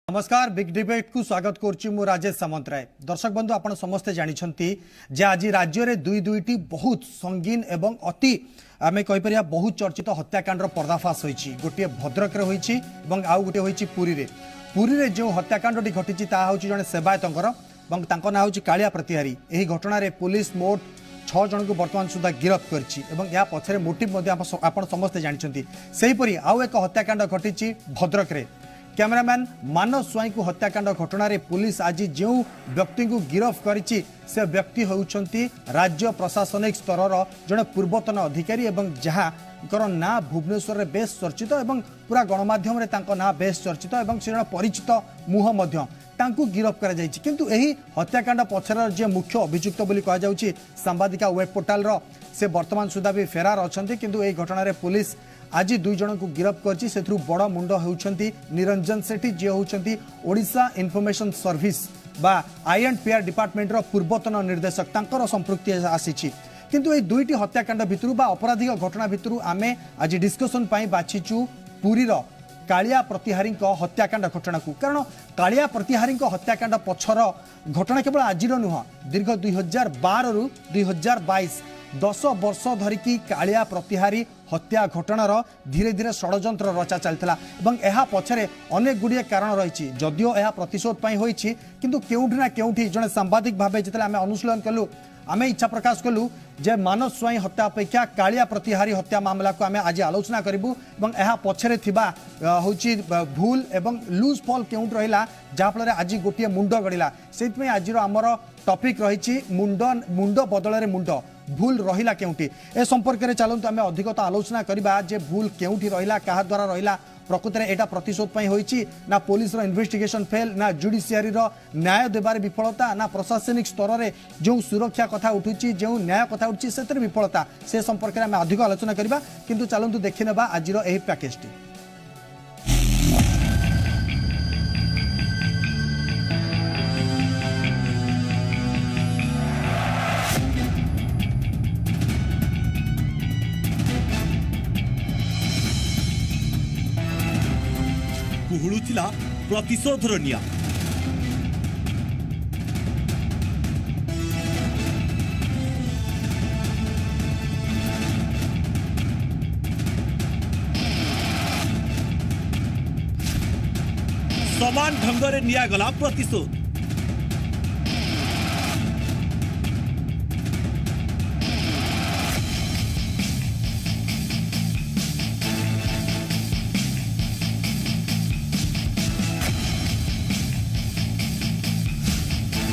ନମସ୍କାର, ବିଗ୍ ଡିବେଟ୍କୁ ସ୍ୱାଗତ କରୁଛି ମୁଁ ରାଜେଶ ସାମନ୍ତରାୟ। ଦର୍ଶକ ବନ୍ଧୁ, ଆପଣ ସମସ୍ତେ ଜାଣିଛନ୍ତି ଯେ ଆଜି ରାଜ୍ୟରେ ଦୁଇ ଦୁଇଟି ବହୁତ ସଙ୍ଗୀନ ଏବଂ ଅତି ଆମେ କହିପାରିବା ବହୁତ ଚର୍ଚ୍ଚିତ ହତ୍ୟାକାଣ୍ଡର ପର୍ଦ୍ଦାଫାଶ ହୋଇଛି। ଗୋଟିଏ ଭଦ୍ରକରେ ହୋଇଛି ଏବଂ ଆଉ ଗୋଟିଏ ହୋଇଛି ପୁରୀରେ। ପୁରୀରେ ଯେଉଁ ହତ୍ୟାକାଣ୍ଡଟି ଘଟିଛି ତାହା ହେଉଛି ଜଣେ ସେବାୟତଙ୍କର ଏବଂ ତାଙ୍କ ନାଁ ହେଉଛି କାଳିଆ ପ୍ରତିହାରୀ। ଏହି ଘଟଣାରେ ପୁଲିସ ମୋଟ 6 ଜଣଙ୍କୁ ବର୍ତ୍ତମାନ ସୁଦ୍ଧା ଗିରଫ କରିଛି ଏବଂ ଏହା ପଛରେ ମୋଟିଭ୍ ମଧ୍ୟ ଆପଣ ସମସ୍ତେ ଜାଣିଛନ୍ତି। ସେହିପରି ଆଉ ଏକ ହତ୍ୟାକାଣ୍ଡ ଘଟିଛି ଭଦ୍ରକରେ। କ୍ୟାମେରାମ୍ୟାନ୍ ମାନସ ସ୍ୱାଇଁଙ୍କୁ ହତ୍ୟାକାଣ୍ଡ ଘଟଣାରେ ପୁଲିସ ଆଜି ଯେଉଁ ବ୍ୟକ୍ତିଙ୍କୁ ଗିରଫ କରିଛି ସେ ବ୍ୟକ୍ତି ହେଉଛନ୍ତି ରାଜ୍ୟ ପ୍ରଶାସନିକ ସ୍ତରର ଜଣେ ପୂର୍ବତନ ଅଧିକାରୀ ଏବଂ ଯାହାଙ୍କର ନାଁ ଭୁବନେଶ୍ୱରରେ ବେଶ ଚର୍ଚ୍ଚିତ ଏବଂ ପୁରା ଗଣମାଧ୍ୟମରେ ତାଙ୍କ ନାଁ ବେଶ ଚର୍ଚ୍ଚିତ ଏବଂ ସେ ଜଣେ ପରିଚିତ ମୁହଁ ମଧ୍ୟ, ତାଙ୍କୁ ଗିରଫ କରାଯାଇଛି। କିନ୍ତୁ ଏହି ହତ୍ୟାକାଣ୍ଡ ପଛର ଯିଏ ମୁଖ୍ୟ ଅଭିଯୁକ୍ତ ବୋଲି କୁହାଯାଉଛି ସାମ୍ବାଦିକା ୱେବ୍ ପୋର୍ଟାଲର, ସେ ବର୍ତ୍ତମାନ ସୁଦ୍ଧା ବି ଫେରାର ଅଛନ୍ତି। କିନ୍ତୁ ଏହି ଘଟଣାରେ ପୁଲିସ ଆଜି ଦୁଇ ଜଣଙ୍କୁ ଗିରଫ କରିଛି। ସେଥିରୁ ବଡ଼ ମୁଣ୍ଡ ହେଉଛନ୍ତି ନିରଞ୍ଜନ ସେଠୀ, ଯିଏ ହେଉଛନ୍ତି ଓଡ଼ିଶା ଇନଫର୍ମେସନ୍ ସର୍ଭିସ ବା I and PR ଡିପାର୍ଟମେଣ୍ଟର ପୂର୍ବତନ ନିର୍ଦ୍ଦେଶକ, ତାଙ୍କର ସମ୍ପୃକ୍ତି ଆସିଛି। କିନ୍ତୁ ଏହି ଦୁଇଟି ହତ୍ୟାକାଣ୍ଡ ଭିତରୁ ବା ଅପରାଧିକ ଘଟଣା ଭିତରୁ ଆମେ ଆଜି ଡିସ୍କସନ୍ ପାଇଁ ବାଛିଛୁ ପୁରୀର କାଳିଆ ପ୍ରତିହାରୀଙ୍କ ହତ୍ୟାକାଣ୍ଡ ଘଟଣାକୁ। କାରଣ କାଳିଆ ପ୍ରତିହାରୀଙ୍କ ହତ୍ୟାକାଣ୍ଡ ପଛର ଘଟଣା କେବଳ ଆଜିର ନୁହଁ, ଦୀର୍ଘ 2012ରୁ 2022 10 ବର୍ଷ ଧରିକି କାଳିଆ ପ୍ରତିହାରୀ ହତ୍ୟା ଘଟଣାର ଧୀରେ ଧୀରେ ଷଡ଼ଯନ୍ତ୍ର ରଚା ଚାଲିଥିଲା ଏବଂ ଏହା ପଛରେ ଅନେକ ଗୁଡ଼ିଏ କାରଣ ରହିଛି। ଯଦିଓ ଏହା ପ୍ରତିଶୋଧ ପାଇଁ ହୋଇଛି, କିନ୍ତୁ କେଉଁଠି ନା କେଉଁଠି ଜଣେ ସାମ୍ବାଦିକ ଭାବେ ଯେତେବେଳେ ଆମେ ଅନୁଶୀଳନ କଲୁ, ଆମେ ଇଚ୍ଛା ପ୍ରକାଶ କଲୁ ଯେ ମାନସ ସ୍ୱାଇଁ ହତ୍ୟା ଅପେକ୍ଷା କାଳିଆ ପ୍ରତିହାରୀ ହତ୍ୟା ମାମଲାକୁ ଆମେ ଆଜି ଆଲୋଚନା କରିବୁ ଏବଂ ଏହା ପଛରେ ଥିବା ହେଉଛି ଭୁଲ ଏବଂ ଲୁଜ୍ ଫଲ୍ କେଉଁଠି ରହିଲା ଯାହାଫଳରେ ଆଜି ଗୋଟିଏ ମୁଣ୍ଡ ଗଡ଼ିଲା। ସେଇଥିପାଇଁ ଆଜିର ଆମର ଟପିକ୍ ରହିଛି ମୁଣ୍ଡ ମୁଣ୍ଡ ବଦଳରେ ମୁଣ୍ଡ, ଭୁଲ ରହିଲା କେଉଁଠି। ଏ ସମ୍ପର୍କରେ ଚାଲନ୍ତୁ ଆମେ ଅଧିକ ତ ଆଲୋଚନା କରିବା ଯେ ଭୁଲ କେଉଁଠି ରହିଲା, କାହା ଦ୍ୱାରା ରହିଲା, ପ୍ରକୃତରେ ଏଇଟା ପ୍ରତିଶୋଧ ପାଇଁ ହୋଇଛି ନା ପୋଲିସର ଇନଭେଷ୍ଟିଗେସନ ଫେଲ୍, ନା ଜୁଡ଼ିସିଆରୀର ନ୍ୟାୟ ଦେବାରେ ବିଫଳତା, ନା ପ୍ରଶାସନିକ ସ୍ତରରେ ଯେଉଁ ସୁରକ୍ଷା କଥା ଉଠୁଛି, ଯେଉଁ ନ୍ୟାୟ କଥା ଉଠୁଛି ସେଥିରେ ବିଫଳତା, ସେ ସମ୍ପର୍କରେ ଆମେ ଅଧିକ ଆଲୋଚନା କରିବା। କିନ୍ତୁ ଚାଲନ୍ତୁ ଦେଖିନେବା ଆଜିର ଏହି ପ୍ୟାକେଜଟି। କୁହୁଳୁଥିଲା ପ୍ରତିଶୋଧର ନିଆଁ। ସମାନ ଢଙ୍ଗରେ ନିଆଗଲା ପ୍ରତିଶୋଧ।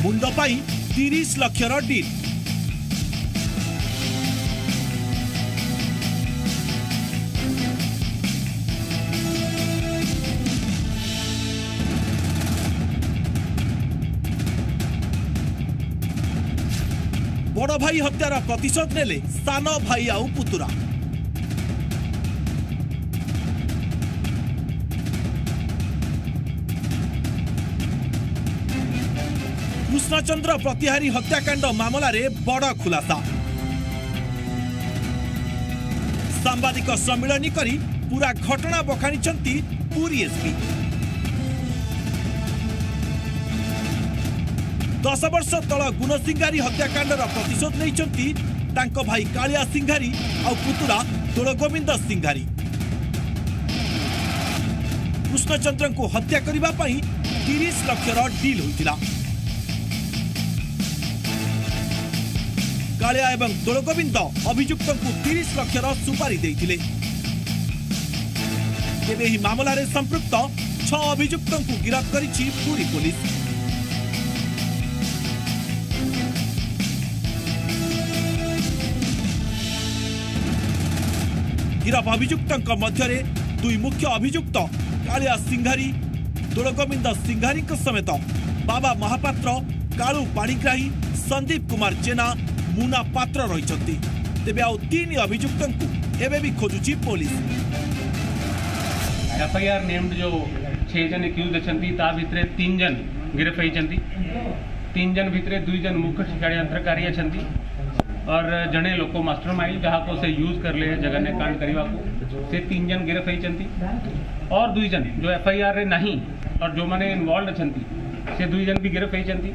ମୁଣ୍ଡ ପାଇଁ 30 ଲକ୍ଷର ଡିଲ୍। ବଡ଼ ଭାଇ ହତ୍ୟାର ପ୍ରତିଶୋଧ ନେଲେ ସାନ ଭାଇ ଆଉ ପୁତୁରା। କୃଷ୍ଣଚନ୍ଦ୍ର ପ୍ରତିହାରୀ ହତ୍ୟାକାଣ୍ଡ ମାମଲାରେ ବଡ଼ ଖୁଲାସା। ସାମ୍ବାଦିକ ସମ୍ମିଳନୀ କରି ପୁରା ଘଟଣା ବଖାଣିଛନ୍ତି ପୁରୀ ଏସ୍ପି। 10 ବର୍ଷ ତଳ ଗୁଣସିଂହାରୀ ହତ୍ୟାକାଣ୍ଡର ପ୍ରତିଶୋଧ ନେଇଛନ୍ତି ତାଙ୍କ ଭାଇ କାଳିଆ ସିଂହାରୀ ଆଉ ପୁତୁରା ଦୋଳଗୋବିନ୍ଦ ସିଂହାରୀ। କୃଷ୍ଣଚନ୍ଦ୍ରଙ୍କୁ ହତ୍ୟା କରିବା ପାଇଁ 30 ଲକ୍ଷର ଡିଲ୍ ହୋଇଥିଲା। କାଳିଆ ଏବଂ ଦୋଳଗୋବିନ୍ଦ ଅଭିଯୁକ୍ତଙ୍କୁ 30 ଲକ୍ଷର ସୁପାରି ଦେଇଥିଲେ। ତେବେ ଏହି ମାମଲାରେ ସମ୍ପୃକ୍ତ 6 ଅଭିଯୁକ୍ତଙ୍କୁ ଗିରଫ କରିଛି ପୁରୀ ପୋଲିସ। ଗିରଫ ଅଭିଯୁକ୍ତଙ୍କ ମଧ୍ୟରେ ଦୁଇ ମୁଖ୍ୟ ଅଭିଯୁକ୍ତ କାଳିଆ ସିଂହାରୀ, ଦୋଳଗୋବିନ୍ଦ ସିଂହାରୀଙ୍କ ସମେତ ବାବା ମହାପାତ୍ର, କାଳୁ ପାଣିଗ୍ରାହୀ, ସନ୍ଦୀପ କୁମାର ଜେନା, ମୁନା ପାତ୍ର ରହିଛନ୍ତି। ତେବେ ଆଉ 3 ଅଭିଯୁକ୍ତଙ୍କୁ ଏବେ ବି ଖୋଜୁଛି ପୋଲିସ। ଏଫଆଇଆର୍ ନେମ୍ଡ ଯେଉଁ 6 ଜଣ ଏକ୍ୟୁଜ୍ ଅଛନ୍ତି ତା ଭିତରେ 3 ଜଣ ଗିରଫ ହେଇଛନ୍ତି। 3 ଜଣ ଭିତରେ 2 ଜଣ ମୁଖ୍ୟ ଷଡ଼ଯନ୍ତ୍ରକାରୀ ଅଛନ୍ତି और ଜଣେ ଲୋକ ମାଷ୍ଟର ମାଇଣ୍ଡ ଯାହାକୁ ସେ ୟୁଜ୍ କଲେ ଜଘନ୍ୟ କାଣ୍ଡ କରିବାକୁ, ସେ 3 ଜଣ ଗିରଫ ହେଇଛନ୍ତି। और 2 ଜଣ ଯେଉଁ ଏଫଆଇଆର୍ ରେ ନାହିଁ और जो मैंने इनवॉल्व अच्छा से दुई जन भी गिरफ्त होती।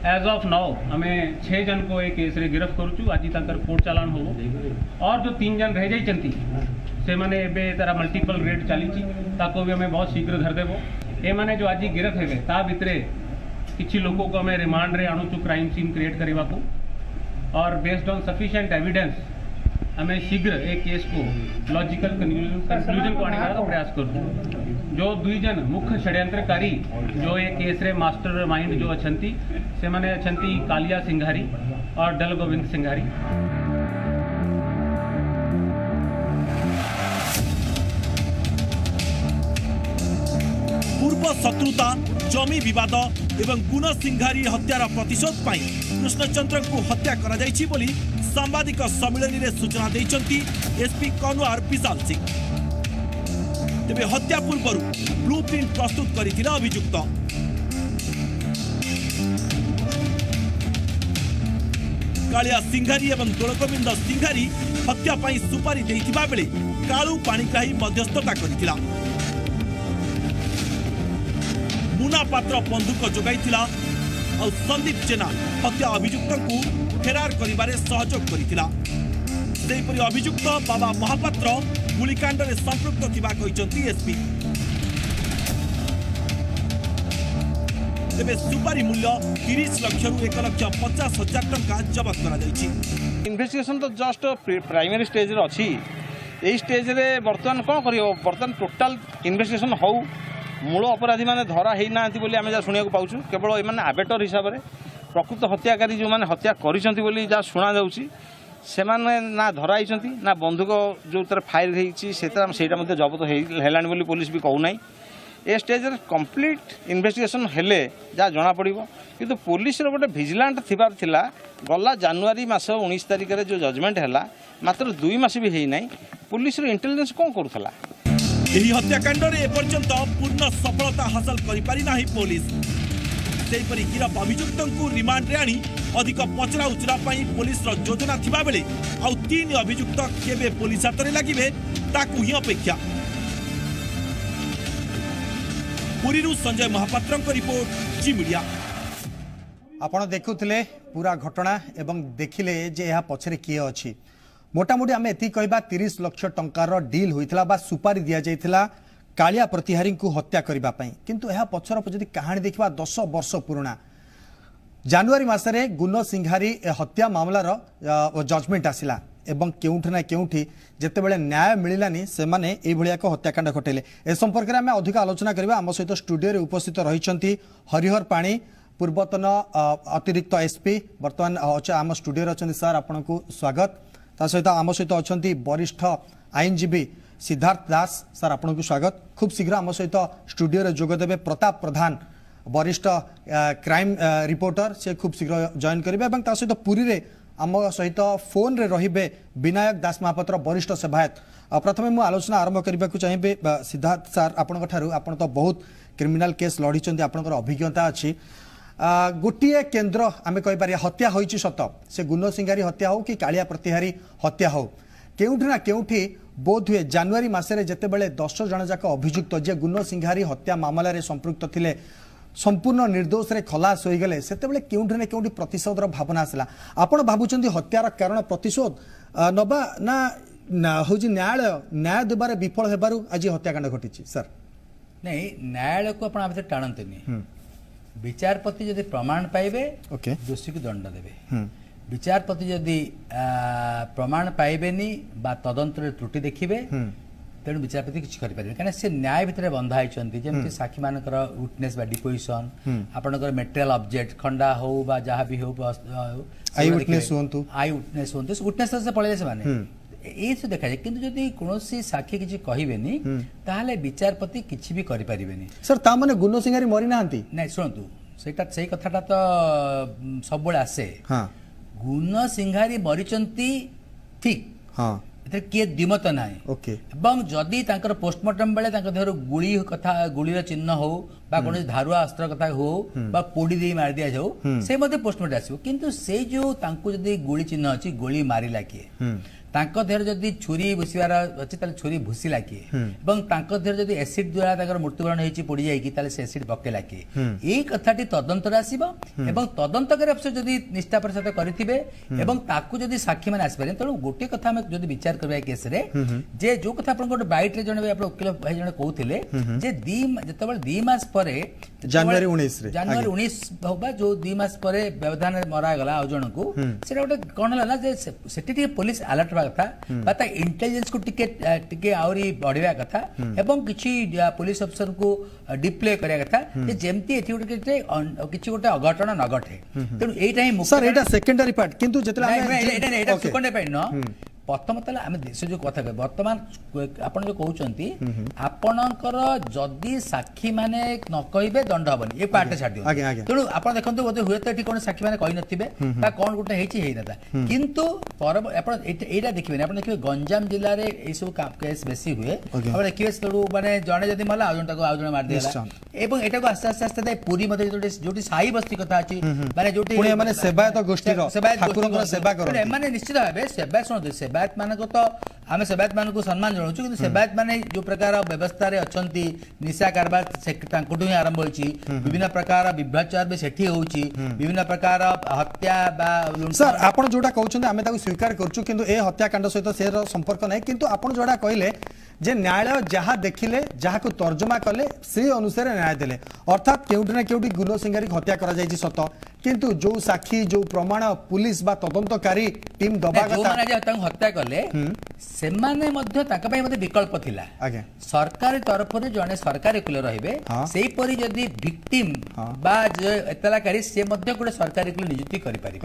एज ऑफ now आम 6 जन को ए केस रे गिरफ्त करुचु। आज तांकर कोर्ट चालान हो और जो 3 जन रह जाइଛନ୍ତି से माने एबे तारा मल्टीपल रेड चली ताको भी हमें बहुत शीघ्र धरदेबो। ए माने जो आज गिरफ्त हेबे ता भितरे किछि लोको को हमें रिमांड रे आणुचु क्राइम सीन क्रिएट करबा को और बेस्ड ऑन सफिशिएंट एविडेंस हमें शीघ्र एक केस को लॉजिकल कंक्लूजन को आने का प्रयास करू। जो दुई जन मुख्य षड्यंत्रकारी जो ये केस रे मास्टर माइंड जो अछंती से माने अछंती कालिया सिंघारी और डल गोविंद सिंघारी। पूर्व शत्रुता जमी विवाद एवं गुण सिंघारी हत्यार प्रतिशोध पाई कृष्णचंद्र को हत्या करा जाइछि बोली सांबादिक सम्मिलनी रे सूचना देइछंती एसपी कनवार विशाल सिंह। तेबे हत्या पूर्व ब्लू प्रिंट प्रस्तुत करिथिला अभियुक्त। कालिया सिंघारी एवं दोलगोविंद सिंघारी हत्या पाई सुपारी देइथिबा बेले कालू पाणिग्राही मध्यस्थता करिथिला। मुना पात्र बंदूक जोगाइथिला और संदीप जेना हत्या अभियुक्त को फेरार करिबारे सहयोग करिथिला। सेहीपरि अभियुक्त बाबा महापात्र गुलिकांडरे संपृक्त थिबा कहिसंती एसपी। तेबे सुपारी मूल्य 30 लक्षରୁ 1,50,000 टंका जबत करा जाइछि। इन्वेस्टिगेशन तो जस्ट प्राइमरी स्टेज रे अछि। एई स्टेज रे वर्तमान कोन करियो, वर्तमान टोटल इन्वेस्टिगेशन हौ। मूल अपराधी मैंने धरा होई ना बोली आम जहाँ शुणा पाऊँ, केवल एमाने आबेटर हिसाब से प्रकृत हत्याकारी जो मैंने हत्या करी जहाँ शुणा जाऊँगी से ना धरा होती ना बंदूक जो तार फायर होता जबत होलानी बोली पुलिस भी कहूना। ए स्टेज कम्प्लीट इन्वेस्टिगेशन हेले जहाँ जना पड़ो। किंतु पुलिस गोटे भिजिलांट थिबार थिला, गला जानुआरी मस 19 तारिख में जो जजमेंट है मात्र 2 मास भी होना, पुलिस इंटेलिजेंस कौन करुला। ଏହି ହତ୍ୟାକାଣ୍ଡରେ ଏପର୍ଯ୍ୟନ୍ତ ପୂର୍ଣ୍ଣ ସଫଳତା ହାସଲ କରିପାରିନାହିଁ ପୋଲିସ। ସେହିପରି ଗିରଫ ଅଭିଯୁକ୍ତଙ୍କୁ ରିମାଣ୍ଡରେ ଆଣି ଅଧିକ ପଚରା ଉଚରା ପାଇଁ ପୋଲିସର ଯୋଜନା ଥିବାବେଳେ ଆଉ 3 ଅଭିଯୁକ୍ତ କେବେ ପୋଲିସ ହାତରେ ଲାଗିବେ ତାକୁ ହିଁ ଅପେକ୍ଷା। ପୁରୀରୁ ସଞ୍ଜୟ ମହାପାତ୍ରଙ୍କ ରିପୋର୍ଟ, ଜି ମିଡିଆ। ଆପଣ ଦେଖୁଥିଲେ ପୁରା ଘଟଣା ଏବଂ ଦେଖିଲେ ଯେ ଏହା ପଛରେ କିଏ ଅଛି। मोटामोटी आम एति कहवा 30 लक्ष टंकार डिल होइतला बा सुपारी दिया जाइतला कालिया प्रतिहारी को हत्या करबा पई। किंतु यह पछर जदि कहानी देखिबा 10 वर्ष पुराणा जानुआरी मासरे गुण सिंघारी हत्या मामलार जजमेंट आसिला एवं केउठी ना केउठी जेतेबेले न्याय मिलिलानी सेमाने एई भलिया एक हत्याकांड घटेले। ए संपर्क रे आम अधिक आलोचना करबा। आम सहित स्टूडियो रे उपस्थित रहिछंती हरिहर पाणी, पूर्वतन अतिरिक्त एसपी, वर्तमान आम स्टूडियो रे अछंती। सर आपनकु स्वागत। ता सहित आम सहित अछंती वरिष्ठ आईनजीवी सिद्धार्थ दास, सर आपनकु स्वागत। खूब शीघ्र आम सहित स्टूडियो रे जोग देवे प्रताप प्रधान, वरिष्ठ क्राइम रिपोर्टर, से खूब शीघ्र जॉइन करिवे। एवं ता सहित पुरी रे आम सहित फोन रे रहिबे विनायक दास महापात्र, वरिष्ठ सेवायत। प्रथमे मु आलोचना आरंभ करबाकू चाहिबे सिद्धार्थ सर आपनक ठारू। आपण तो बहुत क्रिमिनल केस लड़ीचंती, आपनकर अभिज्ञता अछि। गोटिए केंद्र आम कहीपर हत्या होइछि सत, से गुण सिंगारी हत्या हो कि कालिया प्रतिहारी हत्या हो, केउठी ना केउठी बोध हुए जानुआरी मासे जिते 10 जन जाक अभियुक्त जे गुण सिंघारी हत्या मामलार संपृक्त थिले संपूर्ण निर्दोष रे खलास हो गले, सेतेबेले केउठी ना केउठी प्रतिशोधर भावना आसला। आपण भाबुचंती हत्यार कारण प्रतिशोध नबा ना होजी न्यायालय न्याय देबारे विफल हेबारु आज हत्याकांड घटिछि? सर नहीं, न्यायालय को आपण आभितर टाणंतिनी। विचारपति जदि प्रमाण पाइबे दोषी को दंड देवे। विचारपति जदि प्रमाण पाइबेनी बा तदंतर त्रुटि देखिबे तेणु विचारपति किछि करि कारण से न्याय भितर बंधा होइछंती। जेमति साक्षी मानकर विटनेस बा डिपोजिशन, आपनकर मटेरियल ऑब्जेक्ट खंडा हो बा जहा भी हो, आई विटनेस हुंतु, आई विटनेस हुंतु, विटनेस से पळेले से माने এই सब देखा जाए। किंतु जदि कोनोसी साक्षी किछि कहिबेनी ताहले विचारपति किछि भी करि परिबेनी। सर ता माने गुण सिंगारी मरि नाहंती? नै सुनतु, सेटा सेई कथाटा तो सबबेले आसे। हां, गुण सिंघारी मरिचंती ठीक, हां, एते किए द्विमत नाही। ओके, एवं जदि तांकर पोस्टमार्टम बेले तांकर देहरु गुळी कथा गुळीर चिन्ह हो बा कोनोसी धारुआ अस्त्र कथा हो बा पोड़ी देई मारि दिया जाऊ, से मध्ये पोस्टमार्टम आसिबो। किंतु से जो तांकु जदि गुळी चिन्ह अछि, गोली मारिला किए, ତାଙ୍କ ଦେହରେ ଯଦି ଛୁରୀ ଭୁସିବାର ଅଛି ତାହେଲେ ଛୁରୀ ଭୁସିଲା କିଏ, ଏବଂ ତାଙ୍କ ଦେହରେ ଯଦି ଏସିଡ୍ ଦ୍ୱାରା ତାଙ୍କର ମୃତ୍ୟୁବରଣ ହେଇଛି ପୋଡ଼ି ଯାଇକି, ତାହେଲେ ସେ ଏସିଡ୍ ପକେଇଲା କିଏ? ଏଇ କଥାଟି ତଦନ୍ତରେ ଆସିବ ଏବଂ ତଦନ୍ତକାରୀ ଅଫିସର ଯଦି ନିଷ୍ଠାପର ସହିତ କରିଥିବେ ଏବଂ ତାକୁ ଯଦି ସାକ୍ଷୀମାନେ ଆସିପାରିବେ। ତେଣୁ ଗୋଟିଏ କଥା ଆମେ ଯଦି ବିଚାର କରିବା ଏ କେସ୍ରେ, ଯେ ଯୋଉ କଥା ଆପଣଙ୍କ ଗୋଟେ ବାଇଟ୍ରେ ଜଣେ ଆପଣ ଓକିଲ ଭାଇ ଜଣେ କହୁଥିଲେ ଯେ ଯେତେବେଳେ 2 ମାସ ପରେ ଜାନୁଆରୀ 19ରେ, ଜାନୁଆରୀ 19 ହଉ ବା ଯୋଉ 2 ମାସ ପରେ ବ୍ୟବଧାନରେ ମରାଗଲା ଆଉ ଜଣଙ୍କୁ, ସେଟା ଗୋଟେ କଣ ହେଲା ନା ଯେ ସେଠି ଟିକେ ପୋଲିସ ଆଲର୍ଟ ହେବା କଥା ବା ତା ଇଣ୍ଟେଲିଜେନ୍ସକୁ ଟିକେ ଟିକେ ଆହୁରି ବଢିବା କଥା ଏବଂ କିଛି ପୋଲିସ ଅଫିସରଙ୍କୁ ଡିପ୍ଲେ କରିବା କଥା ଯେ ଯେମିତି ଏଠି ଗୋଟେ କିଛି ଗୋଟେ ଅଘଟଣ ନ ଘଟେ। ତେଣୁ ଏଇଟା ହିଁ ସାର୍, ଏଇଟା ସେକେଣ୍ଡାରୀ ପାର୍ଟ। କିନ୍ତୁ ଯେତେବେଳେ ଏଇଟା ସେକେଣ୍ଡାରୀ ପାର୍ଟ ନୁହଁ, ପ୍ରଥମତଃ ହେଲା ଆମେ ସେ ଯୋଉ କଥା କହିବେ ବର୍ତ୍ତମାନ ଆପଣ ଯୋଉ କହୁଛନ୍ତି, ଆପଣଙ୍କର ଯଦି ସାକ୍ଷୀମାନେ ନ କହିବେ ଦଣ୍ଡ ହବନି, ଏ ପାର୍ଟଟା ଛାଡ଼ି ଦିଅନ୍ତୁ। ତେଣୁ ଆପଣ ଦେଖନ୍ତୁ ବୋଧେ ହୁଏତ ଏଠି କଣ ସାକ୍ଷୀମାନେ କହିନଥିବେ ବା କଣ ଗୋଟେ ହେଇଛି ହେଇନଥା, କିନ୍ତୁ ଆପଣ ଏଇଟା ଦେଖିବେନି। ଆପଣ ଦେଖିବେ ଗଞ୍ଜାମ ଜିଲ୍ଲାରେ ଏଇସବୁ କେସ୍ ବେଶୀ ହୁଏ। ଆପଣ ଦେଖିବେ ସେତେବେଳକୁ ମାନେ ଜଣେ ଯଦି ମଲା ଆଉ ଜଣେ ତାକୁ ଆଉ ଜଣେ ମାରିଦେଲା, ଏବଂ ଏଟାକୁ ଆସ୍ତେ ଆସ୍ତେ ଆସ୍ତେ ପୁରୀ ମଧ୍ୟ ଯୋଉଠି ସାହି ବସ୍ତି କଥା ଅଛି, ମାନେ ଯୋଉଠି ମାନେ ସେବାୟତ ଗୋଷ୍ଠୀର ଠାକୁରଙ୍କର ସେବା କରନ୍ତି ଏମାନେ ନିଶ୍ଚିତ ଭାବେ ସେବା। ଶୁଣନ୍ତୁ, ସେବାୟତ ମାନଙ୍କ ତ ଆମେ ସେବାୟତ ମାନଙ୍କୁ ସମ୍ମାନ ଜଣାଉଛୁ, କିନ୍ତୁ ସେବାୟତ ମାନେ ଯୋଉ ପ୍ରକାର ବ୍ୟବସ୍ଥାରେ ଅଛନ୍ତି, ନିଶା କାରବାର ତାଙ୍କଠୁ ହିଁ ଆରମ୍ଭ ହୋଇଛି, ବିଭିନ୍ନ ପ୍ରକାର ବିଭ୍ରାଚାର ବି ସେଠି ହଉଛି, ବିଭିନ୍ନ ପ୍ରକାର ହତ୍ୟା ବା ସାର୍ ଆପଣ ଯୋଉଟା କହୁଛନ୍ତି ଆମେ ତାକୁ ସ୍ୱୀକାର କରୁଛୁ, କିନ୍ତୁ ଏ ହତ୍ୟାକାଣ୍ଡ ସହିତ ସେ ସମ୍ପର୍କ ନାହିଁ। କିନ୍ତୁ ଆପଣ ଯୋଉଟା କହିଲେ ଯେ ନ୍ୟାୟାଳୟ ଯାହା ଦେଖିଲେ, ଯାହାକୁ ତର୍ଜମା କଲେ, ସେ ଅନୁସାରେ ନ୍ୟାୟ ଦେଲେ, ଅର୍ଥାତ୍ କେଉଁଠି ନା କେଉଁଠି ଗୁଲ ସିଙ୍ଗାରୀକୁ ହତ୍ୟା କରାଯାଇଛି ସତ, କିନ୍ତୁ ଯୋଉ ସାକ୍ଷୀ ଯୋଉ ପ୍ରମାଣ ପୁଲିସ ବା ତଦନ୍ତକାରୀ ଟିମ୍ ଦବା କଥା, ତାଙ୍କୁ ହତ୍ୟା କଲେ ସେମାନେ ମଧ୍ୟ ତାଙ୍କ ପାଇଁ ମଧ୍ୟ ବିକଳ୍ପ ଥିଲା। ସରକାରୀ ତରଫରୁ ଜଣେ ସରକାରୀ ଓକିଲ ରହିବେ, ସେହିପରି ଯଦି ଭିକ୍ଟିମ୍ ବା ଏତଲାକାରୀ ସେ ମଧ୍ୟ ଗୋଟେ ସରକାରୀ ଓକିଲ ନିଯୁକ୍ତି କରିପାରିବେ।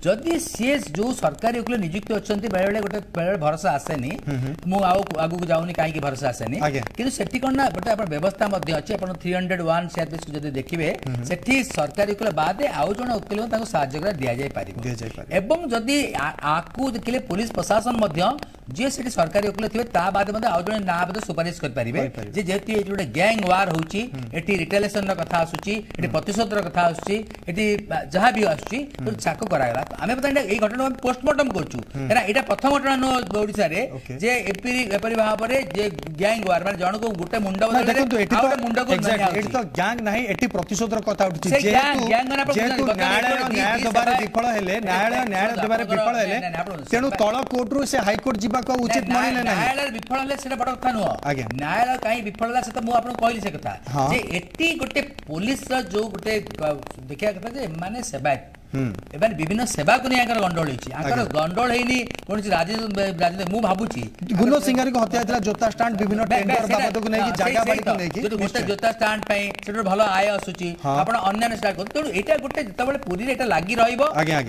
ଯଦି ସିଏ ଯୋଉ ସରକାରୀ ଓକିଲ ନିଯୁକ୍ତି ଅଛନ୍ତି, ବେଳେବେଳେ ଗୋଟେ ବେଳେବେଳେ ଭରସା ଆସେନି, ମୁଁ ଆଉ ଆଗକୁ ଯାଉନି କାହିଁକି ଭରସା ଆସେନି, କିନ୍ତୁ ସେଠି କଣ ନା ଗୋଟେ ଆପଣ ବ୍ୟବସ୍ଥା ମଧ୍ୟ ଅଛି। ଆପଣ 301 ସିଆରପିସି ଯଦି ଦେଖିବେ, ସେଠି ସରକାରୀ ଓକିଲ ବାଦେ ଆଉ ଜଣେ ଓକିଲ ତାଙ୍କୁ ସାହାଯ୍ୟ କରିବା ଦିଆଯାଇପାରିବ। ଏବଂ ଯଦି ଆକୁ ଦେଖିଲେ ପୋଲିସ ପ୍ରଶାସନ ମଧ୍ୟ ଯିଏ ସେଠି ସରକାରୀ ଓକିଲ ଥିବେ ତା ବାଦ ମଧ୍ୟ ଆଉ ଜଣେ ନାଁ ମଧ୍ୟ ସୁପାରିଶ କରିପାରିବେ, ଯେ ଯେହେତୁ ଏଠି ଗୋଟେ ଗ୍ୟାଙ୍ଗ ୱାର ହଉଛି, ଏଠି ରିଟାଲିଏସନର କଥା ଆସୁଛି, ଏଠି ପ୍ରତିଶୋଧର କଥା ଆସୁଛି, ଏଠି ଯାହା ବି ଆସୁଛି, ତାକୁ କରାଗଲା। ଆମେ ବର୍ତ୍ତମାନ ଏଇ ଘଟଣାକୁ ଆମେ ପୋଷ୍ଟମର୍ଟମ କରୁଛୁ, କାହିଁକିନା ଏଇଟା ପ୍ରଥମ ଘଟଣା ନୁହଁ ଓଡ଼ିଶାରେ ଯେ ଏପରି ଭାବରେ ଯେ ଗ୍ୟାଙ୍ଗ ୱାର, ମାନେ ଜଣକୁ ଗୋଟେ ମୁଣ୍ଡ ମୁଣ୍ଡକୁ ଏଠି ତ ଗ୍ୟାଙ୍ଗ ନାହିଁ, ଏଠି ପ୍ରତିଶୋଧର କଥା ଉଠୁଛି। ଯେହେତୁ ନ୍ୟାୟାଳୟ ନ୍ୟାୟ ଦେବାରେ ବିଫଳ ହେଲେ, ନ୍ୟାୟାଳୟ ନ୍ୟାୟ ଦେବାରେ ବିଫଳ ହେଲେ, ତେଣୁ ତଳ କୋର୍ଟରୁ ସେ ହାଇକୋର୍ଟ ଯିବାକୁ ଉଚିତ ମଣିଲେ ନାହିଁ। ନ୍ୟାୟାଳୟ ବିଫଳ ହେଲେ ସେଟା ବଡ କଥା ନୁହଁ। ନ୍ୟାୟାଳୟ କାହିଁ ବିଫଳ ହେଲା ସେ ତ ମୁଁ ଆପଣଙ୍କୁ କହିଲି ସେ କଥା, ଯେ ଏଠି ଗୋଟେ ପୋଲିସର ଯୋଉ ଗୋଟେ ଦେଖିବା କଥା ଯେ ଏମାନେ ସେବାୟତ, ଏମାନେ ବିଭିନ୍ନ ସେବାକୁ ନେଇ ଆଙ୍କର ଗଣ୍ଡଗୋଳ ହେଇଛି। ଆଙ୍କର ଗଣ୍ଡଗୋଳ ହେଇନି କୌଣସି ରାଜନୀତି। ମୁଁ ଭାବୁଛି ଗୁଲ ସିଙ୍ଗାରୀକୁ ହତ୍ୟା ହେଇଥିଲା ଜୋତା ଷ୍ଟାଣ୍ଡ ବିଭିନ୍ନ ଟେଣ୍ଡର ବାବଦକୁ ନେଇକି, ଜାଗା ବାଡ଼ିକୁ ନେଇକି, ଗୋଟେ ଜୋତା ଷ୍ଟାଣ୍ଡ ପାଇଁ ସେଠୁ ଭଲ ଆୟ ଆସୁଛି, ଆପଣ ଅନ୍ୟାନ୍ୟ ଷ୍ଟାଣ୍ଡ କରୁଛନ୍ତି। ତେଣୁ ଏଇଟା ଗୋଟେ ଯେତେବେଳେ ପୁରୀରେ ଏଇଟା ଲାଗି ରହିବ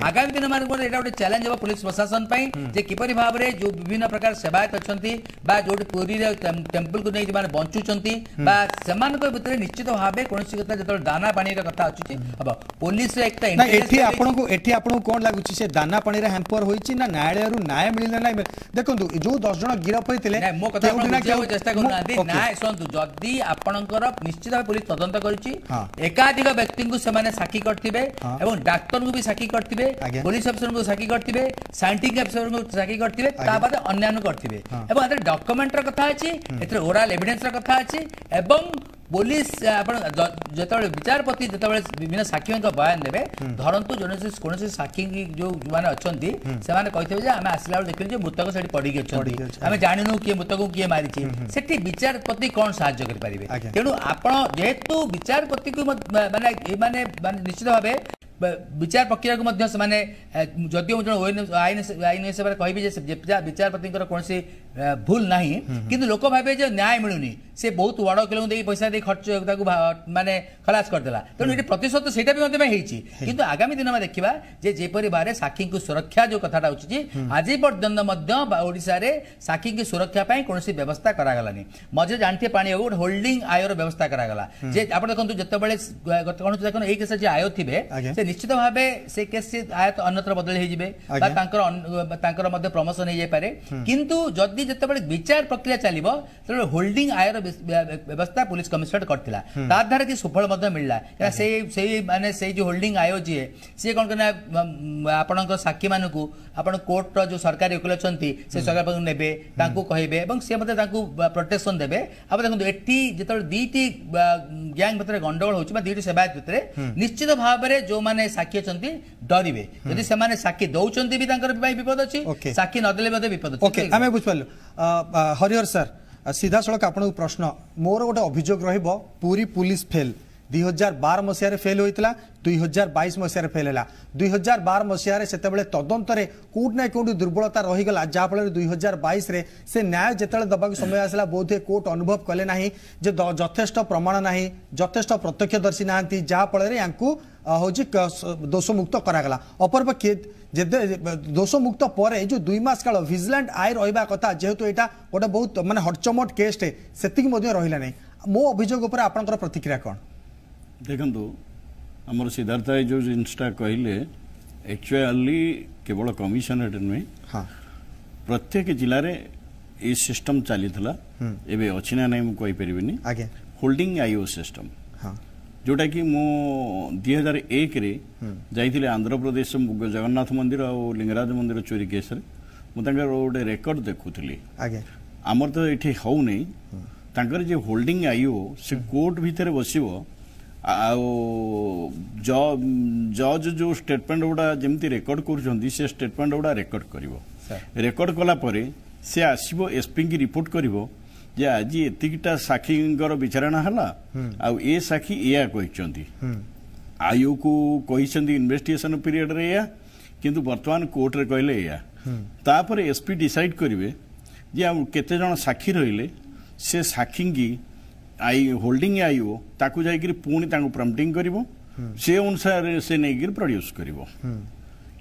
ଆଗାମୀ ଦିନମାନଙ୍କରେ ଏଇଟା ଗୋଟେ ଚ୍ୟାଲେଞ୍ଜ ହେବ ପୋଲିସ ପ୍ରଶାସନ ପାଇଁ, ଯେ କିପରି ଭାବରେ ଯୋଉ ବିଭିନ୍ନ ପ୍ରକାର ସେବାୟତ ଅଛନ୍ତି ବା ଯୋଉଠି ପୁରୀରେ ଟେମ୍ପଲକୁ ନେଇ ଯେଉଁମାନେ ବଞ୍ଚୁଛନ୍ତି ବା ସେମାନଙ୍କ ଭିତରେ ନିଶ୍ଚିତ ଭାବେ କୌଣସି କଥା ଯେତେବେଳେ ଦାନା ପାଣିର କଥା ଆସୁଛି ହବ ପୋଲିସର ଏକ ଆପଣଙ୍କୁ ଏଠି ଆପଣଙ୍କୁ କଣ ଲାଗୁଛି, ସେ ଦାନା ପାଣିରେ ହ୍ୟାମ୍ପର ହୋଇଛି ନା ନ୍ୟାୟାଳୟରୁ ନ୍ୟାୟ ମିଳିଲା ନାହିଁ? ଦେଖନ୍ତୁ ଯୋଉ 10 ଜଣ ଗିରଫ ହୋଇଥିଲେ, ମୋ କଥା ଚେଷ୍ଟା କରୁନାହାନ୍ତି। ନ୍ୟାୟ ଶୁଣନ୍ତୁ, ଯଦି ଆପଣଙ୍କର ନିଶ୍ଚିତ ଭାବେ ପୋଲିସ ତଦନ୍ତ କରିଛି, ଏକାଧିକ ବ୍ୟକ୍ତିଙ୍କୁ ସେମାନେ ସାକ୍ଷୀ କରିଥିବେ ଏବଂ ଡାକ୍ତରଙ୍କୁ ବି ସାକ୍ଷୀ କରିଥିବେ, ପୋଲିସ ଅଫିସରଙ୍କୁ ସାକ୍ଷୀ କରିଥିବେ, ସାଇଣ୍ଟିଫିକ ଅଫିସରଙ୍କୁ ସାକ୍ଷୀ କରିଥିବେ, ତା ବାଦ ଅନ୍ୟାନ୍ୟ କରିଥିବେ, ଏବଂ ଏଥିରେ ଡକ୍ୟୁମେଣ୍ଟର କଥା ଅଛି, ଏଥିରେ ଓରାଲ ଏଭିଡେନ୍ସର କଥା ଅଛି। ଏବଂ ପୋଲିସ ଆପଣ ଯେତେବେଳେ ବିଚାରପତି ଯେତେବେଳେ ବିଭିନ୍ନ ସାକ୍ଷୀଙ୍କ ବୟାନ ଦେବେ, ଧରନ୍ତୁ କୌଣସି ସାକ୍ଷୀ ଯୋଉ ଯେଉଁମାନେ ଅଛନ୍ତି ସେମାନେ କହିଥିବେ ଯେ ଆମେ ଆସିଲା ବେଳେ ଦେଖିଲୁ ଯେ ମୃତକ ସେଠି ପଡ଼ିକି ଅଛନ୍ତି, ଆମେ ଜାଣିନୁ କିଏ ମୃତକକୁ କିଏ ମାରିଛି, ସେଠି ବିଚାରପତି କଣ ସାହାଯ୍ୟ କରିପାରିବେ? ତେଣୁ ଆପଣ ଯେହେତୁ ବିଚାରପତିକୁ ମାନେ ଏମାନେ ମାନେ ନିଶ୍ଚିତ ଭାବେ ବିଚାର ପ୍ରକ୍ରିୟାକୁ ମଧ୍ୟ ସେମାନେ, ଯଦିଓ ମୁଁ ଜଣେ ଆଇନ ହିସାବରେ କହିବି ଯେ ବିଚାରପତିଙ୍କର କୌଣସି ଭୁଲ ନାହିଁ, କିନ୍ତୁ ଲୋକ ଭାବେ ଯେ ନ୍ୟାୟ ମିଳୁନି, ସେ ବହୁତ ବଡ଼ ଓକିଲଙ୍କୁ ଦେଇ ପଇସା ଦେଇ ଖର୍ଚ୍ଚ ତାକୁ ମାନେ ଖଲାସ କରିଦେଲା। ତେଣୁ ଏଠି ପ୍ରତିଶୋଧ ସେଇଟା ବି ମଧ୍ୟ ହେଇଛି। କିନ୍ତୁ ଆଗାମୀ ଦିନ ଆମେ ଦେଖିବା ଯେ ଯେପରି ଭାବରେ ସାକ୍ଷୀଙ୍କୁ ସୁରକ୍ଷା ଯୋଉ କଥାଟା ଉଠୁଛି, ଆଜି ପର୍ଯ୍ୟନ୍ତ ମଧ୍ୟ ଓଡ଼ିଶାରେ ସାକ୍ଷୀଙ୍କୁ ସୁରକ୍ଷା ପାଇଁ କୌଣସି ବ୍ୟବସ୍ଥା କରାଗଲାନି। ମଝିରେ ଜାଣିଥିବେ ପାଣି ବାବୁ, ଗୋଟେ ହୋଲ୍ଡିଂ ଆୟର ବ୍ୟବସ୍ଥା କରାଗଲା, ଯେ ଆପଣ ଦେଖନ୍ତୁ ଯେତେବେଳେ କଣ ଦେଖନ୍ତୁ ଏଇ କେସରେ ଯିଏ ଆୟ ଥିବେ ସେ ନିଶ୍ଚିତ ଭାବେ ସେ କେସ୍ ଆୟ ଅନ୍ୟତ୍ର ବଦଳି ହେଇଯିବେ ବା ତାଙ୍କର ମଧ୍ୟ ପ୍ରମୋସନ ହେଇଯାଇପାରେ, କିନ୍ତୁ ଯଦି ଯେତେବେଳେ ବିଚାର ପ୍ରକ୍ରିୟା ଚାଲିବ ସେତେବେଳେ ହୋଲ୍ଡିଂ ଆୟର ବ୍ୟବସ୍ଥା ପୁଲିସ କମିଶନରେଟ୍ କରିଥିଲା, ତା ଦ୍ୱାରା କି ସୁଫଳ ମଧ୍ୟ ମିଳିଲା। ସେଇ ସେଇ ମାନେ ସେଇ ଯେଉଁ ହୋଲ୍ଡିଂ ଆୟ ଯିଏ ସିଏ କ'ଣ ନା ଆପଣଙ୍କ ସାକ୍ଷୀମାନଙ୍କୁ ଆପଣ କୋର୍ଟର ଯେଉଁ ସରକାରୀ ଓକିଲ ଅଛନ୍ତି ସେ ସରକାର ପାଖକୁ ନେବେ, ତାଙ୍କୁ କହିବେ ଏବଂ ସିଏ ମଧ୍ୟ ତାଙ୍କୁ ପ୍ରୋଟେକ୍ସନ୍ ଦେବେ। ଆଉ ଦେଖନ୍ତୁ ଏଠି ଯେତେବେଳେ ଦୁଇଟି ଗ୍ୟାଙ୍ଗ ଭିତରେ ଗଣ୍ଡଗୋଳ ହେଉଛି ବା ଦୁଇଟି ସେବାୟତ ଭିତରେ, ନିଶ୍ଚିତ ଭାବରେ ଯେଉଁମାନେ ସାକ୍ଷୀ ଅଛନ୍ତି ଡରିବେ। ଯଦି ସେମାନେ ସାକ୍ଷୀ ଦଉଛନ୍ତି ବି ତାଙ୍କର ପାଇଁ ବିପଦ ଅଛି, ସାକ୍ଷୀ ନଦେଲେ ମଧ୍ୟ ବିପଦ ଅଛି। ଆମେ ବୁଝିପାରିଲୁ। ହରିହର ସାର୍, ସିଧାସଳଖ ଆପଣଙ୍କୁ ପ୍ରଶ୍ନ, ମୋର ଗୋଟେ ଅଭିଯୋଗ ରହିବ, ପୁରୀ ପୁଲିସ ଫେଲ୍ 2012 ମସିହାରେ ଫେଲ୍ ହୋଇଥିଲା, 2022 ମସିହାରେ ଫେଲ୍ ହେଲା। 2012 ମସିହାରେ ସେତେବେଳେ ତଦନ୍ତରେ କେଉଁଠି ନା କେଉଁଠି ଦୁର୍ବଳତା ରହିଗଲା, ଯାହାଫଳରେ 2022ରେ ସେ ନ୍ୟାୟ ଯେତେବେଳେ ଦେବାକୁ ସମୟ ଆସିଲା ବୋଧହୁଏ କୋର୍ଟ ଅନୁଭବ କଲେ ନାହିଁ ଯେ ଯଥେଷ୍ଟ ପ୍ରମାଣ ନାହିଁ, ଯଥେଷ୍ଟ ପ୍ରତ୍ୟକ୍ଷଦର୍ଶୀ ନାହାନ୍ତି, ଯାହାଫଳରେ ୟାଙ୍କୁ ହେଉଛି ଦୋଷମୁକ୍ତ କରାଗଲା। ଅପରପକ୍ଷେ ଯେତେ ଦୋଷମୁକ୍ତ ପରେ ଏଇ ଯେଉଁ 2 ମାସ କାଳ ଭିଜିଲାଣ୍ଟ ଆୟ ରହିବା କଥା, ଯେହେତୁ ଏଇଟା ଗୋଟେ ବହୁତ ମାନେ ହଟଚମଟ କେସ୍ଟେ, ସେତିକି ମଧ୍ୟ ରହିଲା ନାହିଁ। ମୋ ଅଭିଯୋଗ ଉପରେ ଆପଣଙ୍କର ପ୍ରତିକ୍ରିୟା କ'ଣ? ଦେଖନ୍ତୁ, ଆମର ସିଦ୍ଧାର୍ଥ ଭାଇ ଯେଉଁ ଜିନିଷଟା କହିଲେ, ଆକ୍ଚୁଆଲି କେବଳ କମିଶନରେଟ୍ ନୁହେଁ, ପ୍ରତ୍ୟେକ ଜିଲ୍ଲାରେ ଏଇ ସିଷ୍ଟମ ଚାଲିଥିଲା, ଏବେ ଅଛି ନା ନାହିଁ ମୁଁ କହିପାରିବିନି। ହୋଲ୍ଡିଂ ଆଇଓ ସିଷ୍ଟମ, ଯେଉଁଟାକି ମୁଁ 2001ରେ ଯାଇଥିଲି ଆନ୍ଧ୍ରପ୍ରଦେଶ ଜଗନ୍ନାଥ ମନ୍ଦିର ଆଉ ଲିଙ୍ଗରାଜ ମନ୍ଦିର ଚୋରି କେସ୍ରେ, ମୁଁ ତାଙ୍କର ଗୋଟେ ରେକର୍ଡ ଦେଖୁଥିଲି। ଆମର ତ ଏଠି ହେଉନି। ତାଙ୍କର ଯେ ହୋଲ୍ଡିଂ ଆଇଓ ସେ କୋର୍ଟ ଭିତରେ ବସିବ, ଆଉ ଜଜ୍ ଯେଉଁ ଷ୍ଟେଟମେଣ୍ଟ ଗୁଡ଼ା ଯେମିତି ରେକର୍ଡ କରୁଛନ୍ତି ସେ ଷ୍ଟେଟମେଣ୍ଟ ଗୁଡ଼ା ରେକର୍ଡ କରିବ। ରେକର୍ଡ କଲା ପରେ ସେ ଆସିବ ଏସ୍ପିଙ୍କି ରିପୋର୍ଟ କରିବ ଯେ ଆଜି ଏତିକିଟା ସାକ୍ଷୀଙ୍କର ବିଚାରଣା ହେଲା ଆଉ ଏ ସାକ୍ଷୀ ଏଇଆ କହିଛନ୍ତି, ଆଇଓକୁ କହିଛନ୍ତି ଇନଭେଷ୍ଟିଗେସନ ପିରିୟଡରେ ଏଇଆ, କିନ୍ତୁ ବର୍ତ୍ତମାନ କୋର୍ଟରେ କହିଲେ ଏଇଆ। ତାପରେ ଏସ୍ପି ଡିସାଇଡ୍ କରିବେ ଯେ ଆଉ କେତେ ଜଣ ସାକ୍ଷୀ ରହିଲେ, ସେ ସାକ୍ଷୀଙ୍କି I holding ଆଇଓ ତାକୁ ଯାଇକରି ପୁଣି ତାଙ୍କୁ ପ୍ରମ୍ପଟିଂ କରିବ, ସେ ଅନୁସାରେ ସେ ନେଇକରି ପ୍ରଡ୍ୟୁସ୍ କରିବ।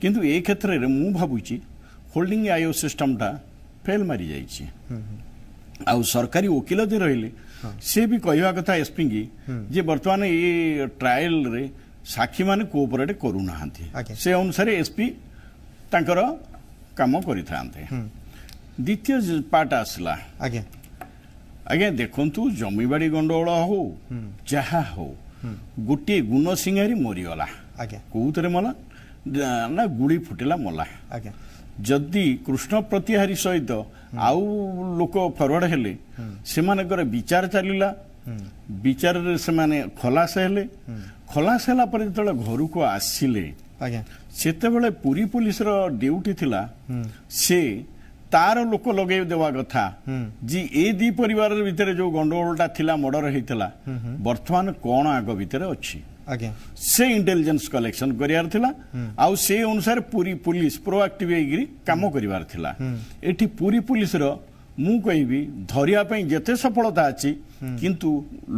କିନ୍ତୁ ଏ କ୍ଷେତ୍ରରେ ମୁଁ ଭାବୁଛି ହୋଲ୍ଡିଂ ଆଇଓ ସିଷ୍ଟମଟା ଫେଲ୍ ମାରିଯାଇଛି। ଆଉ ସରକାରୀ ଓକିଲ ଯେ ରହିଲେ ସେ ବି କହିବା କଥା ଏସ୍ପିଙ୍କି ଯେ ବର୍ତ୍ତମାନ ଏ ଟ୍ରାଏଲରେ ସାକ୍ଷୀମାନେ କୋଅପରେଟ୍ କରୁନାହାନ୍ତି, ସେ ଅନୁସାରେ ଏସ୍ପି ତାଙ୍କର କାମ କରିଥାନ୍ତେ। ଦ୍ୱିତୀୟ ପାର୍ଟ ଆସିଲା, ଆଜ୍ଞା ଆଜ୍ଞା ଦେଖନ୍ତୁ, ଜମିବାଡ଼ି ଗଣ୍ଡଗୋଳ ହଉ ଯାହା ହଉ, ଗୋଟିଏ ଗୁଣ ସିଂହାରୀ ମରିଗଲା। କୋଉଥିରେ ମଲା ନା ଗୁଳି ଫୁଟିଲା ମଲା। ଯଦି କୃଷ୍ଣ ପ୍ରତିହାରୀ ସହିତ ଆଉ ଲୋକ ଫରୱାର୍ଡ ହେଲେ, ସେମାନଙ୍କର ବିଚାର ଚାଲିଲା, ବିଚାରରେ ସେମାନେ ଖଲାସ ହେଲେ। ଖଲାସ ହେଲା ପରେ ଯେତେବେଳେ ଘରକୁ ଆସିଲେ, ସେତେବେଳେ ପୁରୀ ପୋଲିସର ଡ୍ୟୁଟି ଥିଲା ସେ ତାର ଲୋକ ଲଗେଇ ଦେବା କଥା ଯେ ଏ ଦି ପରିବାର ଭିତରେ ଯୋଉ ଗଣ୍ଡଗୋଳଟା ଥିଲା, ମର୍ଡର ହେଇଥିଲା, ବର୍ତ୍ତମାନ କଣ ଆଗ ଭିତରେ ଅଛି, ସେ ଇଣ୍ଟେଲିଜେନ୍ସ କଲେକ୍ସନ କରିବାର ଥିଲା। ଆଉ ସେ ଅନୁସାରେ ପୁରୀ ପୋଲିସ ପ୍ରୋଆକ୍ଟିଭ ହେଇକିରି କାମ କରିବାର ଥିଲା। ଏଠି ପୁରୀ ପୋଲିସର ମୁଁ କହିବି ଧରିବା ପାଇଁ ଯେତେ ସଫଳତା ଅଛି, କିନ୍ତୁ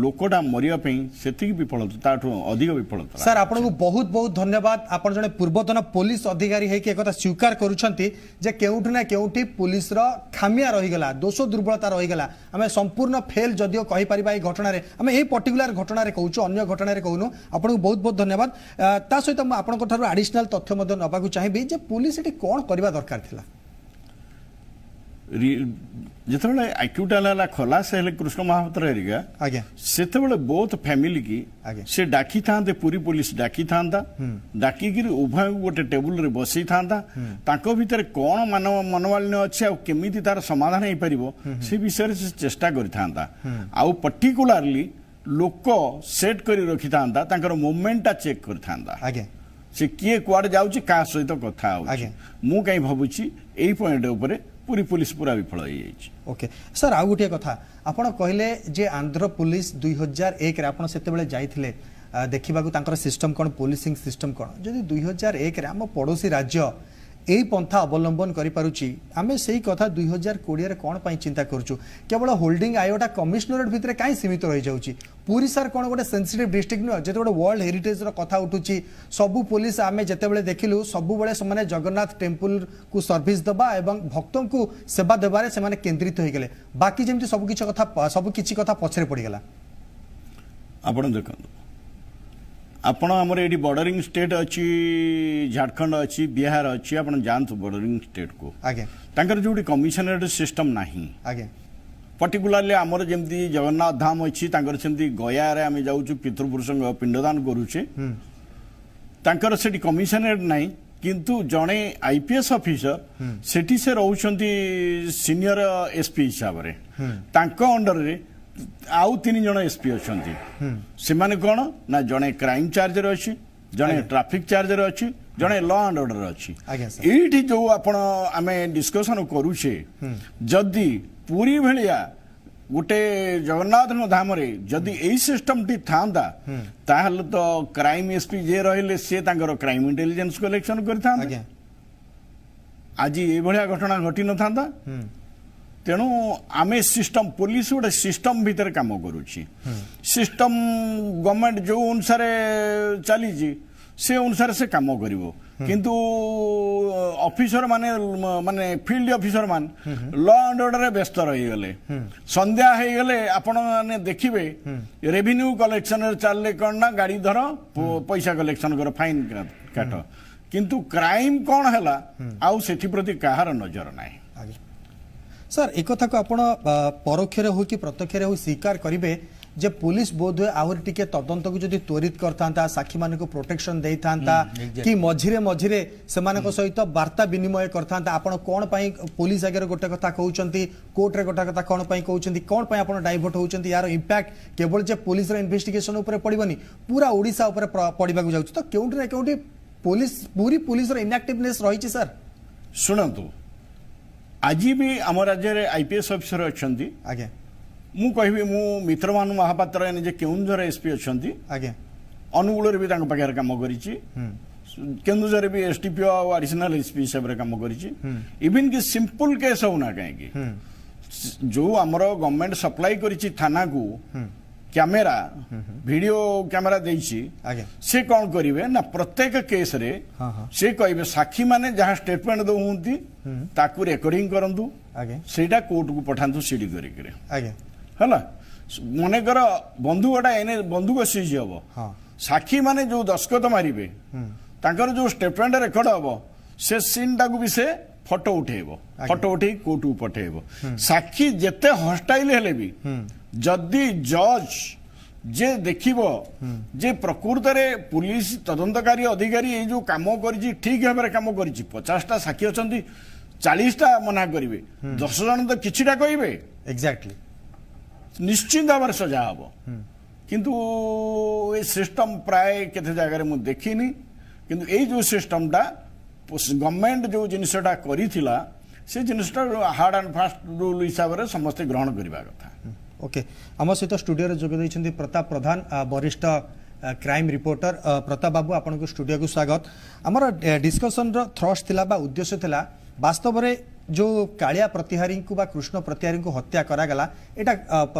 ଲୋକଟା ମରିବା ପାଇଁ ସେତିକି ବିଫଳତା, ତାଠୁ ଅଧିକ ବିଫଳତା। ସାର୍, ଆପଣଙ୍କୁ ବହୁତ ବହୁତ ଧନ୍ୟବାଦ। ଆପଣ ଜଣେ ପୂର୍ବତନ ପୋଲିସ ଅଧିକାରୀ ହେଇକି ଏକଥା ସ୍ୱୀକାର କରୁଛନ୍ତି ଯେ କେଉଁଠି ନା କେଉଁଠି ପୋଲିସର ଖାମିଆ ରହିଗଲା, ଦୋଷ ଦୁର୍ବଳତା ରହିଗଲା। ଆମେ ସମ୍ପୂର୍ଣ୍ଣ ଫେଲ୍ ଯଦିଓ କହିପାରିବା ଏଇ ଘଟଣାରେ, ଆମେ ଏଇ ପର୍ଟିକୁଲାର ଘଟଣାରେ କହୁଛୁ, ଅନ୍ୟ ଘଟଣାରେ କହୁନୁ। ଆପଣଙ୍କୁ ବହୁତ ବହୁତ ଧନ୍ୟବାଦ। ତା ସହିତ ମୁଁ ଆପଣଙ୍କ ଠାରୁ ଆଡିସନାଲ ତଥ୍ୟ ମଧ୍ୟ ନେବାକୁ ଚାହିଁବି ଯେ ପୋଲିସ ଏଠି କ'ଣ କରିବା ଦରକାର ଥିଲା। ଯେତେବେଳେ ଆକ୍ୟୁଟାଲ ହେଲା, ଖଲାସ ହେଲେ କୃଷ୍ଣ ମହାପାତ୍ର ହେରିକା, ସେତେବେଳେ ବୋଥ ଫ୍ୟାମିଲି କି ସେ ଡାକିଥାନ୍ତେ, ପୁରୀ ପୋଲିସ ଡାକିଥାନ୍ତା, ଡାକିକିରି ଉଭୟଙ୍କୁ ଗୋଟେ ଟେବୁଲରେ ବସେଇଥାନ୍ତା, ତାଙ୍କ ଭିତରେ କ'ଣ ମନମାଳିନ୍ୟ ଅଛି ଆଉ କେମିତି ତାର ସମାଧାନ ହେଇପାରିବ ସେ ବିଷୟରେ ସେ ଚେଷ୍ଟା କରିଥାନ୍ତା। ଆଉ ପର୍ଟିକୁଲାରଲି ଲୋକ ସେଟ୍ କରି ରଖିଥାନ୍ତା, ତାଙ୍କର ମୁଭମେଣ୍ଟଟା ଚେକ୍ କରିଥାନ୍ତା, ସେ କିଏ କୁଆଡେ ଯାଉଛି, କାହା ସହିତ କଥା ହଉଛି। ମୁଁ କାହିଁ ଭାବୁଛି ଏଇ ପଏଣ୍ଟ ଉପରେ ପୁରୀ ପୋଲିସ ପୁରା ବିଫଳ ହେଇଯାଇଛି। ଓକେ ସାର୍, ଆଉ ଗୋଟିଏ କଥା, ଆପଣ କହିଲେ ଯେ ଆନ୍ଧ୍ର ପୋଲିସ 2001ରେ ଆପଣ ସେତେବେଳେ ଯାଇଥିଲେ ଦେଖିବାକୁ ତାଙ୍କର ସିଷ୍ଟମ କ'ଣ, ପୋଲିସିଂ ସିଷ୍ଟମ କ'ଣ। ଯଦି 2001ରେ ଆମ ପଡ଼ୋଶୀ ରାଜ୍ୟ ଏଇ ପନ୍ଥା ଅବଲମ୍ବନ କରିପାରୁଛି, ଆମେ ସେଇ କଥା 2020ରେ କ'ଣ ପାଇଁ ଚିନ୍ତା କରୁଛୁ? କେବଳ ହୋଲ୍ଡିଂ ଆୟୋଟା କମିଶନରେଟ୍ ଭିତରେ କାହିଁ ସୀମିତ ରହିଯାଉଛି? ପୁରୀ ସାର୍ କ'ଣ ଗୋଟେ ସେନ୍ସିଟିଭ୍ ଡିଷ୍ଟ୍ରିକ୍ଟ ନୁହେଁ? ଯେତେ ଗୋଟେ ୱାର୍ଲଡ ହେରିଟେଜ୍ର କଥା ଉଠୁଛି, ସବୁ ପୋଲିସ ଆମେ ଯେତେବେଳେ ଦେଖିଲୁ ସବୁବେଳେ ସେମାନେ ଜଗନ୍ନାଥ ଟେମ୍ପୁଲକୁ ସର୍ଭିସ ଦେବା ଏବଂ ଭକ୍ତଙ୍କୁ ସେବା ଦେବାରେ ସେମାନେ କେନ୍ଦ୍ରିତ ହୋଇଗଲେ, ବାକି ଯେମିତି ସବୁ କିଛି କଥା ପଛରେ ପଡ଼ିଗଲା। ଆପଣ ଦେଖନ୍ତୁ, ଆପଣ ଆମର ଏଇଠି ବର୍ଡରିଂ ଷ୍ଟେଟ୍ ଅଛି, ଝାଡ଼ଖଣ୍ଡ ଅଛି, ବିହାର ଅଛି, ଆପଣ ଯାଆନ୍ତୁ ବର୍ଡରିଂ ଷ୍ଟେଟ୍କୁ, ଆଜ୍ଞା, ତାଙ୍କର ଯୋଉଠି କମିଶନରେଟ୍ ସିଷ୍ଟମ ନାହିଁ, ଆଜ୍ଞା, ପର୍ଟିକୁଲାରଲି ଆମର ଯେମିତି ଜଗନ୍ନାଥ ଧାମ ଅଛି, ତାଙ୍କର ସେମିତି ଗୟାରେ ଆମେ ଯାଉଛୁ ପିତୃପୁରୁଷଙ୍କ ପିଣ୍ଡଦାନ କରୁଛେ, ତାଙ୍କର ସେଠି କମିଶନରେଟ୍ ନାହିଁ, କିନ୍ତୁ ଜଣେ ଆଇପିଏସ୍ ଅଫିସର ସେଠି ସେ ରହୁଛନ୍ତି ସିନିୟର ଏସ୍ପି ହିସାବରେ, ତାଙ୍କ ଅଣ୍ଡରରେ ଆଉ 3 ଜଣ ଏସ୍ପି ଅଛନ୍ତି। ସେମାନେ କ'ଣ ନା ଜଣେ କ୍ରାଇମ୍ ଚାର୍ଜରେ ଅଛି, ଜଣେ ଟ୍ରାଫିକ୍ ଚାର୍ଜରେ ଅଛି, ଜଣେ ଲ ଆଣ୍ଡ ଅର୍ଡର ଅଛି। ଏଇଠି ଯୋଉ ଆପଣ ଆମେ ଡିସ୍କସନ କରୁଛେ, ଯଦି ପୁରୀ ଭଳିଆ ଗୋଟେ ଜଗନ୍ନାଥଙ୍କ ଧାମରେ ଯଦି ଏଇ ସିଷ୍ଟମଟି ଥାନ୍ତା, ତାହେଲେ ତ କ୍ରାଇମ୍ ଏସ୍ପି ଯିଏ ରହିଲେ ସିଏ ତାଙ୍କର କ୍ରାଇମ୍ ଇଣ୍ଟେଲିଜେନ୍ସ କଲେକ୍ସନ କରିଥାନ୍ତେ, ଆଜି ଏଇଭଳିଆ ଘଟଣା ଘଟିନଥାନ୍ତା। ତେଣୁ ଆମେ ସିଷ୍ଟମ, ପୋଲିସ ଗୋଟେ ସିଷ୍ଟମ ଭିତରେ କାମ କରୁଛି, ସିଷ୍ଟମ ଗଭର୍ଣ୍ଣମେଣ୍ଟ ଯୋଉ ଅନୁସାରେ ଚାଲିଛି ସେ ଅନୁସାରେ ସେ କାମ କରିବ, କିନ୍ତୁ ଅଫିସର ମାନେ, ମାନେ ଫିଲ୍ଡ ଅଫିସର ମାନେ ଲ ଆଣ୍ଡ ଅର୍ଡରରେ ବ୍ୟସ୍ତ ରହିଗଲେ। ସନ୍ଧ୍ୟା ହେଇଗଲେ ଆପଣ ମାନେ ଦେଖିବେ ରେଭିନ୍ୟୁ କଲେକ୍ସନରେ ଚାଲିଲେ କ'ଣ ନା ଗାଡ଼ି ଧର, ପଇସା କଲେକ୍ସନ କର, ଫାଇନ୍ କାଟ, କିନ୍ତୁ କ୍ରାଇମ୍ କ'ଣ ହେଲା ଆଉ ସେଥିପ୍ରତି କାହାର ନଜର ନାହିଁ। ସାର୍, ଏ କଥାକୁ ଆପଣ ପରୋକ୍ଷରେ ହଉ କି ପ୍ରତ୍ୟକ୍ଷରେ ହଉ ସ୍ୱୀକାର କରିବେ ଯେ ପୁଲିସ ବୋଧହୁଏ ଆହୁରି ଟିକେ ତଦନ୍ତକୁ ଯଦି ତ୍ୱରିତ କରିଥାନ୍ତା, ସାକ୍ଷୀମାନଙ୍କୁ ପ୍ରୋଟେକ୍ସନ ଦେଇଥାନ୍ତା, କି ମଝିରେ ମଝିରେ ସେମାନଙ୍କ ସହିତ ବାର୍ତ୍ତା ବିନିମୟ କରିଥାନ୍ତା, ଆପଣ କ'ଣ ପାଇଁ ପୋଲିସ ଆଗରେ ଗୋଟେ କଥା କହୁଛନ୍ତି, କୋର୍ଟରେ ଗୋଟେ କଥା କ'ଣ ପାଇଁ କହୁଛନ୍ତି, କ'ଣ ପାଇଁ ଆପଣ ଡାଇଭର୍ଟ ହେଉଛନ୍ତି, ୟାର ଇମ୍ପାକ୍ଟ କେବଳ ଯେ ପୋଲିସର ଇନଭେଷ୍ଟିଗେସନ ଉପରେ ପଡ଼ିବନି, ପୁରା ଓଡ଼ିଶା ଉପରେ ପଡ଼ିବାକୁ ଯାଉଛି। ତ କେଉଁଠି ନା କେଉଁଠି ପୋଲିସ, ପୁରୀ ପୋଲିସର ଇନ୍ଆକ୍ଟିଭନେସ୍ ରହିଛି ସାର୍। ଶୁଣନ୍ତୁ, ଆଜି ବି ଆମ ରାଜ୍ୟରେ ଆଇପିଏସ୍ ଅଫିସର ଅଛନ୍ତି, ଆଜ୍ଞା, ମୁଁ କହିବି ମୁଁ ମିତ୍ରଭାନୁ ମହାପାତ୍ର ନିଜେ କେଉଁଝର ଏସ୍ପି ଅଛନ୍ତି, ଆଜ୍ଞା, ଅନୁଗୁଳରେ ବି ତାଙ୍କ ପାଖରେ କାମ କରିଛି, କେନ୍ଦୁଝରରେ ବି ଏସ୍ଡିପିଓ ଆଉ ଆଡିସନାଲ ଏସ୍ପି ହିସାବରେ କାମ କରିଛି। ଇଭିନ୍ କି ସିମ୍ପଲ କେସ୍ ହଉନା କାହିଁକି, ଯୋଉ ଆମର ଗଭର୍ଣ୍ଣମେଣ୍ଟ ସପ୍ଲାଇ କରିଛି ଥାନାକୁ କ୍ୟାମେରା, ଭିଡିଓ କ୍ୟାମେରା ଦେଇଛି, ସେ କ'ଣ କରିବେ ନା ପ୍ରତ୍ୟେକ କେସ୍ରେ ସେ କହିବେ ସାକ୍ଷୀମାନେ ଯାହା ଷ୍ଟେଟମେଣ୍ଟ ଦେଉଛନ୍ତି ତାକୁ ରେକର୍ଡିଂ କରନ୍ତୁ, ସେଇଟା କୋର୍ଟକୁ ପଠାନ୍ତୁ ସିଡି କରିକିରି। ହେଲା, ମନେକର ବନ୍ଧୁକଟା ଏନେ ବନ୍ଧୁକ ସିଜ୍ ହବ, ସାକ୍ଷୀମାନେ ଯୋଉ ଦସ୍ତଖତ ମାରିବେ, ତାଙ୍କର ଯୋଉ ଷ୍ଟେଟମେଣ୍ଟ ରେକର୍ଡ ହବ, ସେ ସିନ୍ଟାକୁ ବି ସେ ଫଟୋ ଉଠେଇବ, ଫଟୋ ଉଠେଇ କୋର୍ଟକୁ ପଠେଇବ। ସାକ୍ଷୀ ଯେତେ ହଷ୍ଟାଇଲ ହେଲେ ବି ଯଦି ଜଜ୍ ଯେ ଦେଖିବ ଯେ ପ୍ରକୃତରେ ପୁଲିସ ତଦନ୍ତକାରୀ ଅଧିକାରୀ ଏଇ ଯୋଉ କାମ କରିଛି ଠିକ ଭାବରେ କାମ କରିଛି, 50ଟା ସାକ୍ଷୀ ଅଛନ୍ତି, 40ଟା ମନା କରିବେ, 10 ଜଣ ତ କିଛିଟା କହିବେ, ଏକ୍ଜାକ୍ଟଲି ନିଶ୍ଚିନ୍ତ ଭାବରେ ସଜା ହବ। କିନ୍ତୁ ଏ ସିଷ୍ଟମ ପ୍ରାୟ କେତେ ଜାଗାରେ ମୁଁ ଦେଖିନି, କିନ୍ତୁ ଏଇ ଯୋଉ ସିଷ୍ଟମଟା ଗଭର୍ଣ୍ଣମେଣ୍ଟ ଯୋଉ ଜିନିଷଟା କରିଥିଲା ସେ ଜିନିଷଟା ହାର୍ଡ ଆଣ୍ଡ ଫାଷ୍ଟ ରୁଲ୍ ହିସାବରେ ସମସ୍ତେ ଗ୍ରହଣ କରିବା କଥା। ଓକେ, ଆମ ସହିତ ଷ୍ଟୁଡିଓରେ ଯୋଗ ଦେଇଛନ୍ତି ପ୍ରତାପ ପ୍ରଧାନ, ବରିଷ୍ଠ କ୍ରାଇମ୍ ରିପୋର୍ଟର। ପ୍ରତାପ ବାବୁ, ଆପଣଙ୍କୁ ଷ୍ଟୁଡିଓକୁ ସ୍ୱାଗତ। ଆମର ଡିସ୍କସନର ଥ୍ରଷ୍ଟ ଥିଲା ବା ଉଦ୍ଦେଶ୍ୟ ଥିଲା ବାସ୍ତବରେ ଯେଉଁ କାଳିଆ ପ୍ରତିହାରୀଙ୍କୁ ବା କୃଷ୍ଣ ପ୍ରତିହାରୀଙ୍କୁ ହତ୍ୟା କରାଗଲା, ଏଇଟା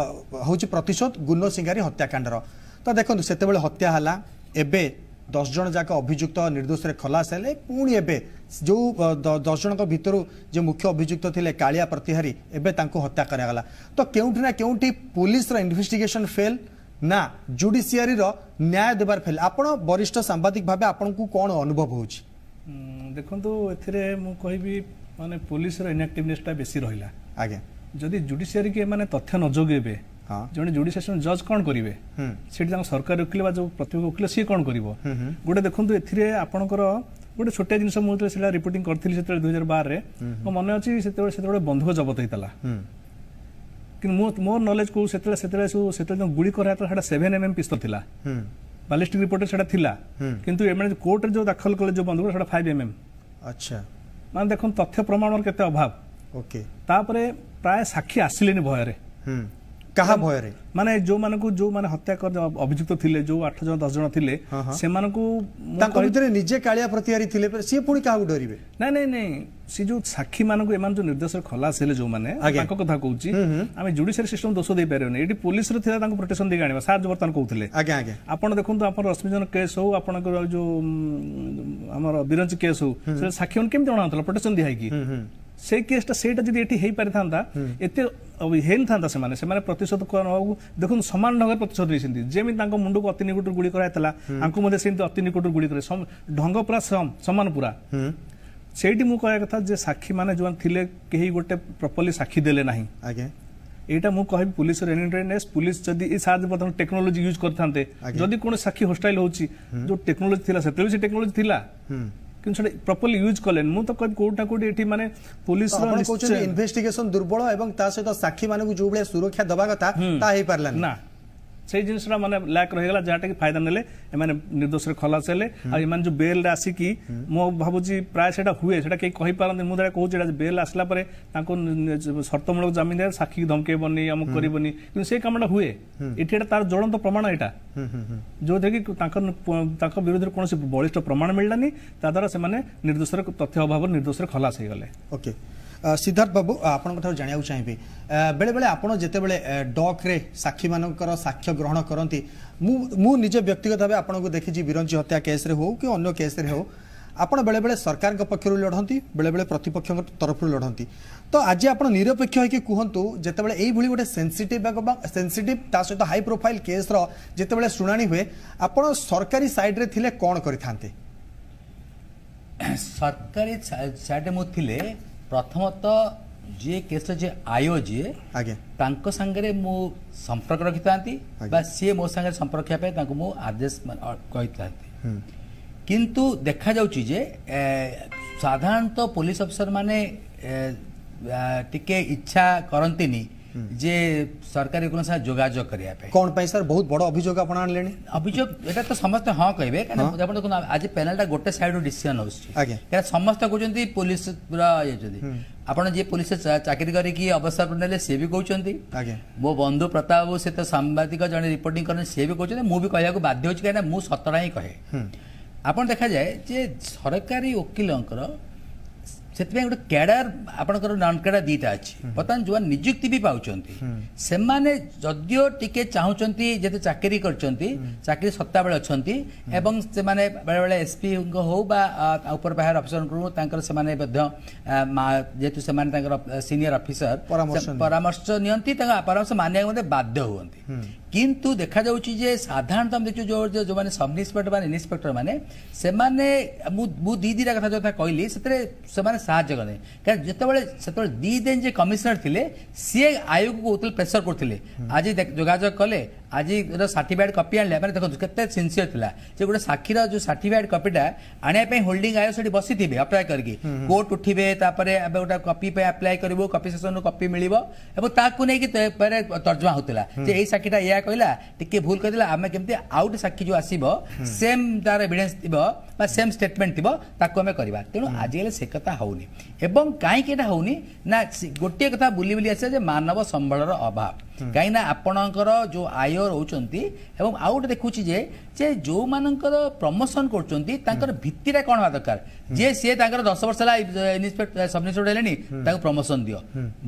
ହେଉଛି ପ୍ରତିଶୋଧ ଗୁନ ସିଂହାରୀ ହତ୍ୟାକାଣ୍ଡର। ତ ଦେଖନ୍ତୁ, ସେତେବେଳେ ହତ୍ୟା ହେଲା, ଏବେ 10 ଜଣ ଯାକ ଅଭିଯୁକ୍ତ ନିର୍ଦ୍ଦୋଷରେ ଖଲାସ ହେଲେ, ପୁଣି ଏବେ ଯେଉଁ 10 ଜଣଙ୍କ ଭିତରୁ ଯେ ମୁଖ୍ୟ ଅଭିଯୁକ୍ତ ଥିଲେ କାଳିଆ ପ୍ରତିହାରୀ, ଏବେ ତାଙ୍କୁ ହତ୍ୟା କରାଗଲା। ତ କେଉଁଠି ନା କେଉଁଠି ପୋଲିସର ଇନଭେଷ୍ଟିଗେସନ ଫେଲ୍ ନା ଜୁଡିସିଆରୀର ନ୍ୟାୟ ଦେବାର ଫେଲ୍? ଆପଣ ବରିଷ୍ଠ ସାମ୍ବାଦିକ ଭାବେ ଆପଣଙ୍କୁ କ'ଣ ଅନୁଭବ ହେଉଛି? ଦେଖନ୍ତୁ, ଏଥିରେ ମୁଁ କହିବି ମାନେ ପୋଲିସର ଇନ୍ଆକ୍ଟିଭନେସଟା ବେଶୀ ରହିଲା। ଆଜ୍ଞା, ଯଦି ଜୁଡିସିଆରୀକି ଏମାନେ ତଥ୍ୟ ନ ଯୋଗେଇବେ, ଜଣେ ଜୁଡିସିଆଲ ଜଜ୍ କ'ଣ କରିବେ? ସେଠି ତାଙ୍କ ସରକାରୀ ଓକିଲ ବା ଯୋଉ ପ୍ରତିପକ୍ଷ ଓକିଲ ସିଏ କ'ଣ କରିବ? ଗୋଟେ ଦେଖନ୍ତୁ, ଏଥିରେ ଆପଣଙ୍କର ଗୋଟେ ଛୋଟିଆ ଜିନିଷ, ମୁଁ ଯେତେବେଳେ ସେଇଟା ରିପୋର୍ଟିଂ କରିଥିଲି ସେତେବେଳେ 2012ରେ, ମୋ ମନେ ଅଛି ସେତେବେଳେ ବନ୍ଧୁକ ଜବତ ହେଇଥିଲା, କିନ୍ତୁ ମୁଁ ମୋର ନଲେଜ କହୁ ସେତେବେଳେ ସବୁ ସେତେବେଳେ ଯେଉଁ ଗୁଳି କରାଯାଇଥିଲା ସେଇଟା 7 mm ପିସ୍ତଲ ଥିଲା, ବାଲିଷ୍ଟିକ୍ ରିପୋର୍ଟରେ ସେଇଟା ଥିଲା, କିନ୍ତୁ ଏମାନେ କୋର୍ଟରେ ଯୋଉ ଦାଖଲ କଲେ ଯୋଉ ବନ୍ଧୁକ ସେଇଟା 5 mm। ଆଚ୍ଛା, ମାନେ ଦେଖନ୍ତୁ ତଥ୍ୟ ପ୍ରମାଣର କେତେ ଅଭାବ। ଓକେ, ତାପରେ ପ୍ରାୟ ସାକ୍ଷୀ ଆସିଲେନି ଭୟରେ। କାହା ଭୟରେ? ମାନେ ଯୋଉମାନଙ୍କୁ ଯୋଉମାନେ ହତ୍ୟା ଅଭିଯୁକ୍ତ ଥିଲେ, ଯୋଉ 8 ଜଣ 10 ଜଣ ଥିଲେ, ସେମାନଙ୍କୁ ତାଙ୍କ ଭିତରେ ନିଜେ କାଳିଆ ପ୍ରତିହାରୀ ଥିଲେ, ସିଏ ପୁଣି କାହାକୁ ଡରିବେ? ନାଇଁ ନାଇଁ ନାଇଁ, ସେ ଯୋଉ ସାକ୍ଷୀ ମାନଙ୍କୁ ଏମାନେ ଯୋଉ ନିର୍ଦ୍ଦେଶରେ ଖଲାସ ହେଲେ ଯୋଉମାନେ, ତାଙ୍କ କଥା କହୁଛି, ଆମେ ଜୁଡିସିଆରୀ ସିଷ୍ଟମ ଦୋଷ ଦେଇପାରିବାନି। ଏଠି ପୋଲିସର ଥିଲା ତାଙ୍କୁ ପ୍ରୋଟେକ୍ସନ ଦେଇକି ଆଣିବା। ସାର୍ ବର୍ତ୍ତମାନ କହୁଥିଲେ, ଆଜ୍ଞା ଆଜ୍ଞା, ଆପଣ ଦେଖନ୍ତୁ ଆପଣ ରଶ୍ମିଜନ କେସ୍ ହଉ, ଆପଣଙ୍କର ଯୋଉ ଆମର ବିରଞ୍ଚି କେସ୍ ହଉ, ସେ ସାକ୍ଷୀ ମାନେ କେମିତି ଅଣାଉଥିଲା ପ୍ରୋଟେକ୍ସନ ଦିଆ ହେଇକି। ସେଇ କେସ୍ଟା ସେଇଟା ଯଦି ଏଠି ହେଇପାରିଥାନ୍ତା ଏତେ ହେଇନଥାନ୍ତା। ସେମାନେ ସେମାନେ ପ୍ରତିଶୋଧ ନେବାକୁ ଦେଖନ୍ତୁ ସମାନ ଢଙ୍ଗରେ ପ୍ରତିଶୋଧ ନେଇଛନ୍ତି। ଯେମିତି ତାଙ୍କ ମୁଣ୍ଡକୁ ଅତି ନିକଟରୁ ଗୁଳି କରାଯାଇଥିଲା, ତାଙ୍କୁ ମଧ୍ୟ ସେମିତି ଅତି ନିକଟରୁ ଗୁଳି କରେ, ଢଙ୍ଗ ପୁରା ସମାନ ପୁରା। ସେଇଠି ମୁଁ କହିବା କଥା ଯେ ସାକ୍ଷୀମାନେ ଯେଉଁମାନେ ଥିଲେ କେହି ଗୋଟେ ପ୍ରପରଲି ସାକ୍ଷୀ ଦେଲେ ନାହିଁ। ଆଜ୍ଞା, ଏଇଟା ମୁଁ କହିବି ପୁଲିସର ଇନଟ୍ରେନେସ୍। ପୁଲିସ ଯଦି ଏଇ ସାହାଯ୍ୟ ବର୍ତ୍ତମାନ ଟେକ୍ନୋଲୋଜି ୟୁଜ୍ କରିଥାନ୍ତେ, ଯଦି କୌଣସି ସାକ୍ଷୀ ହୋଷ୍ଟାଇଲ ହେଉଛି, ଯୋଉ ଟେକ୍ନୋଲୋଜି ଥିଲା ସେତେବେଳେ ସେ ଟେକ୍ନୋଲୋଜି ଥିଲା, କିନ୍ତୁ ସେଟା ପ୍ରପରଲି ୟୁଜ୍ କଲେନି। ମୁଁ ତ କହିବି କୋଉଠି ନା କୋଉଠି ଏଠି ମାନେ ପୁଲିସର କହୁଛନ୍ତି ଇନଭେଷ୍ଟିଗେସନ ଦୁର୍ବଳ ଏବଂ ତା ସହିତ ସାକ୍ଷୀମାନଙ୍କୁ ଯୋଉ ଭଳିଆ ସୁରକ୍ଷା ଦେବା କଥା ତା ହେଇପାରିଲାନି ନା, ସେଇ ଜିନିଷଟା ମାନେ ଲ୍ୟାକ୍ ରହିଗଲା, ଯାହାଟା କି ଫାଇଦା ନେଲେ ଏମାନେ ନିର୍ଦ୍ଦୋଷରେ ଖଲାସ ହେଲେ। ଆଉ ଏମାନେ ଯୋଉ ବେଲ୍ରେ ଆସିକି, ମୁଁ ଭାବୁଛି ପ୍ରାୟ ସେଇଟା ହୁଏ, ସେଇଟା କେହି କହିପାରନ୍ତି, ମୁଁ ସେଇଟା କହୁଛି, ଏଇଟା ବେଲ୍ ଆସିଲା ପରେ ତାଙ୍କୁ ସର୍ତ୍ତମୂଳକ ଜାମିନ ଦିଆ, ସାକ୍ଷୀକି ଧମକେଇବନି, ଅମୁକ କରିବନି, କିନ୍ତୁ ସେଇ କାମଟା ହୁଏ ଏଠି। ଏଇଟା ତାର ଜ୍ୱଳନ୍ତ ପ୍ରମାଣ ଏଇଟା, ଯୋଉଥିରେ କି ତାଙ୍କ ବିରୁଦ୍ଧରେ କୌଣସି ବଳିଷ୍ଠ ପ୍ରମାଣ ମିଳିଲାନି, ତା ଦ୍ୱାରା ସେମାନେ ନିର୍ଦ୍ଦୋଷରେ ତଥ୍ୟ ଅଭାବରୁ ନିର୍ଦ୍ଦୋଷରେ ଖଲାସ ହେଇଗଲେ। ଓକେ, ସିଦ୍ଧାର୍ଥ ବାବୁ, ଆପଣଙ୍କ ଠାରୁ ଜାଣିବାକୁ ଚାହିଁବି, ବେଳେବେଳେ ଆପଣ ଯେତେବେଳେ ଡକ୍ରେ ସାକ୍ଷୀମାନଙ୍କର ସାକ୍ଷ୍ୟ ଗ୍ରହଣ କରନ୍ତି, ମୁଁ ନିଜେ ବ୍ୟକ୍ତିଗତ ଭାବେ ଆପଣଙ୍କୁ ଦେଖିଛି, ବିରଞ୍ଚି ହତ୍ୟା କେସ୍ରେ ହେଉ କି ଅନ୍ୟ କେସ୍ରେ ହେଉ, ଆପଣ ବେଳେବେଳେ ସରକାରଙ୍କ ପକ୍ଷରୁ ଲଢ଼ନ୍ତି, ବେଳେବେଳେ ପ୍ରତିପକ୍ଷଙ୍କ ତରଫରୁ ଲଢ଼ନ୍ତି। ତ ଆଜି ଆପଣ ନିରପେକ୍ଷ ହେଇକି କୁହନ୍ତୁ, ଯେତେବେଳେ ଏଇଭଳି ଗୋଟେ ସେନ୍ସିଟିଭ୍ ଏବଂ ସେନ୍ସିଟିଭ୍ ତା ସହିତ ହାଇ ପ୍ରୋଫାଇଲ୍ କେସ୍ର ଯେତେବେଳେ ଶୁଣାଣି ହୁଏ, ଆପଣ ସରକାରୀ ସାଇଡ୍ରେ ଥିଲେ କ'ଣ କରିଥାନ୍ତେ? ସରକାରୀ ସାଇଡ୍ରେ ମୁଁ ଥିଲେ ପ୍ରଥମତଃ ଯିଏ କେସ୍ର ଯିଏ ଆୟୋ ଯିଏ, ଆଜ୍ଞା, ତାଙ୍କ ସାଙ୍ଗରେ ମୁଁ ସମ୍ପର୍କ ରଖିଥାନ୍ତି ବା ସିଏ ମୋ ସାଙ୍ଗରେ ସମ୍ପର୍କ ରଖିବା ପାଇଁ ତାଙ୍କୁ ମୁଁ ଆଦେଶ କହିଥାନ୍ତି। କିନ୍ତୁ ଦେଖାଯାଉଛି ଯେ ସାଧାରଣତଃ ପୋଲିସ ଅଫିସର ମାନେ ଟିକେ ଇଚ୍ଛା କରନ୍ତିନି ଯେ ସରକାରୀ ଓକିଲଙ୍କ ସାଙ୍ଗେ ଯୋଗାଯୋଗ କରିବା ପାଇଁ। କ'ଣ ପାଇଁ ସାର୍? ବହୁତ ବଡ଼ ଅଭିଯୋଗ ଆପଣ ଆଣିଲେଣି। ଅଭିଯୋଗ ଏଇଟା ତ ସମସ୍ତେ ହଁ କହିବେ, କାହିଁକିନା ଆପଣ ଦେଖନ୍ତୁ ଆଜି ପ୍ୟାନେଲଟା ଗୋଟେ ସାଇଡରୁ ଡିସିସନ ଆସୁଛି, କାହିଁକିନା ସମସ୍ତେ କହୁଛନ୍ତି ପୋଲିସର ଇଏ। ଆପଣ ଯିଏ ପୋଲିସ ଚାକିରି କରିକି ଅବସର ନେଲେ ସିଏ ବି କହୁଛନ୍ତି, ମୋ ବନ୍ଧୁ ପ୍ରତାପ ବାବୁ ସେ ତ ସାମ୍ବାଦିକ ଜଣେ ରିପୋର୍ଟିଂ କରନ୍ତି, ସିଏ ବି କହୁଛନ୍ତି, ମୁଁ ବି କହିବାକୁ ବାଧ୍ୟ ହେଉଛି, କାହିଁକିନା ମୁଁ ସତଟା ହିଁ କହେ। ଆପଣ ଦେଖାଯାଏ ଯେ ସରକାରୀ ଓକିଲଙ୍କର ସେଥିପାଇଁ ଗୋଟେ କ୍ୟାଡର, ଆପଣଙ୍କର ନନ୍ କ୍ୟାଡର ଦୁଇଟା ଅଛି। ବର୍ତ୍ତମାନ ଯେଉଁମାନେ ନିଯୁକ୍ତି ବି ପାଉଛନ୍ତି ସେମାନେ ଯଦିଓ ଟିକେ ଚାହୁଁଛନ୍ତି, ଯେତେ ଚାକିରି କରିଛନ୍ତି ଚାକିରି ସତ୍ତାବେଳେ ଅଛନ୍ତି ଏବଂ ସେମାନେ ବେଳେବେଳେ ଏସ୍ପିଙ୍କ ହଉ ବା ଉପର ପାହାର ଅଫିସରଙ୍କୁ ତାଙ୍କର ସେମାନେ ମଧ୍ୟ ଯେହେତୁ ସେମାନେ ତାଙ୍କର ସିନିୟର ଅଫିସର ପରାମର୍ଶ ନିଅନ୍ତି, ତାଙ୍କ ପରାମର୍ଶ ମାନିବାକୁ ମଧ୍ୟ ବାଧ୍ୟ ହୁଅନ୍ତି। କିନ୍ତୁ ଦେଖାଯାଉଛି ଯେ ସାଧାରଣତଃ ଆମେ ଦେଖୁଛୁ ଯେଉଁ ଯେଉଁମାନେ ସବ୍ ଇନ୍ସପେକ୍ଟର ମାନେ ଇନ୍ସପେକ୍ଟର ମାନେ ସେମାନେ, ମୁଁ ଦୁଇ ଦୁଇଟା କଥା ଯୋଉ କହିଲି ସେଥିରେ ସେମାନେ ସାହାଯ୍ୟ କଲେ, କାରଣ ଯେତେବେଳେ ସେତେବେଳେ ଦୁଇ ଦିନ ଯେ କମିଶନର ଥିଲେ ସିଏ ଆୟୋଗକୁ କହୁଥିଲେ, ପ୍ରେସର କରୁଥିଲେ, ଆଜି ଯୋଗାଯୋଗ କଲେ, ଆଜିର ସାର୍ଟିଫିକେଟ୍ କପି ଆଣିଲେ। ମାନେ ଦେଖନ୍ତୁ କେତେ ସିନସିୟର ଥିଲା ଯେ ଗୋଟେ ସାକ୍ଷୀର ଯୋଉ ସାର୍ଟିଫିକେଟ୍ କପିଟା ଆଣିବା ପାଇଁ ହୋଲ୍ଡିଂ ଆୟୋଗ ସେଠି ବସିଥିବେ ଅପେକ୍ଷା କରିକି, କୋର୍ଟ ଉଠିବେ, ତାପରେ ଏବେ ଗୋଟେ କପି ପାଇଁ ଆପ୍ଲାଏ କରିବୁ, କପି ସେସନରୁ କପି ମିଳିବ ଏବଂ ତାକୁ ନେଇକି ପରେ ତର୍ଜମା ହଉଥିଲା ଯେ ଏଇ ସାକ୍ଷୀଟା ଏଇଆ କହିଲା, ଟିକେ ଭୁଲ କହିଦେଲା, ଆମେ କେମିତି ଆଉ ଗୋଟେ ସାକ୍ଷୀ ଯୋଉ ଆସିବ ସେମ୍ ତାର ଏଭିଡେନ୍ସ ଥିବ ବା ସେମ୍ ଷ୍ଟେଟମେଣ୍ଟ ଥିବ ତାକୁ ଆମେ କରିବା। ତେଣୁ ଆଜିକାଲି ସେ କଥା ହଉନି। ଏବଂ କାହିଁକି ଏଇଟା ହଉନି ନା ଗୋଟିଏ କଥା ବୁଲି ବୁଲି ଆସିବା ଯେ ମାନବ ସମ୍ବଳର ଅଭାବ, କାହିଁକିନା ଆପଣଙ୍କର ଯୋଉ ଆୟ ରହୁଛନ୍ତି। ଏବଂ ଆଉ ଗୋଟେ ଦେଖୁଛି ଯେ ଯେଉଁମାନଙ୍କର ପ୍ରମୋସନ କରୁଛନ୍ତି ତାଙ୍କର ଭିତ୍ତିଟା କ'ଣ ହେବା ଦରକାର, ଯେ ସିଏ ତାଙ୍କର 10 ବର୍ଷ ହେଲା ଇନ୍ସପେକ୍ଟର ସବ୍ ଇନ୍ସପେକ୍ଟର ହେଲେଣି ତାଙ୍କୁ ପ୍ରମୋସନ ଦିଅ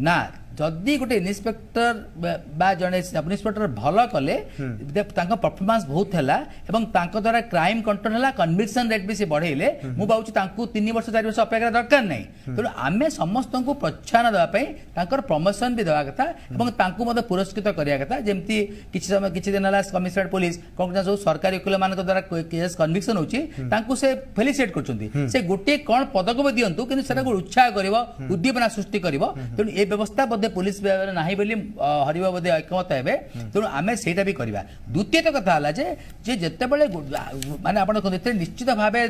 ନା। ଯଦି ଗୋଟେ ଇନ୍ସପେକ୍ଟର ବା ଜଣେ ସବ୍ ଇନ୍ସପେକ୍ଟର ଭଲ କଲେ, ତାଙ୍କ ପରଫର୍ମାନ୍ସ ବହୁତ ହେଲା ଏବଂ ତାଙ୍କ ଦ୍ୱାରା କ୍ରାଇମ୍ କଣ୍ଟ୍ରୋଲ ହେଲା, କନଭିକ୍ସନ ରେଟ୍ ବି ସେ ବଢ଼େଇଲେ, ମୁଁ ଭାବୁଛି ତାଙ୍କୁ 3 ବର୍ଷ 4 ବର୍ଷ ଅପେକ୍ଷା ଦରକାର ନାହିଁ। ତେଣୁ ଆମେ ସମସ୍ତଙ୍କୁ ପ୍ରୋତ୍ସାହନ ଦେବା ପାଇଁ ତାଙ୍କର ପ୍ରମୋସନ ବି ଦେବା କଥା ଏବଂ ତାଙ୍କୁ ମଧ୍ୟ ପୁରସ୍କୃତ କରିବା କଥା। ଯେମିତି କିଛି ସମୟ କିଛି ଦିନ ହେଲା କମିଶନରେଟ୍ ପୋଲିସ କ'ଣ ସବୁ ସରକାରୀ ଓକିଲମାନଙ୍କ ଦ୍ୱାରା କେସ୍ କନଭିକ୍ସନ ହେଉଛି ତାଙ୍କୁ ସେ ଫେଲିସିଟେଟ୍ କରୁଛନ୍ତି, ସେ ଗୋଟିଏ କ'ଣ ପଦକ୍ଷେପ ଦିଅନ୍ତୁ କିନ୍ତୁ ସେଟାକୁ ଉତ୍ସାହ କରିବ, ଉଦ୍ଦୀପନା ସୃଷ୍ଟି କରିବ। ତେଣୁ ଏ ବ୍ୟବସ୍ଥା ବୋଧେ ପୋଲିସ ନାହିଁ ବୋଲି ହରିବ ବୋଧେ ଏକମତ ହେବେ, ତେଣୁ ଆମେ ସେଇଟା ବି କରିବା। ଦ୍ୱିତୀୟତ କଥା ହେଲା ଯେ ଯେତେବେଳେ ମାନେ ଆପଣ ଦେଖନ୍ତୁ ଏଥିରେ ନିଶ୍ଚିତ ଭାବେ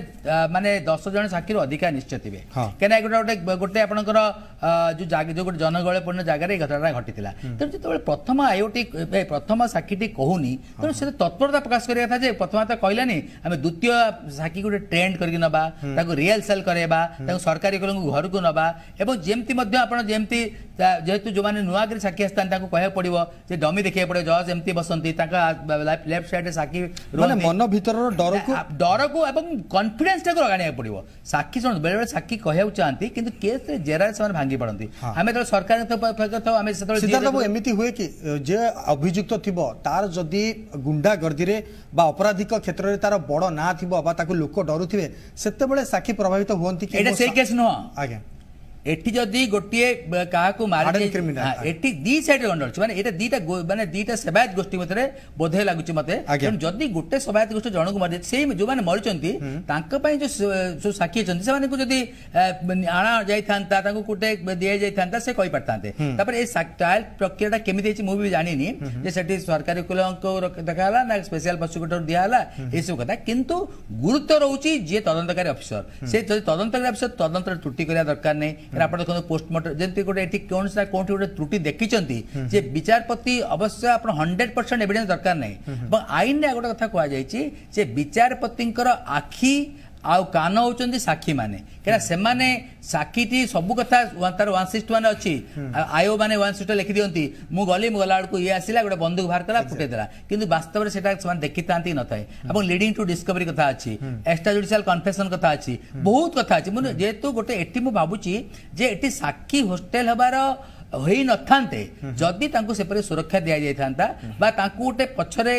ମାନେ 10 ଜଣ ସାକ୍ଷୀରୁ ଅଧିକା ନିଶ୍ଚୟ ଥିବେ, କାହିଁକିନା ଗୋଟେ ଗୋଟେ ଆପଣଙ୍କର ଯୋଉ ଯୋଉ ଗୋଟେ ଜନଗହଳିପୂର୍ଣ୍ଣ ଜାଗାରେ ଏଇ ଘଟଣାଟା ଘଟିଥିଲା। ତେଣୁ ଯେତେବେଳେ ପ୍ରଥମ ଆୟୋଟି ପ୍ରଥମ ସାକ୍ଷୀଟି କହୁନି, ତେଣୁ ସେ ତତ୍ପରତା ପ୍ରକାଶ କରିବା କଥା ଯେ ପ୍ରଥମ ତ କହିଲାନି, ଆମେ ଦ୍ୱିତୀୟ ସାକ୍ଷୀ ଗୋଟେ ଟ୍ରେଣ୍ଡ କରିକି ନେବା, ତାକୁ ରିହର୍ସାଲ କରାଇବା, ତାକୁ ସରକାରୀ ଓକିଲଙ୍କୁ ଘରକୁ ନେବା। ଏବଂ ଯେମିତି ମଧ୍ୟ ଆପଣ ଯେମିତି ଯେହେତୁ ଯେଉଁମାନେ ନୂଆ କରି ସାକ୍ଷୀ ଆସିଥାନ୍ତି ତାଙ୍କୁ କହିବାକୁ ପଡ଼ିବ ଯେ ଡମି ଦେଖିବାକୁ ପଡ଼ିବ, ଜଜ୍ ଏମିତି ବସନ୍ତି, ତାଙ୍କ ଲେଫ୍ଟ ସାଇଡ୍ରେ ସାକ୍ଷୀ, ମନ ଭିତରର ଡରକୁ ଡରକୁ ଏବଂ କନଫିଡେନ୍ସଟାକୁ ଆଣିବାକୁ ପଡ଼ିବ। ସାକ୍ଷୀ ଶୁଣନ୍ତୁ, ବେଳେବେଳେ ସାକ୍ଷୀ କହିବାକୁ ଚାହାନ୍ତି କିନ୍ତୁ କେସ୍ରେ ଜେରାରେ ସେମାନେ ଭାଙ୍ଗି ପଡ଼ନ୍ତି। ଆମେ ଯେତେବେଳେ ସରକାରଙ୍କ ଥାଉ ଆମେ ସେତେବେଳେ ଏମିତି ହୁଏ କି ଯେ ଅଭିଯୁକ୍ତ ଥିବ ତାର ଯଦି ଗୁଣ୍ଡାଗର୍ଦ୍ଦିରେ ବା ଅପରାଧିକ କ୍ଷେତ୍ରରେ ତାର ବଡ଼ ନାଁ ଥିବ ବା ତାକୁ ଲୋକ ଡରୁଥିବେ, ସେତେବେଳେ ସାକ୍ଷୀ ପ୍ରଭାବିତ ହୁଅନ୍ତି କି? ଏଇଟା ସେଇ କେସ୍ ନୁହଁ ଆଜ୍ଞା, ଏଠି ଯଦି ଗୋଟିଏ କାହାକୁ ମାରି ଏଠି ଦି ସାଇଡରେ ଗଣ୍ଡଗୋଳ ଅଛି, ମାନେ ଏଇଟା ଦିଟା ମାନେ ଦିଟା ସେବାୟତ ଗୋଷ୍ଠୀ ମଧ୍ୟରେ ବୋଧେ ଲାଗୁଛି ମତେ। ତେଣୁ ଯଦି ଗୋଟେ ସେବାୟତ ଗୋଷ୍ଠୀ ଜଣକୁ ମାରି, ସେଇ ଯୋଉମାନେ ମରିଛନ୍ତି ତାଙ୍କ ପାଇଁ ଯୋଉ ସାକ୍ଷୀ ଅଛନ୍ତି ସେମାନଙ୍କୁ ଯଦି ଆଣା ଯାଇଥାନ୍ତା, ତାଙ୍କୁ ଗୋଟେ ଦିଆଯାଇଥାନ୍ତା, ସେ କହିପାରିଥାନ୍ତେ। ତାପରେ ଏ ଟ୍ରାଏଲ ପ୍ରକ୍ରିୟାଟା କେମିତି ହେଇଛି ମୁଁ ବି ଜାଣିନି, ଯେ ସେଠି ସରକାରୀ ଓକିଲଙ୍କୁ ଦେଖାହେଲା ନା ସ୍ପେଶାଲ ପ୍ରସିକ୍ୟୁଟର ଦିଆହେଲା, ଏସବୁ କଥା। କିନ୍ତୁ ଗୁରୁତ୍ୱ ରହୁଛି ଯିଏ ତଦନ୍ତକାରୀ ଅଫିସର, ସେ ଯଦି ତଦନ୍ତକାରୀ ଅଫିସର ତଦନ୍ତରେ ତ୍ରୁଟି କରିବା ଦରକାର ନାହିଁ। ଆପଣ ଦେଖନ୍ତୁ ପୋଷ୍ଟମର୍ଟମ ଯେମିତି ଗୋଟେ ଏଠି କୌଣସି ନା କୋଉଠି ଗୋଟେ ତ୍ରୁଟି ଦେଖିଛନ୍ତି ଯେ ବିଚାରପତି, ଅବଶ୍ୟ ଆପଣ 100% ଏଭିଡେନ୍ସ ଦରକାର ନାହିଁ। ଏବଂ ଆଇନରେ ଗୋଟେ କଥା କୁହାଯାଇଛି ଯେ ବିଚାରପତିଙ୍କର ଆଖି ଆଉ କାନ ହଉଛନ୍ତି ସାକ୍ଷୀ ମାନେ, କାହିଁକିନା ସେମାନେ ସାକ୍ଷୀଟି ସବୁ କଥା ତାର 161 ଅଛି, ଆୟୋ ମାନେ 161 ଲେଖିଦିଅନ୍ତି, ମୁଁ ଗଲି, ମୁଁ ଗଲା ବେଳକୁ ଇଏ ଆସିଲା, ଗୋଟେ ବନ୍ଧୁକ ବାହାର କଲା, ଫୁଟେଇ ଦେଲା, କିନ୍ତୁ ବାସ୍ତବରେ ସେଟା ସେମାନେ ଦେଖିଥାନ୍ତି ନଥାଏ। ଏବଂ ଲିଡିଂ ଟୁ ଡିସ୍କଭରି କଥା ଅଛି, ଏକ୍ସଟ୍ରା ଜୁଡିସିଆଲ କନଫେସନ କଥା ଅଛି, ବହୁତ କଥା ଅଛି। ମୁଁ ଯେହେତୁ ଗୋଟେ ଏଠି ମୁଁ ଭାବୁଛି ଯେ ଏଠି ସାକ୍ଷୀ ହୋଷ୍ଟେଲ ହେବାର ହୋଇନଥାନ୍ତେ ଯଦି ତାଙ୍କୁ ସେପରି ସୁରକ୍ଷା ଦିଆଯାଇଥାନ୍ତା ବା ତାଙ୍କୁ ଗୋଟେ ପଛରେ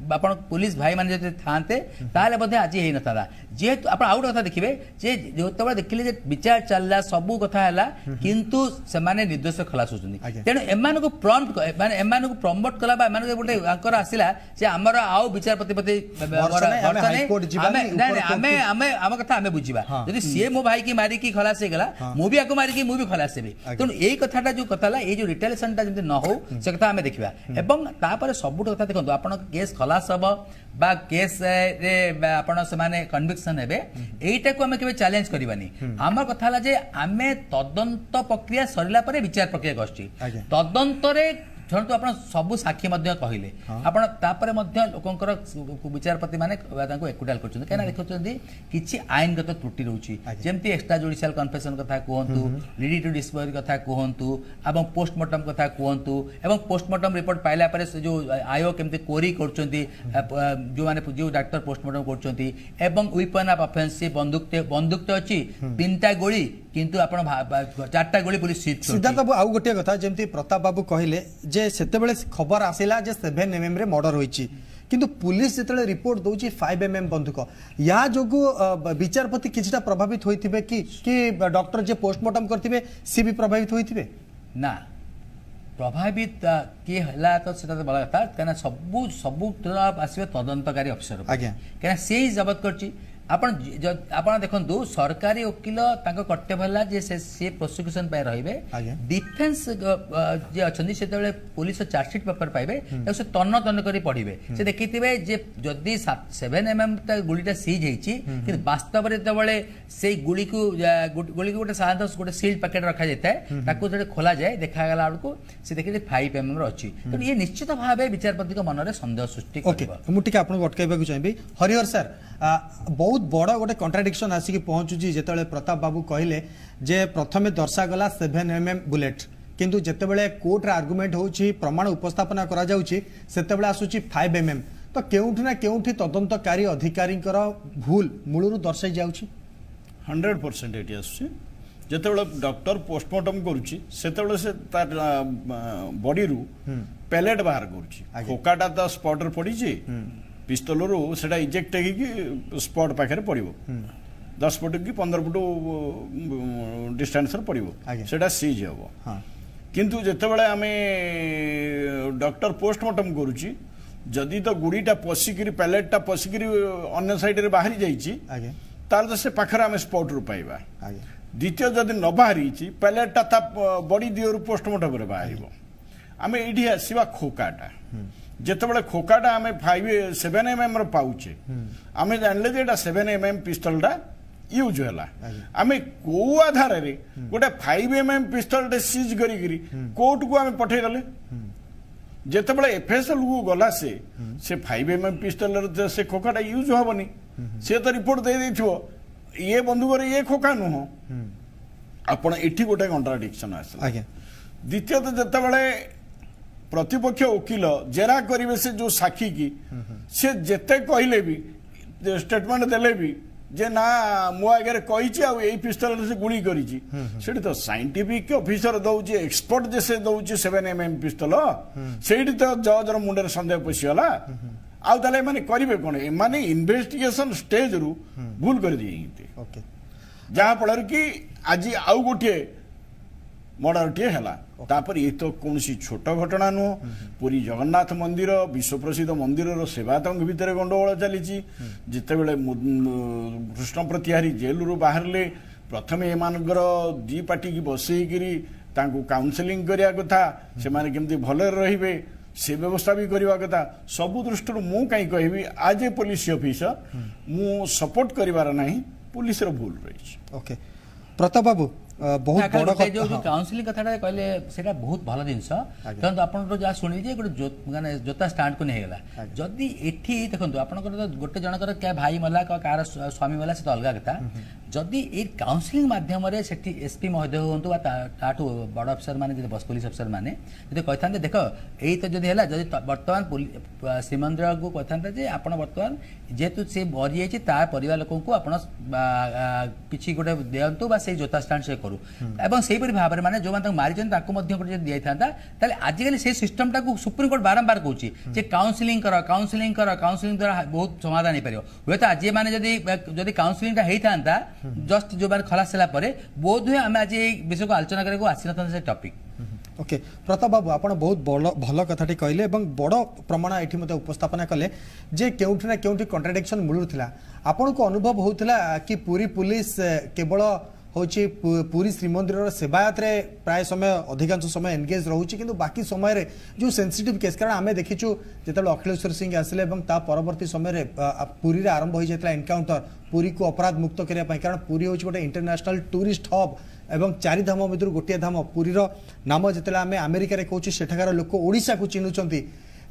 ଆପଣ ପୋଲିସ ଭାଇମାନେ ଯଦି ଥାନ୍ତେ, ତାହେଲେ ବୋଧେ ଆଜି ହେଇନଥାନ୍ତା। ଯେହେତୁ ଆପଣ ଆଉ ଗୋଟେ କଥା ଦେଖିବେ ଯେ ଯେତେବେଳେ ଦେଖିଲେ ଯେ ବିଚାର ଚାଲିଲା, ସବୁ କଥା ହେଲା, କିନ୍ତୁ ସେମାନେ ନିର୍ଦ୍ଦୋଷ ଖଲାସ ହେଉଛନ୍ତି। ତେଣୁ ଏମାନଙ୍କୁ ପ୍ରମ୍ପ୍ଟ ମାନେ ଏମାନଙ୍କୁ ପ୍ରମୋଟ କଲା ବା ଏମାନଙ୍କୁ ଗୋଟେ ଆଙ୍କର ଆସିଲା ଯେ ଆମର ଆଉ ବିଚାରପତି ପ୍ରତି ଆମେ ଆମେ ଆମ କଥା ଆମେ ବୁଝିବା, ଯଦି ସିଏ ମୋ ଭାଇକି ମାରିକି ଖଲାସ ହେଇଗଲା, ମୁଁ ବି ଆକୁ ମାରିକି ମୁଁ ବି ଖଲାସ ହେବି। ତେଣୁ ଏଇ କଥାଟା ଯୋଉ କଥା ହେଲା, ଏଇ ଯୋଉ ରିଟାଲିଏସନଟା ଯେମିତି ନ ହଉ ସେ କଥା ଆମେ ଦେଖିବା। ଏବଂ ତାପରେ ସବୁଠୁ କଥା ଦେଖନ୍ତୁ, ଆପଣ କେସ୍ ଖଲାସ ହବ ବା କେସ୍ରେ ଆପଣ ସେମାନେ କନଭିକ୍ସନ ହେବେ, ଏଇଟାକୁ ଆମେ କେବେ ଚ୍ୟାଲେଞ୍ଜ କରିବାନି। ଆମର କଥା ହେଲା ଯେ ଆମେ ତଦନ୍ତ ପ୍ରକ୍ରିୟା ସରିଲା ପରେ ବିଚାର ପ୍ରକ୍ରିୟାକୁ ଆସୁଛି। ତଦନ୍ତରେ ଧରନ୍ତୁ ଆପଣ ସବୁ ସାକ୍ଷୀ ମଧ୍ୟ କହିଲେ, ଆପଣ ତାପରେ ମଧ୍ୟ ଲୋକଙ୍କର ବିଚାରପତି ମାନେ ତାଙ୍କୁ ଏକୁଟାଲ କରୁଛନ୍ତି, କାହିଁକିନା ଦେଖୁଛନ୍ତି କିଛି ଆଇନଗତ ତ୍ରୁଟି ରହୁଛି, ଯେମିତି ଏକ୍ସଟ୍ରା ଜୁଡିସିଆଲ କନଫେସନ କଥା କୁହନ୍ତୁ, ଲିଡିଂ ଟୁ ଡିସ୍କଭରି କଥା କୁହନ୍ତୁ, ଏବଂ ପୋଷ୍ଟମର୍ଟମ କଥା କୁହନ୍ତୁ, ଏବଂ ପୋଷ୍ଟମର୍ଟମ ରିପୋର୍ଟ ପାଇଲା ପରେ ସେ ଯୋଉ ଆୟୋ କେମିତି କୋରି କରୁଛନ୍ତି, ଯେଉଁମାନେ ଯେଉଁ ଡାକ୍ତର ପୋଷ୍ଟମର୍ଟମ କରୁଛନ୍ତି, ଏବଂ ୱିପନ୍ ଅଫ୍ ଅଫେନ୍ସ, ସେ ବନ୍ଧୁକଟେ ଅଛି, 3ଟା ଗୁଳି, କିନ୍ତୁ ଆପଣ 4ଟା ଗୁଳି ପୋଲିସ ସିଜ୍। ସିଦ୍ଧାର୍ଥ ବାବୁ, ଆଉ ଗୋଟିଏ କଥା, ଯେମିତି ପ୍ରତାପ ବାବୁ କହିଲେ ଯେ ସେତେବେଳେ ଖବର ଆସିଲା ଯେ 7 mm ରେ ମର୍ଡର ହୋଇଛି, କିନ୍ତୁ ପୁଲିସ ଯେତେବେଳେ ରିପୋର୍ଟ ଦେଉଛି 5 mm ବନ୍ଧୁକ, ୟା ଯୋଗୁଁ ବିଚାରପତି କିଛିଟା ପ୍ରଭାବିତ ହୋଇଥିବେ କି, କି ଡକ୍ଟର ଯିଏ ପୋଷ୍ଟମର୍ଟମ କରିଥିବେ ସିଏ ବି ପ୍ରଭାବିତ ହୋଇଥିବେ? ନା, ପ୍ରଭାବିତ କିଏ ହେଲା ତ ସେଟା ତ ବଡ଼ କଥା, କାହିଁକିନା ସବୁ ସବୁ ଆସିବ ତଦନ୍ତକାରୀ ଅଫିସର, ଆଜ୍ଞା, କାହିଁକିନା ସେଇ ଜବତ କରିଛି। ଆପଣ ଆପଣ ଦେଖନ୍ତୁ, ସରକାରୀ ଓକିଲ ତାଙ୍କ କର୍ତ୍ତବ୍ୟ ହେଲା ଯେ ସେ ପ୍ରୋସିକ୍ୟୁସନ ପାଇଁ ରହିବେ, ଡିଫେନ୍ସ ଯିଏ ଅଛନ୍ତି ସେତେବେଳେ ପୋଲିସ ଚାର୍ଜସିଟ୍ ପେପର ପାଇବେ, ତାକୁ ସେ ତନ୍ନ ତନ୍ନ କରି ପଢିବେ। ସେ ଦେଖିଥିବେ ଯେ ଯଦି 7 mm ଗୁଳିଟା ସିଜ୍ ହେଇଛି, କିନ୍ତୁ ବାସ୍ତବରେ ଯେତେବେଳେ ସେଇ ଗୁଳିକୁ ଗୋଟେ ସାଧାରଣତଃ ଗୋଟେ ସିଲ୍ଡ ପ୍ୟାକେଟ ରଖାଯାଇଥାଏ, ତାକୁ ଯେତେବେଳେ ଖୋଲାଯାଏ ଦେଖାଗଲା ବେଳକୁ ସେ ଦେଖିଲେ 5 mm ର ଅଛି। ତେଣୁ ଇଏ ନିଶ୍ଚିତ ଭାବେ ବିଚାରପତିଙ୍କ ମନରେ ସନ୍ଦେହ ସୃଷ୍ଟି କରିବ। ମୁଁ ଟିକେ ଆପଣଙ୍କୁ ଅଟକାଇବାକୁ ଚାହିଁବି। ହରିହର ସାର୍, ବହୁତ ବଡ଼ ଗୋଟେ କଣ୍ଟ୍ରାଡିକ୍ସନ୍ ଆସିକି ପହଞ୍ଚୁଛି ଯେତେବେଳେ ପ୍ରତାପ ବାବୁ କହିଲେ ଯେ ପ୍ରଥମେ ଦର୍ଶାଗଲା 7 mm ବୁଲେଟ୍, କିନ୍ତୁ ଯେତେବେଳେ କୋର୍ଟରେ ଆର୍ଗୁମେଣ୍ଟ ହେଉଛି, ପ୍ରମାଣ ଉପସ୍ଥାପନା କରାଯାଉଛି, ସେତେବେଳେ ଆସୁଛି 5 mm। ତ କେଉଁଠି ନା କେଉଁଠି ତଦନ୍ତକାରୀ ଅଧିକାରୀଙ୍କର ଭୁଲ ମୂଳରୁ ଦର୍ଶାଇ ଯାଉଛି। 100% ଏଠି ଆସୁଛି। ଯେତେବେଳେ ଡକ୍ଟର ପୋଷ୍ଟମର୍ଟମ କରୁଛି ସେତେବେଳେ ସେ ତାର ବଡିରୁ ପ୍ୟାଲେଟ୍ ବାହାର କରୁଛି, ଖୋକାଟା ତ ସ୍ପଟରେ ପଡ଼ିଛି, ପିସ୍ତଲରୁ ସେଟା ଇଜେକ୍ଟ ହେଇକି ସ୍ପଟ୍ ପାଖରେ ପଡ଼ିବ, 10 ଫୁଟ କି 15 ଫୁଟ ଡିଷ୍ଟାନ୍ସରେ ପଡ଼ିବ, ସେଟା ସିଜ୍ ହେବ। କିନ୍ତୁ ଯେତେବେଳେ ଆମେ ଡକ୍ଟର ପୋଷ୍ଟମର୍ଟମ କରୁଛି, ଯଦି ତ ଗୁଡ଼ିଟା ପଶିକିରି ପ୍ୟାଲେଟ୍ଟା ପଶିକିରି ଅନ୍ୟ ସାଇଡ୍ରେ ବାହାରି ଯାଇଛି, ତାହେଲେ ତ ସେ ପାଖରେ ଆମେ ସ୍ପଟ୍ରୁ ପାଇବା। ଦ୍ୱିତୀୟ, ଯଦି ନ ବାହାରିଛି ପ୍ୟାଲେଟ୍ଟା ତା ବଡି ଦିହରୁ ପୋଷ୍ଟମର୍ଟମରେ ବାହାରିବ। ଆମେ ଏଇଠି ଆସିବା ଖୋକାଟା। ଯେତେବେଳେ ଖୋକାଟା ଆମେ 5 7 mm ର ପାଉଛେ, ଆମେ ଜାଣିଲେ ଯେ ଏଇଟା 7 mm ପିସ୍ତଲଟା ୟୁଜ୍ ହେଲା। ଆମେ କୋଉ ଆଧାରରେ ଗୋଟେ 5 mm ପିସ୍ତଲଟେ ସିଜ୍ କରିକିରି କୋର୍ଟକୁ ଆମେ ପଠେଇଦେଲେ? ଯେତେବେଳେ ଏଫଏସଏଲ କୁ ଗଲା, ସେ 5 mm ପିସ୍ତଲରେ ସେ ଖୋକାଟା ୟୁଜ୍ ହବନି, ସେ ତ ରିପୋର୍ଟ ଦେଇଦେଇଥିବ ଇଏ ବନ୍ଧୁକରେ ଇଏ ଖୋକା ନୁହଁ। ଆପଣ ଏଠି ଗୋଟେ କଣ୍ଟ୍ରାଡିକ୍ସନ ଆସିଲା। ଦ୍ୱିତୀୟତଃ, ଯେତେବେଳେ ପ୍ରତିପକ୍ଷ ଓକିଲ ଜେରା କରିବେ ସେ ଯୋଉ ସାକ୍ଷୀ କି, ସେ ଯେତେ କହିଲେ ବି, ଷ୍ଟେଟମେଣ୍ଟ ଦେଲେ ବି ଯେ ନା ମୋ ଆଗରେ କହିଛି ଆଉ ଏଇ ପିସ୍ତଲରେ ସେ ଗୁଳି କରିଛି, ସେଠି ତ ସାଇଣ୍ଟିଫିକ ଅଫିସର ଦଉଛି, ଏକ୍ସପର୍ଟ ଯେ ସେ ଦଉଛି 7 mm ପିସ୍ତଲ, ସେଇଠି ତ ଜଜର ମୁଣ୍ଡରେ ସନ୍ଦେହ ପଶିଗଲା। ଆଉ ତାହେଲେ ଏମାନେ କରିବେ କଣ? ଏମାନେ ଇନଭେଷ୍ଟିଗେସନ ଷ୍ଟେଜରୁ ଭୁଲ କରିଦେଇଛନ୍ତି, ଯାହାଫଳରେ କି ଆଜି ଆଉ ଗୋଟିଏ ମର୍ଡରଟିଏ ହେଲା। ତାପରେ ଏ ତ କୌଣସି ଛୋଟ ଘଟଣା ନୁହଁ। ପୁରୀ ଜଗନ୍ନାଥ ମନ୍ଦିର, ବିଶ୍ୱପ୍ରସିଦ୍ଧ ମନ୍ଦିରର ସେବାୟତଙ୍କ ଭିତରେ ଗଣ୍ଡଗୋଳ ଚାଲିଛି। ଯେତେବେଳେ କୃଷ୍ଣ ପ୍ରତିହାରୀ ଜେଲରୁ ବାହାରିଲେ, ପ୍ରଥମେ ଏମାନଙ୍କର ଦି ପାର୍ଟିକି ବସେଇକିରି ତାଙ୍କୁ କାଉନସେଲିଂ କରିବା କଥା, ସେମାନେ କେମିତି ଭଲରେ ରହିବେ ସେ ବ୍ୟବସ୍ଥା ବି କରିବା କଥା। ସବୁ ଦୃଷ୍ଟିରୁ ମୁଁ କାହିଁ କହିବି, ଆଜ୍ ଏ ପୋଲିସ ଅଫିସର ମୁଁ ସପୋର୍ଟ କରିବାର ନାହିଁ, ପୁଲିସର ଭୁଲ ରହିଛି। ଓକେ ପ୍ରତାପ ବାବୁ, ବହୁତ ବଡ଼ ଯୋଉ କାଉନସିଲିଂ କଥାଟା କହିଲେ ସେଇଟା ବହୁତ ଭଲ ଜିନିଷ। ଦେଖନ୍ତୁ, ଆପଣଙ୍କର ଯାହା ଶୁଣିଲି ଯେ ଗୋଟେ ମାନେ ଜୋତା ଷ୍ଟାଣ୍ଡକୁ ନେଇ ହେଇଗଲା। ଯଦି ଏଠି ଦେଖନ୍ତୁ, ଆପଣଙ୍କର ତ ଗୋଟେ ଜଣଙ୍କର ଭାଇ ମଲା, କାହାର ସ୍ୱାମୀ ମଲା, ସେ ତ ଅଲଗା କଥା। ଯଦି ଏଇ କାଉନସିଲିଂ ମାଧ୍ୟମରେ ସେଠି ଏସ୍ପି ମହୋଦୟ ହୁଅନ୍ତୁ ବା ତାଠୁ ବଡ଼ ଅଫିସର ମାନେ, ଯଦି ପୋଲିସ ଅଫିସର ମାନେ ଯଦି କହିଥାନ୍ତେ, ଦେଖ ଏଇ ତ ଯଦି ହେଲା, ଯଦି ବର୍ତ୍ତମାନ ଶ୍ରୀମନ୍ଦିରକୁ କହିଥାନ୍ତେ ଯେ ଆପଣ ବର୍ତ୍ତମାନ ଯେହେତୁ ସେ ମରିଯାଇଛି, ତା ପରିବାର ଲୋକଙ୍କୁ ଆପଣ କିଛି ଗୋଟେ ଦିଅନ୍ତୁ ବା ସେଇ ଜୋତା ଷ୍ଟାଣ୍ଡ ସେ କରୁ, ଏବଂ ସେହିପରି ଭାବରେ ମାନେ ଯେଉଁମାନେ ତାଙ୍କୁ ମାରିଛନ୍ତି ତାଙ୍କୁ ମଧ୍ୟ ଗୋଟେ ଯଦି ଦିଆଯାଇଥାନ୍ତା, ତାହେଲେ ଆଜିକାଲି ସେଇ ସିଷ୍ଟମଟାକୁ ସୁପ୍ରିମକୋର୍ଟ ବାରମ୍ବାର କହୁଛି ଯେ କାଉନସିଲିଂ କର, କାଉନସିଲିଂ କର, କାଉନସିଲିଂ ଦ୍ୱାରା ବହୁତ ସମାଧାନ ହେଇପାରିବ। ହୁଏତ ଆଜି ମାନେ ଯଦି ଯଦି କାଉନସିଲିଂଟା ହେଇଥାନ୍ତା ଜଷ୍ଟ ଯେଉଁମାନେ ଖଲାସ ହେଲା ପରେ, ବୋଧହୁଏ ଆମେ ଆଜି ଏଇ ବିଷୟକୁ ଆଲୋଚନା କରିବାକୁ ଆସିନଥାନ୍ତେ ସେ ଟପିକ୍। ଓକେ ପ୍ରତାପ ବାବୁ, ଆପଣ ବହୁତ ଭଲ କଥାଟି କହିଲେ ଏବଂ ବଡ଼ ପ୍ରମାଣ ଏଠି ମଧ୍ୟ ଉପସ୍ଥାପନା କଲେ ଯେ କେଉଁଠି ନା କେଉଁଠି କଣ୍ଟ୍ରାଡିକ୍ସନ୍ ମିଳୁଥିଲା। ଆପଣଙ୍କୁ ଅନୁଭବ ହେଉଥିଲା କି ପୁରୀ ପୁଲିସ କେବଳ ହେଉଛି ପୁରୀ ଶ୍ରୀମନ୍ଦିରର ସେବାୟତରେ ପ୍ରାୟ ସମୟ, ଅଧିକାଂଶ ସମୟ ଏନଗେଜ୍ ରହୁଛି, କିନ୍ତୁ ବାକି ସମୟରେ ଯେଉଁ ସେନ୍ସିଟିଭ୍ କେସ୍, କାରଣ ଆମେ ଦେଖିଛୁ ଯେତେବେଳେ ଅଖିଳେଶ୍ୱର ସିଂ ଆସିଲେ ଏବଂ ତା ପରବର୍ତ୍ତୀ ସମୟରେ ପୁରୀରେ ଆରମ୍ଭ ହୋଇଯାଇଥିଲା ଏନକାଉଣ୍ଟର ପୁରୀକୁ ଅପରାଧ ମୁକ୍ତ କରିବା ପାଇଁ, କାରଣ ପୁରୀ ହେଉଛି ଗୋଟେ ଇଣ୍ଟରନ୍ୟାସନାଲ ଟୁରିଷ୍ଟ ହବ୍ ଏବଂ ଚାରି ଧାମ ଭିତରୁ ଗୋଟିଏ ଧାମ। ପୁରୀର ନାମ ଯେତେବେଳେ ଆମେ ଆମେରିକାରେ କହୁଛୁ, ସେଠାକାର ଲୋକ ଓଡ଼ିଶାକୁ ଚିହ୍ନୁଛନ୍ତି।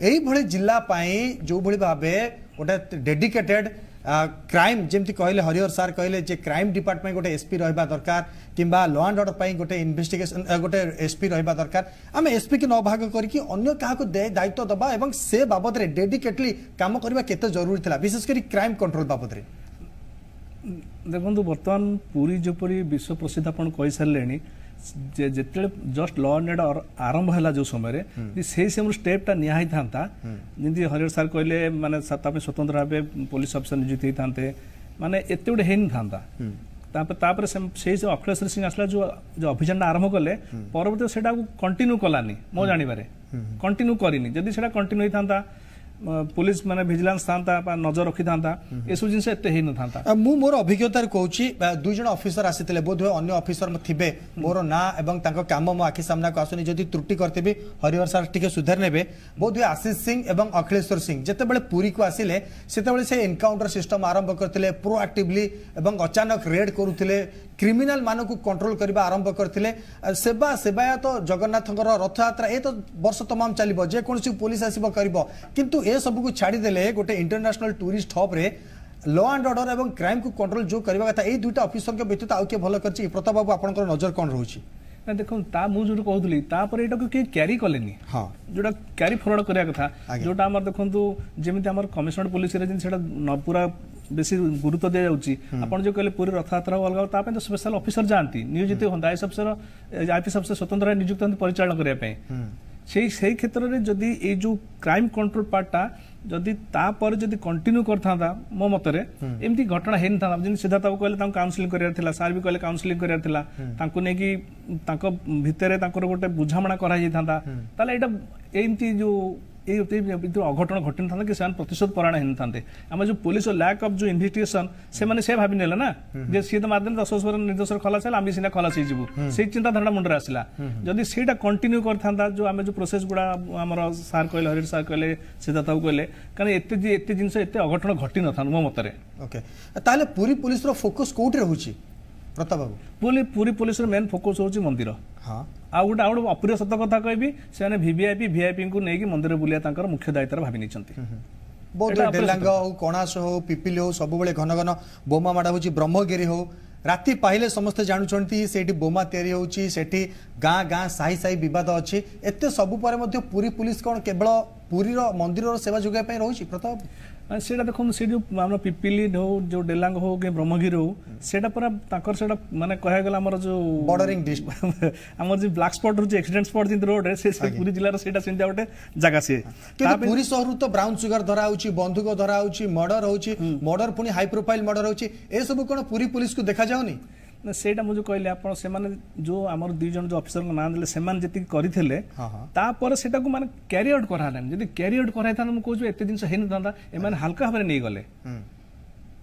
ଏଇଭଳି ଜିଲ୍ଲା ପାଇଁ ଯେଉଁଭଳି ଭାବେ ଗୋଟେ ଡେଡିକେଟେଡ୍ କ୍ରାଇମ୍, ଯେମିତି କହିଲେ ହରିହର ସାର୍ କହିଲେ ଯେ କ୍ରାଇମ୍ ଡିପାର୍ଟମେଣ୍ଟ ଗୋଟେ ଏସ୍ପି ରହିବା ଦରକାର କିମ୍ବା ଲ ଆଣ୍ଡ ଅର୍ଡର ପାଇଁ ଗୋଟେ ଇନଭେଷ୍ଟିଗେସନ ଗୋଟେ ଏସ୍ପି ରହିବା ଦରକାର, ଆମେ ଏସ୍ପିକି ନ ଭାଗ କରିକି ଅନ୍ୟ କାହାକୁ ଦାୟିତ୍ୱ ଦେବା ଏବଂ ସେ ବାବଦରେ ଡେଡିକେଟଲି କାମ କରିବା କେତେ ଜରୁରୀ ଥିଲା, ବିଶେଷ କରି କ୍ରାଇମ୍ କଣ୍ଟ୍ରୋଲ ବାବଦରେ? ଦେଖନ୍ତୁ, ବର୍ତ୍ତମାନ ପୁରୀ ଯେପରି ବିଶ୍ୱ ପ୍ରସିଦ୍ଧ ଆପଣ କହିସାରିଲେଣି, ଯେ ଯେତେବେଳେ ଜଷ୍ଟ ଲ ଆଣ୍ଡ ଅର୍ଡର ଆରମ୍ଭ ହେଲା ଯେଉଁ ସମୟରେ ସେଇ ସମୟରେ ଷ୍ଟେପ୍ଟା ନିଆ ହେଇଥାନ୍ତା, ଯେମିତି ହରିହର ସାର୍ କହିଲେ, ମାନେ ତା ପାଇଁ ସ୍ୱତନ୍ତ୍ର ଭାବେ ପୋଲିସ ଅଫିସର ନିଯୁକ୍ତି ହେଇଥାନ୍ତେ, ମାନେ ଏତେ ଗୋଟେ ହେଇନଥାନ୍ତା। ତାପରେ ସେଇ ଯେଉଁ ଅଖିଳେଶ୍ୱର ସିଂ ଆସିଲା, ଯେଉଁ ଯେଉଁ ଅଭିଯାନଟା ଆରମ୍ଭ କଲେ, ପରବର୍ତ୍ତୀ ସେଇଟାକୁ କଣ୍ଟିନ୍ୟୁ କଲାନି, ମୋ ଜାଣିବାରେ କଣ୍ଟିନ୍ୟୁ କରିନି। ଯଦି ସେଇଟା କଣ୍ଟିନ୍ୟୁ ହେଇଥାନ୍ତା, ପୋଲିସ ମାନେ ଭିଜିଲାନ୍ସ ଥାନ୍ତା ବା ନଜର ରଖିଥାନ୍ତା, ଏସବୁ ଜିନିଷ ଏତେ ହେଇନଥାନ୍ତା। ମୁଁ ମୋର ଅଭିଜ୍ଞତାରେ କହୁଛି, ଦୁଇ ଜଣ ଅଫିସର ଆସିଥିଲେ, ବୋଧହୁଏ ଅନ୍ୟ ଅଫିସର ଥିବେ, ମୋର ନାଁ ଏବଂ ତାଙ୍କ କାମ ମୋ ଆଖି ସାମ୍ନାକୁ ଆସୁନି, ଯଦି ତ୍ରୁଟି କରିଥିବି ହରିହର ସାର୍ ଟିକେ ସୁଧାରି ନେବେ। ବୋଧହୁଏ ଆଶିଷ ସିଂ ଏବଂ ଅଖିଳେଶ୍ୱର ସିଂ ଯେତେବେଳେ ପୁରୀକୁ ଆସିଲେ, ସେତେବେଳେ ସେ ଏନକାଉଣ୍ଟର ସିଷ୍ଟମ ଆରମ୍ଭ କରିଥିଲେ ପ୍ରୋଆକ୍ଟିଭଲି ଏବଂ ଅଚାନକ ରେଡ୍ କରୁଥିଲେ, କ୍ରିମିନାଲ ମାନଙ୍କୁ କଣ୍ଟ୍ରୋଲ କରିବା ଆରମ୍ଭ କରିଥିଲେ। ସେବା ସେବାୟତ ଜଗନ୍ନାଥଙ୍କର ରଥଯାତ୍ରା ଏ ତ ବର୍ଷ ତମାମ ଚାଲିବ, ଯେକୌଣସି ପୋଲିସ ଆସିବ କରିବ, କିନ୍ତୁ ଏସବୁକୁ ଛାଡ଼ିଦେଲେ ଗୋଟେ ଇଣ୍ଟରନ୍ୟାସନାଲ ଟୁରିଷ୍ଟ ହବ୍ରେ ଲ ଆଣ୍ଡ ଅର୍ଡର ଏବଂ କ୍ରାଇମ୍କୁ କଣ୍ଟ୍ରୋଲ ଯେଉଁ କରିବା କଥା, ଏଇ ଦୁଇଟା ଅଫିସରଙ୍କ ବ୍ୟତୀତ ଆଉ କିଏ ଭଲ କରିଛି? ପ୍ରତାପ ବାବୁ, ଆପଣଙ୍କର ନଜର କ'ଣ ରହୁଛି? ନା ଦେଖନ୍ତୁ, ତା ମୁଁ ଯୋଉଟା କହୁଥିଲି, ତାପରେ ଏଇଟାକୁ କେହି କ୍ୟାରି କଲେନି, ଯୋଉଟା କ୍ୟାରି ଫରୱାର୍ଡ କରିବା କଥା। ଯୋଉଟା ଆମର ଦେଖନ୍ତୁ, ଯେମିତି ଆମର କମିଶନର ପୋଲିସରେ ଯେମିତି ସେଇଟା ପୁରା ବେଶୀ ଗୁରୁତ୍ୱ ଦିଆଯାଉଛି। ଆପଣ ଯୋଉ କହିଲେ ପୁରୀ ରଥଯାତ୍ରା ହଉ ଅଲଗା, ତା ପାଇଁ ତ ସ୍ପେଶାଲ ଅଫିସର ଯାଆନ୍ତି, ନିୟୋଜିତ ହୁଅନ୍ତି, is officer, IPS officer ସ୍ୱତନ୍ତ୍ର ନିଯୁକ୍ତ ହୁଅନ୍ତି ପରିଚାଳନା କରିବା ପାଇଁ। ସେଇ କ୍ଷେତ୍ରରେ ଯଦି ଏଇ ଯୋଉ କ୍ରାଇମ୍ କଣ୍ଟ୍ରୋଲ ପାର୍ଟଟା ଯଦି ତାପରେ ଯଦି କଣ୍ଟିନ୍ୟୁ କରିଥାନ୍ତା, ମୋ ମତରେ ଏମିତି ଘଟଣା ହେଇନଥାନ୍ତା। ଯେମିତି ସିଦ୍ଧାର୍ଥ ବାବୁ କହିଲେ ତାଙ୍କୁ କାଉନସିଲିଂ କରିବାର ଥିଲା, ସାର୍ ବି କହିଲେ କାଉନସିଲିଂ କରିବାର ଥିଲା, ତାଙ୍କୁ ନେଇକି ତାଙ୍କ ଭିତରେ ତାଙ୍କର ଗୋଟେ ବୁଝାମଣା କରାଯାଇଥାନ୍ତା, ତାହେଲେ ଏଇଟା ଏମିତି ଯୋଉ ଏଇ ଅଘଟଣ ଘଟିନଥାନ୍ତା କି ସେମାନେ ପ୍ରତିଶୋଧ ପରାୟଣ ହେଇନଥାନ୍ତେ। ଆମ ଯୋଉ ପୋଲିସ ଲ୍ୟାକ୍ ଅଫ୍ ଯୋଉ ଇନଭେଷ୍ଟିଗେସନ, ସେମାନେ ସେ ଭାବି ନେଲେ ନା ଯେ ସିଏ ତ ମାରିଦେଲେ, 10 ବର୍ଷ ନିର୍ଦ୍ଦୋଷରେ ଖଲାସ ହେଲା, ଆମେ ସିନା ଖଲାସ ହେଇଯିବୁ, ସେଇ ଚିନ୍ତାଧାରା ମୁଣ୍ଡରେ ଆସିଲା। ଯଦି ସେଇଟା କଣ୍ଟିନ୍ୟୁ କରିଥାନ୍ତା, ଯୋଉ ଆମେ ଯୋଉ ପ୍ରୋସେସ ଗୁଡା ଆମର ସାର୍ କହିଲେ, ହରିହର ସାର୍ କହିଲେ, ସିଦ୍ଧାର୍ଥ ବାବୁ କହିଲେ, କାରଣ ଏତେ ଏତେ ଜିନିଷ ଏତେ ଅଘଟଣ ଘଟି ନଥାନ୍ତା ମୋ ମତରେ। ଓକେ, ତାହେଲେ ପୁରୀ ପୋଲିସର ଫୋକସ୍ କୋଉଠି ରହୁଛି ପ୍ରତାପ ବାବୁ? ପୁରୀ ପୋଲିସର ମେନ୍ ଫୋକସ୍ ହେଉଛି ମନ୍ଦିର। ଆଉ ଗୋଟେ ଅପ୍ରିୟ ସତ କଥା କହିବି, ସେମାନେ ଭିଭିଆଇପି ଭିଆଇପିଙ୍କୁ ନେଇକି ମନ୍ଦିର ବୁଲିବା ତାଙ୍କର ମୁଖ୍ୟ ଦାୟିତ୍ୱରେ ଭାବି ନେଇଛନ୍ତି। ବହୁତ ଡେଲାଙ୍ଗ ହଉ, କଣାସ ହଉ, ପିପିଲି ହଉ, ସବୁବେଳେ ଘନ ଘନ ବୋମା ମାଡ଼ ହେଉଛି। ବ୍ରହ୍ମଗିରି ହଉ, ରାତି ପାହିଲେ ସମସ୍ତେ ଜାଣୁଛନ୍ତି ସେଇଠି ବୋମା ତିଆରି ହେଉଛି, ସେଠି ଗାଁ ଗାଁ ସାହି ସାହି ବିବାଦ ଅଛି। ଏତେ ସବୁ ପରେ ମଧ୍ୟ ପୁରୀ ପୁଲିସ କ'ଣ କେବଳ ପୁରୀର ମନ୍ଦିରର ସେବା ଯୋଗାଇବା ପାଇଁ ରହୁଛି ପ୍ରତାପ? ସେଇଟା ଦେଖନ୍ତୁ, ସେ ଯୋଉ ଆମର ପିପିଲି ହଉ, ଯୋଉ ଡେଲାଙ୍ଗ ହଉ କି ବ୍ରହ୍ମଗିରି ହଉ, ସେଇଟା ପୁରା ତାଙ୍କର ସେଇଟା ମାନେ କହିବାକୁ ଗଲେ ଆମର ଯୋଉ ବର୍ଡରିଂ ଡିଷ୍ଟ୍ରିକ୍ଟ, ଆମର ଯୋଉ ବ୍ଲାକ୍ ସ୍ପଟ୍ ରହୁଛି, ଆକ୍ସିଡେଣ୍ଟ ସ୍ପଟ୍ ଯେମିତି ରୋଡରେ, ସେ ପୁରୀ ଜିଲ୍ଲାର ସେଇଟା ସେମିତି ଗୋଟେ ଜାଗା ସିଏ। କିନ୍ତୁ ପୁରୀ ସହରରୁ ତ ବ୍ରାଉନ ସୁଗାର ଧରା ହଉଛି, ବନ୍ଧୁକ ଧରା ହଉଛି, ମର୍ଡର ହଉଛି, ମର୍ଡର ପୁଣି ହାଇ ପ୍ରୋଫାଇଲ ମର୍ଡର ହଉଛି, ଏସବୁ କ'ଣ ପୁରୀ ପୁଲିସକୁ ଦେଖାଯାଉନି? ନା, ସେଇଟା ମୁଁ ଯୋଉ କହିଲି ଆପଣ, ସେମାନେ ଯୋଉ ଆମର 2 ଜଣ ଯୋଉ ଅଫିସରଙ୍କ ନାଁ ଦେଲେ, ସେମାନେ ଯେତିକି କରିଥିଲେ, ତାପରେ ସେଟାକୁ ମାନେ କ୍ୟାରି ଆଉଟ୍ କରାହେଲାନି। ଯଦି କ୍ୟାରି ଆଉଟ୍ କରାହେଇଥାନ୍ତା, ମୁଁ କହୁଛି ଏତେ ଜିନିଷ ହେଇନଥାନ୍ତା। ଏମାନେ ହାଲକା ଭାବରେ ନେଇଗଲେ।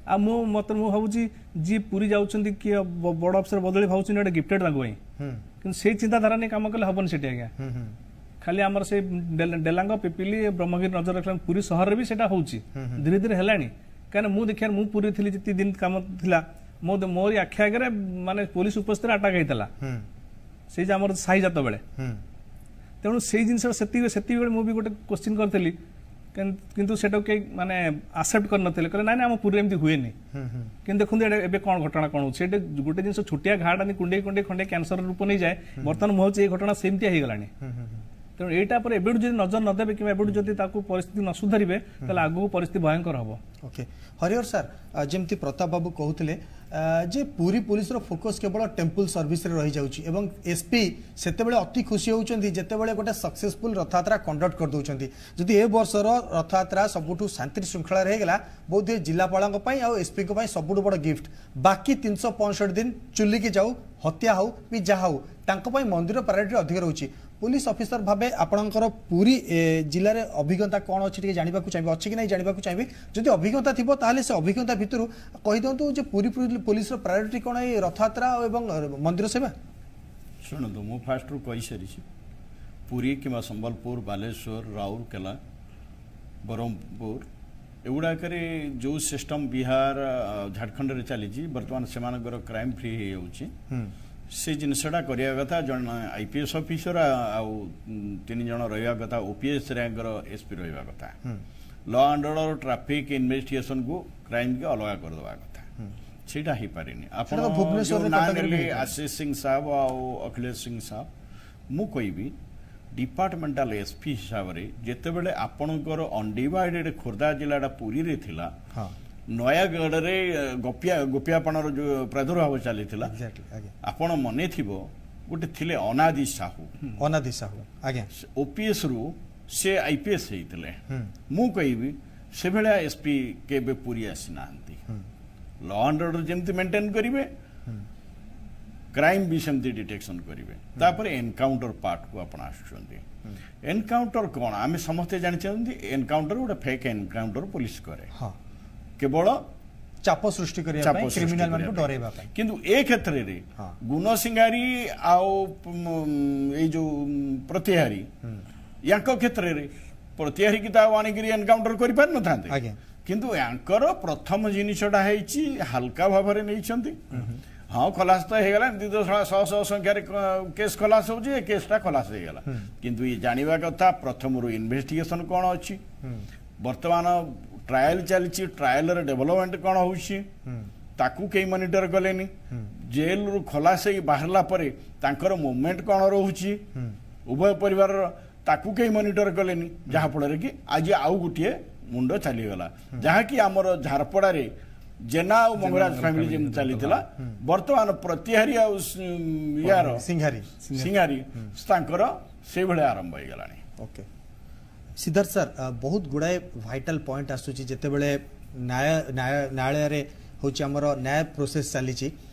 ଆଉ ମୁଁ ମତେ ମୁଁ ଭାବୁଛି ଯିଏ ପୁରୀ ଯାଉଛନ୍ତି, କିଏ ବଡ ଅଫିସର ବଦଳି ଭାବୁଛନ୍ତି ଗୋଟେ ଗିଫ୍ଟେଡ୍ ତାଙ୍କ ପାଇଁ। କିନ୍ତୁ ସେଇ ଚିନ୍ତାଧାରା ନେଇ କାମ କଲେ ହବନି ସେଠି ଆଜ୍ଞା। ଖାଲି ଆମର ସେଇ ଡେଲାଙ୍ଗ, ପିପିଲି, ବ୍ରହ୍ମଗିରି ନଜର ରଖିଲା, ପୁରୀ ସହରରେ ବି ସେଇଟା ହଉଛି, ଧୀରେ ଧୀରେ ହେଲାଣି। କାହିଁକିନା ମୁଁ ଦେଖିବା, ମୁଁ ପୁରୀ ଥିଲି ଯେତିକି ଦିନ କାମ ଥିଲା, ମୋ ମୋରି ଆଖି ଆଗରେ ମାନେ ପୋଲିସ ଉପସ୍ଥିତିରେ ଆଟାକ୍ ହେଇଥିଲା ସେଇ ଯେ ଆମର ସାହିଜାତ ବେଳେ। ତେଣୁ ସେଇ ଜିନିଷ ସେତିକି ବେଳେ ମୁଁ ବି ଗୋଟେ କୋଶ୍ଚିନ୍ କରିଥିଲି, କିନ୍ତୁ ସେଟାକୁ କେହି ମାନେ ଆକ୍ସେପ୍ଟ କରିନଥିଲେ। କହିଲେ, ନାଇଁ ନାଇଁ, ଆମ ପୁରୀରେ ଏମିତି ହୁଏନି। କିନ୍ତୁ ଦେଖନ୍ତୁ ଏଇଟା ଏବେ କ'ଣ ଘଟଣା କ'ଣ ହଉଛି। ସେଇଟା ଗୋଟେ ଜିନିଷ, ଛୋଟିଆ ଘାଟା କୁଣ୍ଡେଇ କୁଣ୍ଡେଇ ଖଣ୍ଡେ କ୍ୟାନ୍ସର ରୂପ ନେଇଯାଏ। ବର୍ତ୍ତମାନ ମୁଁ ଭାବୁଛି ଏଇ ଘଟଣା ସେମିତିଆ ହେଇଗଲାଣି। ତେଣୁ ଏଇଟା ପରେ ଏବେଠୁ ଯଦି ନଜର ନ ଦେବେ କିମ୍ବା ଏବେଠୁ ଯଦି ତାକୁ ପରିସ୍ଥିତି ନ ସୁଧାରିବେ, ତାହେଲେ ଆଗକୁ ପରିସ୍ଥିତି ଭୟଙ୍କର ହବ। ଓକେ, ହରିହର ସାର୍, ଯେମିତି ପ୍ରତାପ ବାବୁ କହୁଥିଲେ ଯେ ପୁରୀ ପୋଲିସର ଫୋକସ୍ କେବଳ ଟେମ୍ପଲ ସର୍ଭିସରେ ରହିଯାଉଛି ଏବଂ ଏସ୍ପି ସେତେବେଳେ ଅତି ଖୁସି ହେଉଛନ୍ତି ଯେତେବେଳେ ଗୋଟେ ସକ୍ସେସଫୁଲ ରଥଯାତ୍ରା କଣ୍ଡକ୍ଟ କରିଦେଉଛନ୍ତି। ଯଦି ଏ ବର୍ଷର ରଥଯାତ୍ରା ସବୁଠୁ ଶାନ୍ତି ଶୃଙ୍ଖଳାରେ ହେଇଗଲା, ବୋଧହୁଏ ଜିଲ୍ଲାପାଳଙ୍କ ପାଇଁ ଆଉ ଏସ୍ପିଙ୍କ ପାଇଁ ସବୁଠୁ ବଡ଼ ଗିଫ୍ଟ। ବାକି 365 ଦିନ ଚୁଲିକି ଯାଉ, ହତ୍ୟା ହଉ ବି ଯାହା ହଉ, ତାଙ୍କ ପାଇଁ ମନ୍ଦିର ପ୍ରାୟୋରିଟି ଅଧିକ ରହୁଛି। ପୁଲିସ ଅଫିସର ଭାବେ ଆପଣଙ୍କର ପୁରୀ ଜିଲ୍ଲାରେ ଅଭିଜ୍ଞତା କ'ଣ ଅଛି ଟିକେ ଜାଣିବାକୁ ଚାହିଁବି, ଅଛି କି ନାହିଁ ଜାଣିବାକୁ ଚାହିଁବି। ଯଦି ଅଭିଜ୍ଞତା ଥିବ, ତାହେଲେ ସେ ଅଭିଜ୍ଞତା ଭିତରୁ କହିଦିଅନ୍ତୁ ଯେ ପୁରୀ ପୋଲିସର ପ୍ରାୟୋରିଟି କ'ଣ ଏଇ ରଥଯାତ୍ରା ଏବଂ ମନ୍ଦିର ସେବା? ଶୁଣନ୍ତୁ, ମୁଁ ଫାଷ୍ଟରୁ କହିସାରିଛି, ପୁରୀ କିମ୍ବା ସମ୍ବଲପୁର, ବାଲେଶ୍ୱର, ରାଉରକେଲା, ବ୍ରହ୍ମପୁର ଏଗୁଡ଼ାକରେ ଯେଉଁ ସିଷ୍ଟମ୍ ବିହାର, ଝାଡ଼ଖଣ୍ଡରେ ଚାଲିଛି, ବର୍ତ୍ତମାନ ସେମାନଙ୍କର କ୍ରାଇମ୍ ଫ୍ରି ହେଇଯାଉଛି, ସେ ଜିନିଷଟା କରିବା କଥା। ଜଣେ ଆଇପିଏସ୍ ଅଫିସର ଆଉ 3 ଜଣ ରହିବା କଥା, ଓପିଏସ୍ ର୍ୟାଙ୍କର ଏସ୍ପି ରହିବା କଥା। ଲ ଆଣ୍ଡ ଅର୍ଡର, ଟ୍ରାଫିକ୍ ଇନଭେଷ୍ଟିଗେସନକୁ, କ୍ରାଇମ୍କି ଅଲଗା କରିଦେବା କଥା। ସେଇଟା ହେଇପାରିନି। ଆପଣ ଯୋଉ ନାଁ ନେଲେ ଆଶିଷ ସିଂ ସାହେବ ଆଉ ଅଖିଳେଶ ସିଂ ସାହେବ, ମୁଁ କହିବି ଡିପାର୍ଟମେଣ୍ଟାଲ ଏସ୍ପି ହିସାବରେ ଯେତେବେଳେ ଆପଣଙ୍କର ଅନଡିଭାଇଡେଡ୍ ଖୋର୍ଦ୍ଧା ଜିଲ୍ଲାଟା ପୁରୀରେ ଥିଲା, ନୟାଗଡ଼ରେ ଗୋପିଆପଣର ଯୋଉ ପ୍ରାଦୁର୍ଭାବ ଚାଲିଥିଲା, ଆପଣ ମନେ ଥିବ, ଗୋଟେ ଥିଲେ ଅନାଦି ସାହୁ। ଅନାଦି ସାହୁ, ଆଜ୍ଞା। ଓପିଏସ୍ ରୁ ସେ ଆଇପିଏସ୍ ହେଇଥିଲେ। ମୁଁ କହିବି ସେଭଳିଆ ଏସ୍ପି କେବେ ପୁରୀ ଆସିନାହାନ୍ତି। ଲ ଆଣ୍ଡ ଅର୍ଡର ଯେମିତି ମେଣ୍ଟେନ୍ କରିବେ, କ୍ରାଇମ୍ ବି ସେମିତି ଡିଟେକ୍ସନ କରିବେ। ତାପରେ ଏନକାଉଣ୍ଟର ପାର୍ଟକୁ ଆପଣ ଆସୁଛନ୍ତି। ଏନକାଉଣ୍ଟର କ'ଣ ଆମେ ସମସ୍ତେ ଜାଣିଛନ୍ତି। ଏନକାଉଣ୍ଟର ଗୋଟେ ଫେକ୍ ଏନକାଉଣ୍ଟର ପୋଲିସ କରେ କେବଳ ଚାପ ସୃଷ୍ଟି କରିବା ପାଇଁ, କ୍ରିମିନାଲ ମାନଙ୍କୁ ଡରେଇବା ପାଇଁ। କିନ୍ତୁ ଏ କ୍ଷେତ୍ରରେ ଗୁଣ ସିଂହାରୀ ଆଉ ଏଇ ଯୋଉ ପ୍ରତିହାରୀ, ୟାଙ୍କ କ୍ଷେତ୍ରରେ ପ୍ରତିହାରୀକି ତ ଆଉ ଆଣିକିରି ଏନକାଉଣ୍ଟର କରିପାରିନଥାନ୍ତେ। କିନ୍ତୁ ୟାଙ୍କର ପ୍ରଥମ ଜିନିଷଟା ହେଇଛି ହାଲକା ଭାବରେ ନେଇଛନ୍ତି। ହଁ, ଖଲାସ ତ ହେଇଗଲା, ଏମିତି ତ ଶହ ଶହ ସଂଖ୍ୟାରେ କେସ୍ ଖଲାସ ହଉଛି, ଏ କେସ୍ଟା ଖଲାସ ହେଇଗଲା। କିନ୍ତୁ ଇଏ ଜାଣିବା କଥା ପ୍ରଥମରୁ ଇନଭେଷ୍ଟିଗେସନ କ'ଣ ଅଛି, ବର୍ତ୍ତମାନ ଟ୍ରାଏଲ ଚାଲିଛି, ଟ୍ରାଏଲର ଡେଭଲପମେଣ୍ଟ କ'ଣ ହଉଛି, ତାକୁ କେହି ମନିଟର କଲେନି। ଜେଲରୁ ଖଲାସ ହେଇକି ବାହାରିଲା ପରେ ତାଙ୍କର ମୁଭମେଣ୍ଟ କ'ଣ ରହୁଛି ଉଭୟ ପରିବାରର, ତାକୁ କେହି ମନିଟର କଲେନି। ଯାହାଫଳରେ କି ଆଜି ଆଉ ଗୋଟିଏ ମୁଣ୍ଡ ଚାଲିଗଲା। ଯାହାକି ଆମର ଝାରପଡ଼ାରେ ଜେନା ଆଉ ମଙ୍ଗରାଜ ଫ୍ୟାମିଲି ଯେମିତି ଚାଲିଥିଲା, ବର୍ତ୍ତମାନ ପ୍ରତିହାରୀ ଆଉ ୟାର ସିଂହାରୀ। ସିଂହାରୀ, ତାଙ୍କର ସେଇଭଳିଆ ଆରମ୍ଭ ହେଇଗଲାଣି। ଓକେ ସିଦ୍ଧାର୍ଥ ସାର୍, ବହୁତ ଗୁଡ଼ାଏ ଭାଇଟାଲ ପଏଣ୍ଟ ଆସୁଛି ଯେତେବେଳେ ନ୍ୟାୟ ନ୍ୟାୟାଳୟରେ ହେଉଛି ଆମର ନ୍ୟାୟ ପ୍ରୋସେସ୍ ଚାଲିଛି।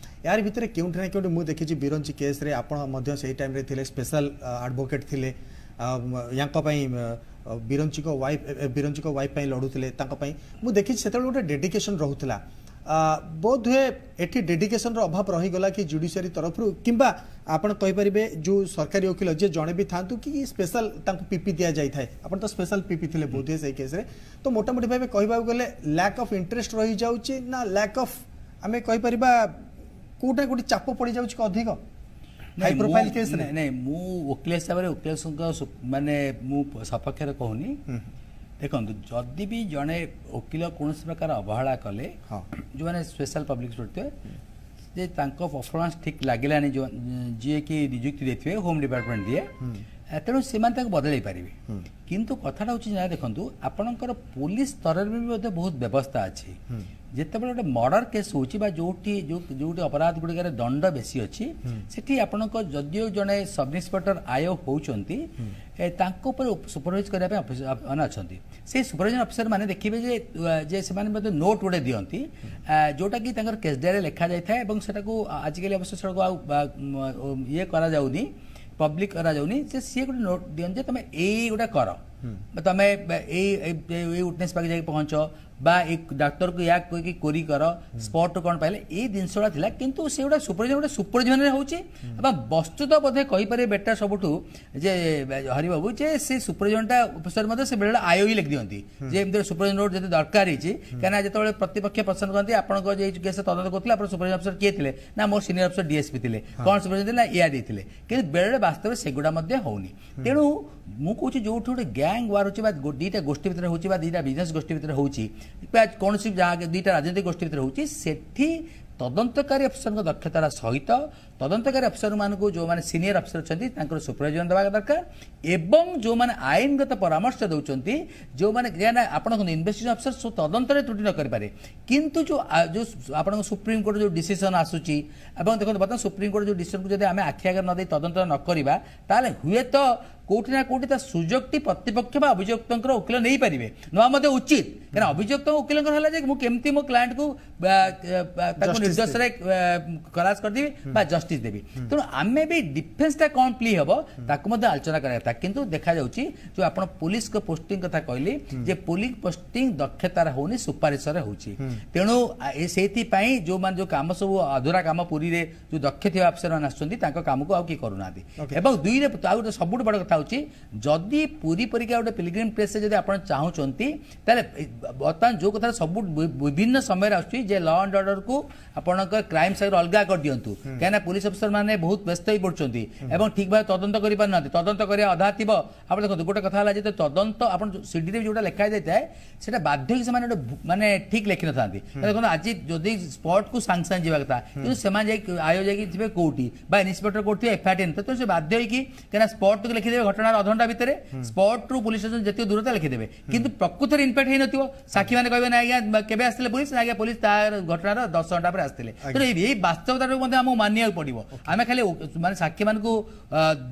ଏହାର ଭିତରେ କେଉଁଠି ନା କେଉଁଠି ମୁଁ ଦେଖିଛି ବିରଞ୍ଚି କେସ୍ରେ ଆପଣ ମଧ୍ୟ ସେଇ ଟାଇମ୍ରେ ଥିଲେ, ସ୍ପେଶାଲ ଆଡ଼ଭୋକେଟ୍ ଥିଲେ ୟାଙ୍କ ପାଇଁ, ବିରଞ୍ଚିଙ୍କ ୱାଇଫ୍ ପାଇଁ ଲଢ଼ୁଥିଲେ ତାଙ୍କ ପାଇଁ। ମୁଁ ଦେଖିଛି ସେତେବେଳେ ଗୋଟେ ଡେଡିକେସନ୍ ରହୁଥିଲା। ବୋଧହୁଏ ଏଠି ଡେଡିକେସନର ଅଭାବ ରହିଗଲା କି ଜୁଡ଼ିସିଆରୀ ତରଫରୁ, କିମ୍ବା ଆପଣ କହିପାରିବେ ଯେଉଁ ସରକାରୀ ଓକିଲ ଯିଏ ଜଣେ ବି ଥାଆନ୍ତୁ କି ସ୍ପେଶାଲ ତାଙ୍କୁ ପିପି ଦିଆଯାଇଥାଏ, ଆପଣ ତ ସ୍ପେଶାଲ ପିପି ଥିଲେ ବୋଧହୁଏ ସେଇ କେସ୍ରେ, ତ ମୋଟାମୋଟି ଭାବେ କହିବାକୁ ଗଲେ ଲ୍ୟାକ୍ ଅଫ୍ ଇଣ୍ଟରେଷ୍ଟ ରହିଯାଉଛି ନା ଲ୍ୟାକ୍ ଅଫ୍ ଆମେ କହିପାରିବା କୋଉଟା କୋଉଠି ଚାପ ପଡ଼ିଯାଉଛି କି ଅଧିକ ହାଇ ପ୍ରୋଫାଇଲ କେସ୍ରେ? ନାଇଁ, ମୁଁ ଓକିଲ ହିସାବରେ ଓକିଲଙ୍କ ମାନେ ମୁଁ ସପକ୍ଷରେ କହୁନି। ଦେଖନ୍ତୁ, ଯଦି ବି ଜଣେ ଓକିଲ କୌଣସି ପ୍ରକାର ଅବହେଳା କଲେ, ଯେଉଁମାନେ ସ୍ପେଶାଲ ପବ୍ଲିକ ଥିବେ, ଯେ ତାଙ୍କ ପରଫର୍ମାନ୍ସ ଠିକ୍ ଲାଗିଲାନି, ଯିଏକି ନିଯୁକ୍ତି ଦେଇଥିବେ, ହୋମ୍ ଡିପାର୍ଟମେଣ୍ଟ ଦିଏ, ତେଣୁ ସେମାନେ ତାକୁ ବଦଳାଇ ପାରିବେ। କିନ୍ତୁ କଥାଟା ହେଉଛି ନା, ଦେଖନ୍ତୁ, ଆପଣଙ୍କର ପୋଲିସ ସ୍ତରରେ ବି ମଧ୍ୟ ବହୁତ ବ୍ୟବସ୍ଥା ଅଛି। ଯେତେବେଳେ ଗୋଟେ ମର୍ଡର କେସ୍ ହେଉଛି ବା ଯୋଉଠି ଯୋଉଠି ଅପରାଧ ଗୁଡ଼ିକରେ ଦଣ୍ଡ ବେଶୀ ଅଛି, ସେଠି ଆପଣଙ୍କ ଯଦିଓ ଜଣେ ସବ୍ ଇନ୍ସପେକ୍ଟର ଆୟୋ ହେଉଛନ୍ତି, ତାଙ୍କ ଉପରେ ସୁପରଭାଇଜ କରିବା ପାଇଁ ଅଫିସର ମାନେ ଅଛନ୍ତି। ସେଇ ସୁପରଭାଇଜର ଅଫିସର ମାନେ ଦେଖିବେ ଯେ ସେମାନେ ମଧ୍ୟ ନୋଟ୍ ଗୋଟେ ଦିଅନ୍ତି, ଯୋଉଟାକି ତାଙ୍କର କେସ୍ ଡାଏରୀରେ ଲେଖାଯାଇଥାଏ। ଏବଂ ସେଟାକୁ ଆଜିକାଲି ଅବଶ୍ୟ ସେଟାକୁ ଆଉ ଇଏ କରାଯାଉନି, ପବ୍ଲିକ କରାଯାଉନି, ଯେ ସିଏ ଗୋଟେ ନୋଟ୍ ଦିଅନ୍ତି ଯେ ତମେ ଏଇଗୁଟା କର, ତମେ ଏଇ ଏଇ ୱିଟନେସ୍ ପାଖେ ଯାଇକି ପହଞ୍ଚ ବା ଏଇ ଡାକ୍ତରକୁ ୟା କହିକି କୋରି କର, ସ୍ପଟ୍ କ'ଣ ପାଇଲେ, ଏଇ ଜିନିଷଟା ଥିଲା। କିନ୍ତୁ ସେଗୁଡ଼ା ସୁପରଭିଜନ, ଗୋଟେ ସୁପରଭିଜନରେ ହେଉଛି। ଏବଂ ବସ୍ତୁତ ବୋଧେ କହିପାରିବେ ବେଟର ସବୁଠୁ ଯେ ହରିବାବୁ, ଯେ ସେ ସୁପରଭିଜନଟା ଅଫିସର ମଧ୍ୟ ସେ ବେଳେବେଳେ ଆୟୋ ବି ଲେଖିଦିଅନ୍ତି ଯେ ଏମିତି ସୁପରଭିଜନ ନୋଟ୍ ଯଦି ଦରକାର ହେଇଛି। କାହିଁକିନା ଯେତେବେଳେ ପ୍ରତିପକ୍ଷ ପ୍ରଶ୍ନ କରନ୍ତି, ଆପଣଙ୍କ ଯେ କେସ୍ ତଦନ୍ତ କରୁଥିଲେ, ଆପଣ ସୁପରଭିଜନ ଅଫିସର କିଏ ଥିଲେ? ନା, ମୋର ସିନିୟର ଅଫିସର ଡିଏସ୍ପି ଥିଲେ। କ'ଣ ସୁପରଭିଜନ ଥିଲେ? ନା, ଏୟା ଦେଇଥିଲେ। କିନ୍ତୁ ବେଳେବେଳେ ବାସ୍ତବରେ ସେଗୁଡ଼ା ମଧ୍ୟ ହଉନି। ତେଣୁ ମୁଁ କହୁଛି, ଯୋଉଠି ଗୋଟେ ଗ୍ୟାଙ୍ଗ ୱାର ହେଉଛି ବା ଦୁଇଟା ଗୋଷ୍ଠୀ ଭିତରେ ହେଉଛି ବା ଦୁଇଟା ବିଜନେସ୍ ଗୋଷ୍ଠୀ ଭିତରେ ହେଉଛି ବା କୌଣସି ଯାହା ଦୁଇଟା ରାଜନୈତିକ ଗୋଷ୍ଠୀ ଭିତରେ ହେଉଛି, ସେଠି ତଦନ୍ତକାରୀ ଅଫିସରଙ୍କ ଦକ୍ଷତାର ସହିତ ତଦନ୍ତକାରୀ ଅଫିସରମାନଙ୍କୁ, ଯେଉଁମାନେ ସିନିୟର ଅଫିସର ଅଛନ୍ତି, ତାଙ୍କର ସୁପରଭିଜନ ଦେବା ଦରକାର। ଏବଂ ଯେଉଁମାନେ ଆଇନଗତ ପରାମର୍ଶ ଦେଉଛନ୍ତି, ଯେଉଁମାନେ, ଆପଣ ଇନଭେଷ୍ଟିଗେସନ ଅଫିସର ତଦନ୍ତରେ ତ୍ରୁଟି ନ କରିପାରେ, କିନ୍ତୁ ଯେଉଁ ଯେଉଁ ଆପଣଙ୍କ ସୁପ୍ରିମକୋର୍ଟ ଯେଉଁ ଡିସିସନ ଆସୁଛି, ଏବଂ ଦେଖନ୍ତୁ, ବର୍ତ୍ତମାନ ସୁପ୍ରିମକୋର୍ଟ ଯେଉଁ ଡିସିସନକୁ ଯଦି ଆମେ ଆଖି ଆଗରେ ନ ଦେଇ ତଦନ୍ତ ନ କରିବା, ତାହେଲେ ହୁଏତ କୋଉଠି ନା କୋଉଠି ତା ସୁଯୋଗଟି ପ୍ରତିପକ୍ଷ ବା ଅଭିଯୁକ୍ତଙ୍କର ଓକିଲ ନେଇପାରିବେ, ନେବା ମଧ୍ୟ ଉଚିତ। କାରଣ ଅଭିଯୁକ୍ତଙ୍କ ଓକିଲଙ୍କର ହେଲା ଯେ ମୁଁ କେମିତି ମୋ କ୍ଲାଏଣ୍ଟକୁ ତାକୁ ନିର୍ଦ୍ଦୋଷରେ ଖଲାସ କରିଦେବି ବା ଜଷ୍ଟିସ୍ ଦେବି। ତେଣୁ ଆମେ ବି ଡିଫେନ୍ସଟା କ'ଣ ପ୍ଲି ହେବ, ତାକୁ ମଧ୍ୟ ଆଲୋଚନା କରିବା କଥା। କିନ୍ତୁ ଦେଖାଯାଉଛି, ଯେଉଁ ଆପଣ ପୋଲିସଙ୍କ ପୋଷ୍ଟିଂ କଥା କହିଲି, ଯେ ପୋଲିସ ପୋଷ୍ଟିଂ ଦକ୍ଷତାରେ ହଉନି, ସୁପାରିଶରେ ହେଉଛି। ତେଣୁ ସେଇଥିପାଇଁ ଯେଉଁମାନେ ଯେଉଁ କାମ ସବୁ ଅଧୁରା କାମ, ପୁରୀରେ ଯେଉଁ ଦକ୍ଷ ଥିବା ଅଫିସରମାନେ ଆସୁଛନ୍ତି, ତାଙ୍କ କାମକୁ ଆଉ କିଏ କରୁନାହାନ୍ତି। ଏବଂ ଦୁଇରେ ଆଉ ଗୋଟେ ସବୁଠୁ ବଡ଼ କଥା ହେଉଛି, ଯଦି ପୁରୀ ପରିକା ଗୋଟେ ପିଲଗ୍ରିମ୍ ପ୍ଲେସ୍ରେ ଯଦି ଆପଣ ଚାହୁଁଛନ୍ତି, ତାହେଲେ ବର୍ତ୍ତମାନ ଯେଉଁ କଥା ସବୁ ବିଭିନ୍ନ ସମୟରେ ଆସୁଛି ଯେ ଲ ଆଣ୍ଡ ଅର୍ଡରକୁ ଆପଣଙ୍କ କ୍ରାଇମ୍ ସାଙ୍ଗରେ ଅଲଗା କରିଦିଅନ୍ତୁ, କାହିଁକିନା ପୋଲିସ ଅଫିସର ମାନେ ବହୁତ ବ୍ୟସ୍ତ ହେଇ ପଡୁଛନ୍ତି ଏବଂ ଠିକ୍ ଭାବେ ତଦନ୍ତ କରିପାରୁନାହାନ୍ତି। ତଦନ୍ତ କରିବା ଅଧା ଥିବ। ଆପଣ ଦେଖନ୍ତୁ, ଗୋଟେ କଥା ହେଲା ଯେ ତଦନ୍ତ ଆପଣ ସିଡିରେ ଯୋଉଟା ଲେଖା ଯାଇଥାଏ, ସେଟା ବାଧ୍ୟ ହେଇକି ସେମାନେ ଗୋଟେ ମାନେ ଠିକ୍ ଲେଖିନଥାନ୍ତି। ଦେଖନ୍ତୁ, ଆଜି ଯଦି ସ୍ପଟକୁ ସାଙ୍ଗେ ସାଙ୍ଗେ ଯିବା କଥା, କିନ୍ତୁ ସେମାନେ ଯାଇକି ଆୟୋ ଯାଇକି ଥିବେ କୋଉଠି ବା ଇନ୍ସପେକ୍ଟର କୋଉଠି ଥିବେ, ଏଫଆଇଆର ତ ସେ ବାଧ୍ୟ ହେଇକି, କାହିଁକିନା ସ୍ପଟକୁ ଲେଖିଦେବେ ଘଟଣାର ଅଧଘଣ୍ଟା ଭିତରେ, ସ୍ପଟରୁ ପୋଲିସ ଷ୍ଟେସନ ଯେତିକି ଦୂରତା ଲେଖିଦେବେ, କିନ୍ତୁ ପ୍ରକୃତରେ ଇମ୍ପାକ୍ଟ ହେଇନଥିବ। ସାକ୍ଷୀମାନେ କହିବେ, ନା ଆଜ୍ଞା, କେବେ ଆସିଥିଲେ ପୋଲିସ? ନା ଆଜ୍ଞା, ପୋଲିସ ତା ଘଟଣାର 10 ଘଣ୍ଟା ପରେ ଆସିଥିଲେ। ତେଣୁ ଏଇ ବାସ୍ତବତାଟାକୁ ମଧ୍ୟ ଆମକୁ ମାନିବାକୁ ପଡିବ। ଆମେ ଖାଲି ମାନେ ସାକ୍ଷୀମାନଙ୍କୁ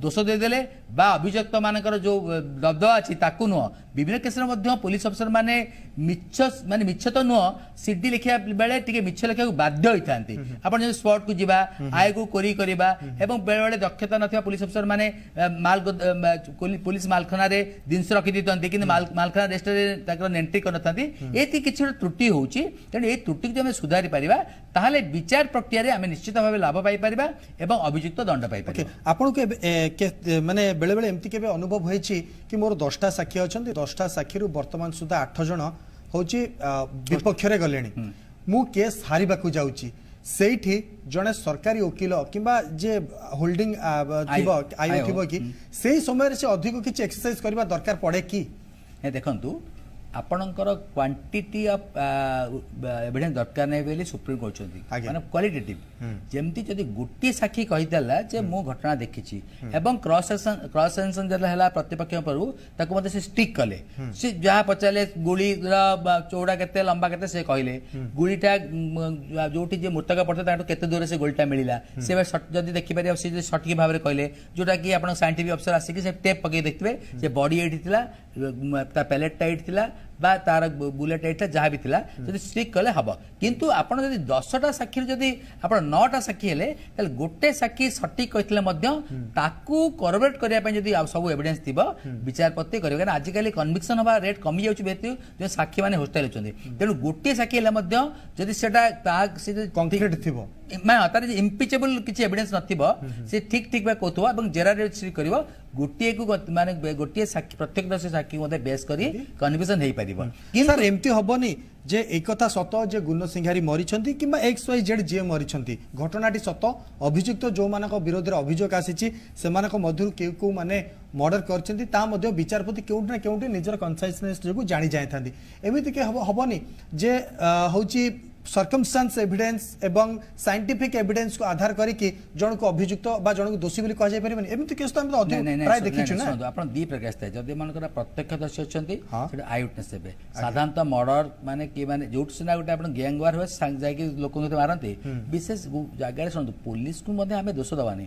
ଦୋଷ ଦେଇଦେଲେ ବା ଅଭିଯୁକ୍ତ ମାନଙ୍କର ଯୋଉ ଦବଦବା ଅଛି ତାକୁ ନୁହଁ। ବିଭିନ୍ନ କେସରେ ମଧ୍ୟ ପୋଲିସ ଅଫିସର ମାନେ ମିଛ, ମାନେ ମିଛ ତ ନୁହଁ, ସିଡି ଲେଖିବା ବେଳେ ଟିକେ ମିଛ ଲେଖିବାକୁ ବାଧ୍ୟ ହୋଇଥାନ୍ତି। ଆପଣ ଯଦି ସ୍ପଟକୁ ଯିବା, ଆୟକୁ କୋରି କରିବା, ଏବଂ ବେଳେବେଳେ ଦକ୍ଷତା ନଥିବା ପୋଲିସ ଅଫିସର ମାନେ ମାଲ ପୋଲିସ ମାଲଖାନାରେ ଜିନିଷ ରଖିଦେଇଥାନ୍ତି, କିନ୍ତୁ ମାଲଖାନା ରେଜିଷ୍ଟରରେ ତାଙ୍କର ଏଣ୍ଟ୍ରି କରିନଥାନ୍ତି। ଏଇଠି କିଛି ଗୋଟେ ତ୍ରୁଟି ହେଉଛି। ତେଣୁ ଏଇ ତ୍ରୁଟିକୁ ଯଦି ଆମେ ସୁଧାରି ପାରିବା, ତାହେଲେ ବିଚାର ପ୍ରକ୍ରିୟାରେ ଆମେ ନିଶ୍ଚିତ ଭାବେ ଲାଭ ପାଇପାରିବା ଏବଂ ଅଭିଯୁକ୍ତ ଦଣ୍ଡ ପାଇପାରିବା। ଆପଣଙ୍କୁ ମାନେ ବେଳେବେଳେ ଏମିତି କେବେ ଅନୁଭବ ହୋଇଛି କି ମୋର 10ଟା ସାକ୍ଷୀ ଅଛନ୍ତି, 10ଟା ସାକ୍ଷୀରୁ ବର୍ତ୍ତମାନ ସୁଦ୍ଧା 8 ଜଣ ହେଉଛି ବିପକ୍ଷରେ ଗଲେଣି, ମୁଁ କେସ୍ ହାରିବାକୁ ଯାଉଛି, ସେଇଠି ଜଣେ ସରକାରୀ ଓକିଲ କିମ୍ବା ଯେ ହୋଲ୍ଡିଂ ଥିବ, ଆୟୋ ଥିବ କି, ସେଇ ସମୟରେ ସେ ଅଧିକ କିଛି ଏକ୍ସରସାଇଜ କରିବା ଦରକାର ପଡ଼େ କି? ଦେଖନ୍ତୁ, ଆପଣଙ୍କର କ୍ୱାଣ୍ଟିଟି ଅଫ୍ ଏଭିଡେନ୍ସ ଦରକାର ନାହିଁ ବୋଲି ସୁପ୍ରିମ କହିଛନ୍ତି, ମାନେ କ୍ୱାଲିଟେଟିଭ। ଯେମିତି ଯଦି ଗୋଟିଏ ସାକ୍ଷୀ କହିଦେଲା ଯେ ମୁଁ ଘଟଣା ଦେଖିଛି, ଏବଂ କ୍ରସ୍ ସେକ୍ସନ ଯେତେବେଳେ ହେଲା ପ୍ରତିପକ୍ଷ ପରୁ, ତାକୁ ମଧ୍ୟ ସେ ଷ୍ଟିକ୍ କଲେ। ସେ ଯାହା ପଚାରିଲେ, ଗୁଳିର ଚଉଡ଼ା କେତେ, ଲମ୍ବା କେତେ, ସେ କହିଲେ। ଗୁଳିଟା ଯୋଉଠି ଯେ ମୃତକ ପଡ଼ିଥିଲା ତାଙ୍କଠୁ କେତେ ଦୂରରେ ସେ ଗୁଳିଟା ମିଳିଲା, ସେ ଯଦି ଦେଖିପାରିବେ, ସେ ଯଦି ସଠିକ ଭାବରେ କହିଲେ, ଯୋଉଟା କି ଆପଣ ସାଇଣ୍ଟିଫିକ ଅଫିସର ଆସିକି ସେ ଟେପ୍ ପକେଇ ଦେଖିଥିବେ ଯେ ବଡି ଏଇଠି ଥିଲା, ତା ପ୍ୟାଲେଟଟା ଏଇଠି ଥିଲା ବା ତାର ବୁଲେଟ୍ ଏଇଟା ଯାହା ବି ଥିଲା, ଯଦି ଷ୍ଟିକ୍ କଲେ ହବ। କିନ୍ତୁ ଆପଣ ଯଦି 10ଟା ସାକ୍ଷୀରୁ ଯଦି ଆପଣ 9ଟା ସାକ୍ଷୀ ହେଲେ, ତାହେଲେ ଗୋଟେ ସାକ୍ଷୀ ସଠିକ କହିଥିଲେ ମଧ୍ୟ ତାକୁ କରୋବରେଟ୍ କରିବା ପାଇଁ ଯଦି ଆଉ ସବୁ ଏଭିଡେନ୍ସ ଥିବ, ବିଚାରପତି କରିବେ। କାରଣ ଆଜିକାଲି କନଭିକ୍ସନ ହେବା ରେଟ୍ କମିଯାଉଛି ଯେହେତୁ ଯେଉଁ ସାକ୍ଷୀମାନେ ହୋଷ୍ଟାଇଲ ଅଛନ୍ତି। ତେଣୁ ଗୋଟିଏ ସାକ୍ଷୀ ହେଲେ ମଧ୍ୟ ଯଦି ସେଟା ତାହା ସେ କଂକ୍ରିଟ ଥିବ, ମାନେ ତାର ଇମ୍ପିଚେବଲ କିଛି ଏଭିଡେନ୍ସ ନଥିବ, ସେ ଠିକ ଠିକ ଭାବେ କହୁଥିବ ଏବଂ ଜେରାରେ କରିବ, ଗୋଟିଏକୁ ମାନେ ଗୋଟିଏ ସାକ୍ଷୀ, ପ୍ରତ୍ୟକ୍ଷ ସାକ୍ଷୀ ମଧ୍ୟ ବେସ୍ କରି କନଭିକ୍ସନ ହେଇପାରିବ। କିନ୍ତୁ ସାର୍, ଏମିତି ହବନି ଯେ ଏଇ କଥା ସତ ଯେ ଗୁଣ ସିଂହାରୀ ମରିଛନ୍ତି କିମ୍ବା ଏକ୍ସ ୱାଇ ଜେଡ୍ ଯିଏ ମରିଛନ୍ତି, ଘଟଣାଟି ସତ, ଅଭିଯୁକ୍ତ ଯେଉଁମାନଙ୍କ ବିରୋଧରେ ଅଭିଯୋଗ ଆସିଛି ସେମାନଙ୍କ ମଧ୍ୟରୁ କେଉଁ କେଉଁମାନେ ମର୍ଡର କରିଛନ୍ତି ତା ମଧ୍ୟ ବିଚାରପତି କେଉଁଠି ନା କେଉଁଠି ନିଜର କନସାଇସନେସ୍ ଯୋଗୁଁ ଜାଣି ଯାଇଥାନ୍ତି। ଏମିତି କି ହବନି ଯେ ହେଉଛି सर्कमस्टान्स एविडेंस ଏବଂ साइंटिफिक एविडेंस କୁ ଆଧାର କରିକି ଜଣକୁ ଅଭିଯୁକ୍ତ ବା ଜଣକୁ ଦୋଷୀ ବୋଲି କୁହାଯାଇ ପାରିବନି। ଏମିତି କେସ୍ ତ ଆମେ ଅଧିକ ପ୍ରାୟ ଦେଖିଛୁ ନା। ଶୁଣନ୍ତୁ, ଆପଣ ଦି ପ୍ରକାର ଥାଏ। ଯଦି ମନେକର ପ୍ରତ୍ୟକ୍ଷଦର୍ଶୀ ଅଛନ୍ତି, ସେଟା I witness ହେବେ। ସାଧାରଣତଃ ମର୍ଡର ମାନେ କି ମାନେ ଯୋଉଠି ସିନା ଗୋଟେ ଆପଣ ଗ୍ୟାଙ୍ଗ ୱାର ହୁଏ, ଯାଇକି ଲୋକଙ୍କୁ ମାରନ୍ତି ବିଶେଷ ଜାଗାରେ। ଶୁଣନ୍ତୁ, ପୋଲିସକୁ ମଧ୍ୟ ଆମେ ଦୋଷ ଦେବାନି।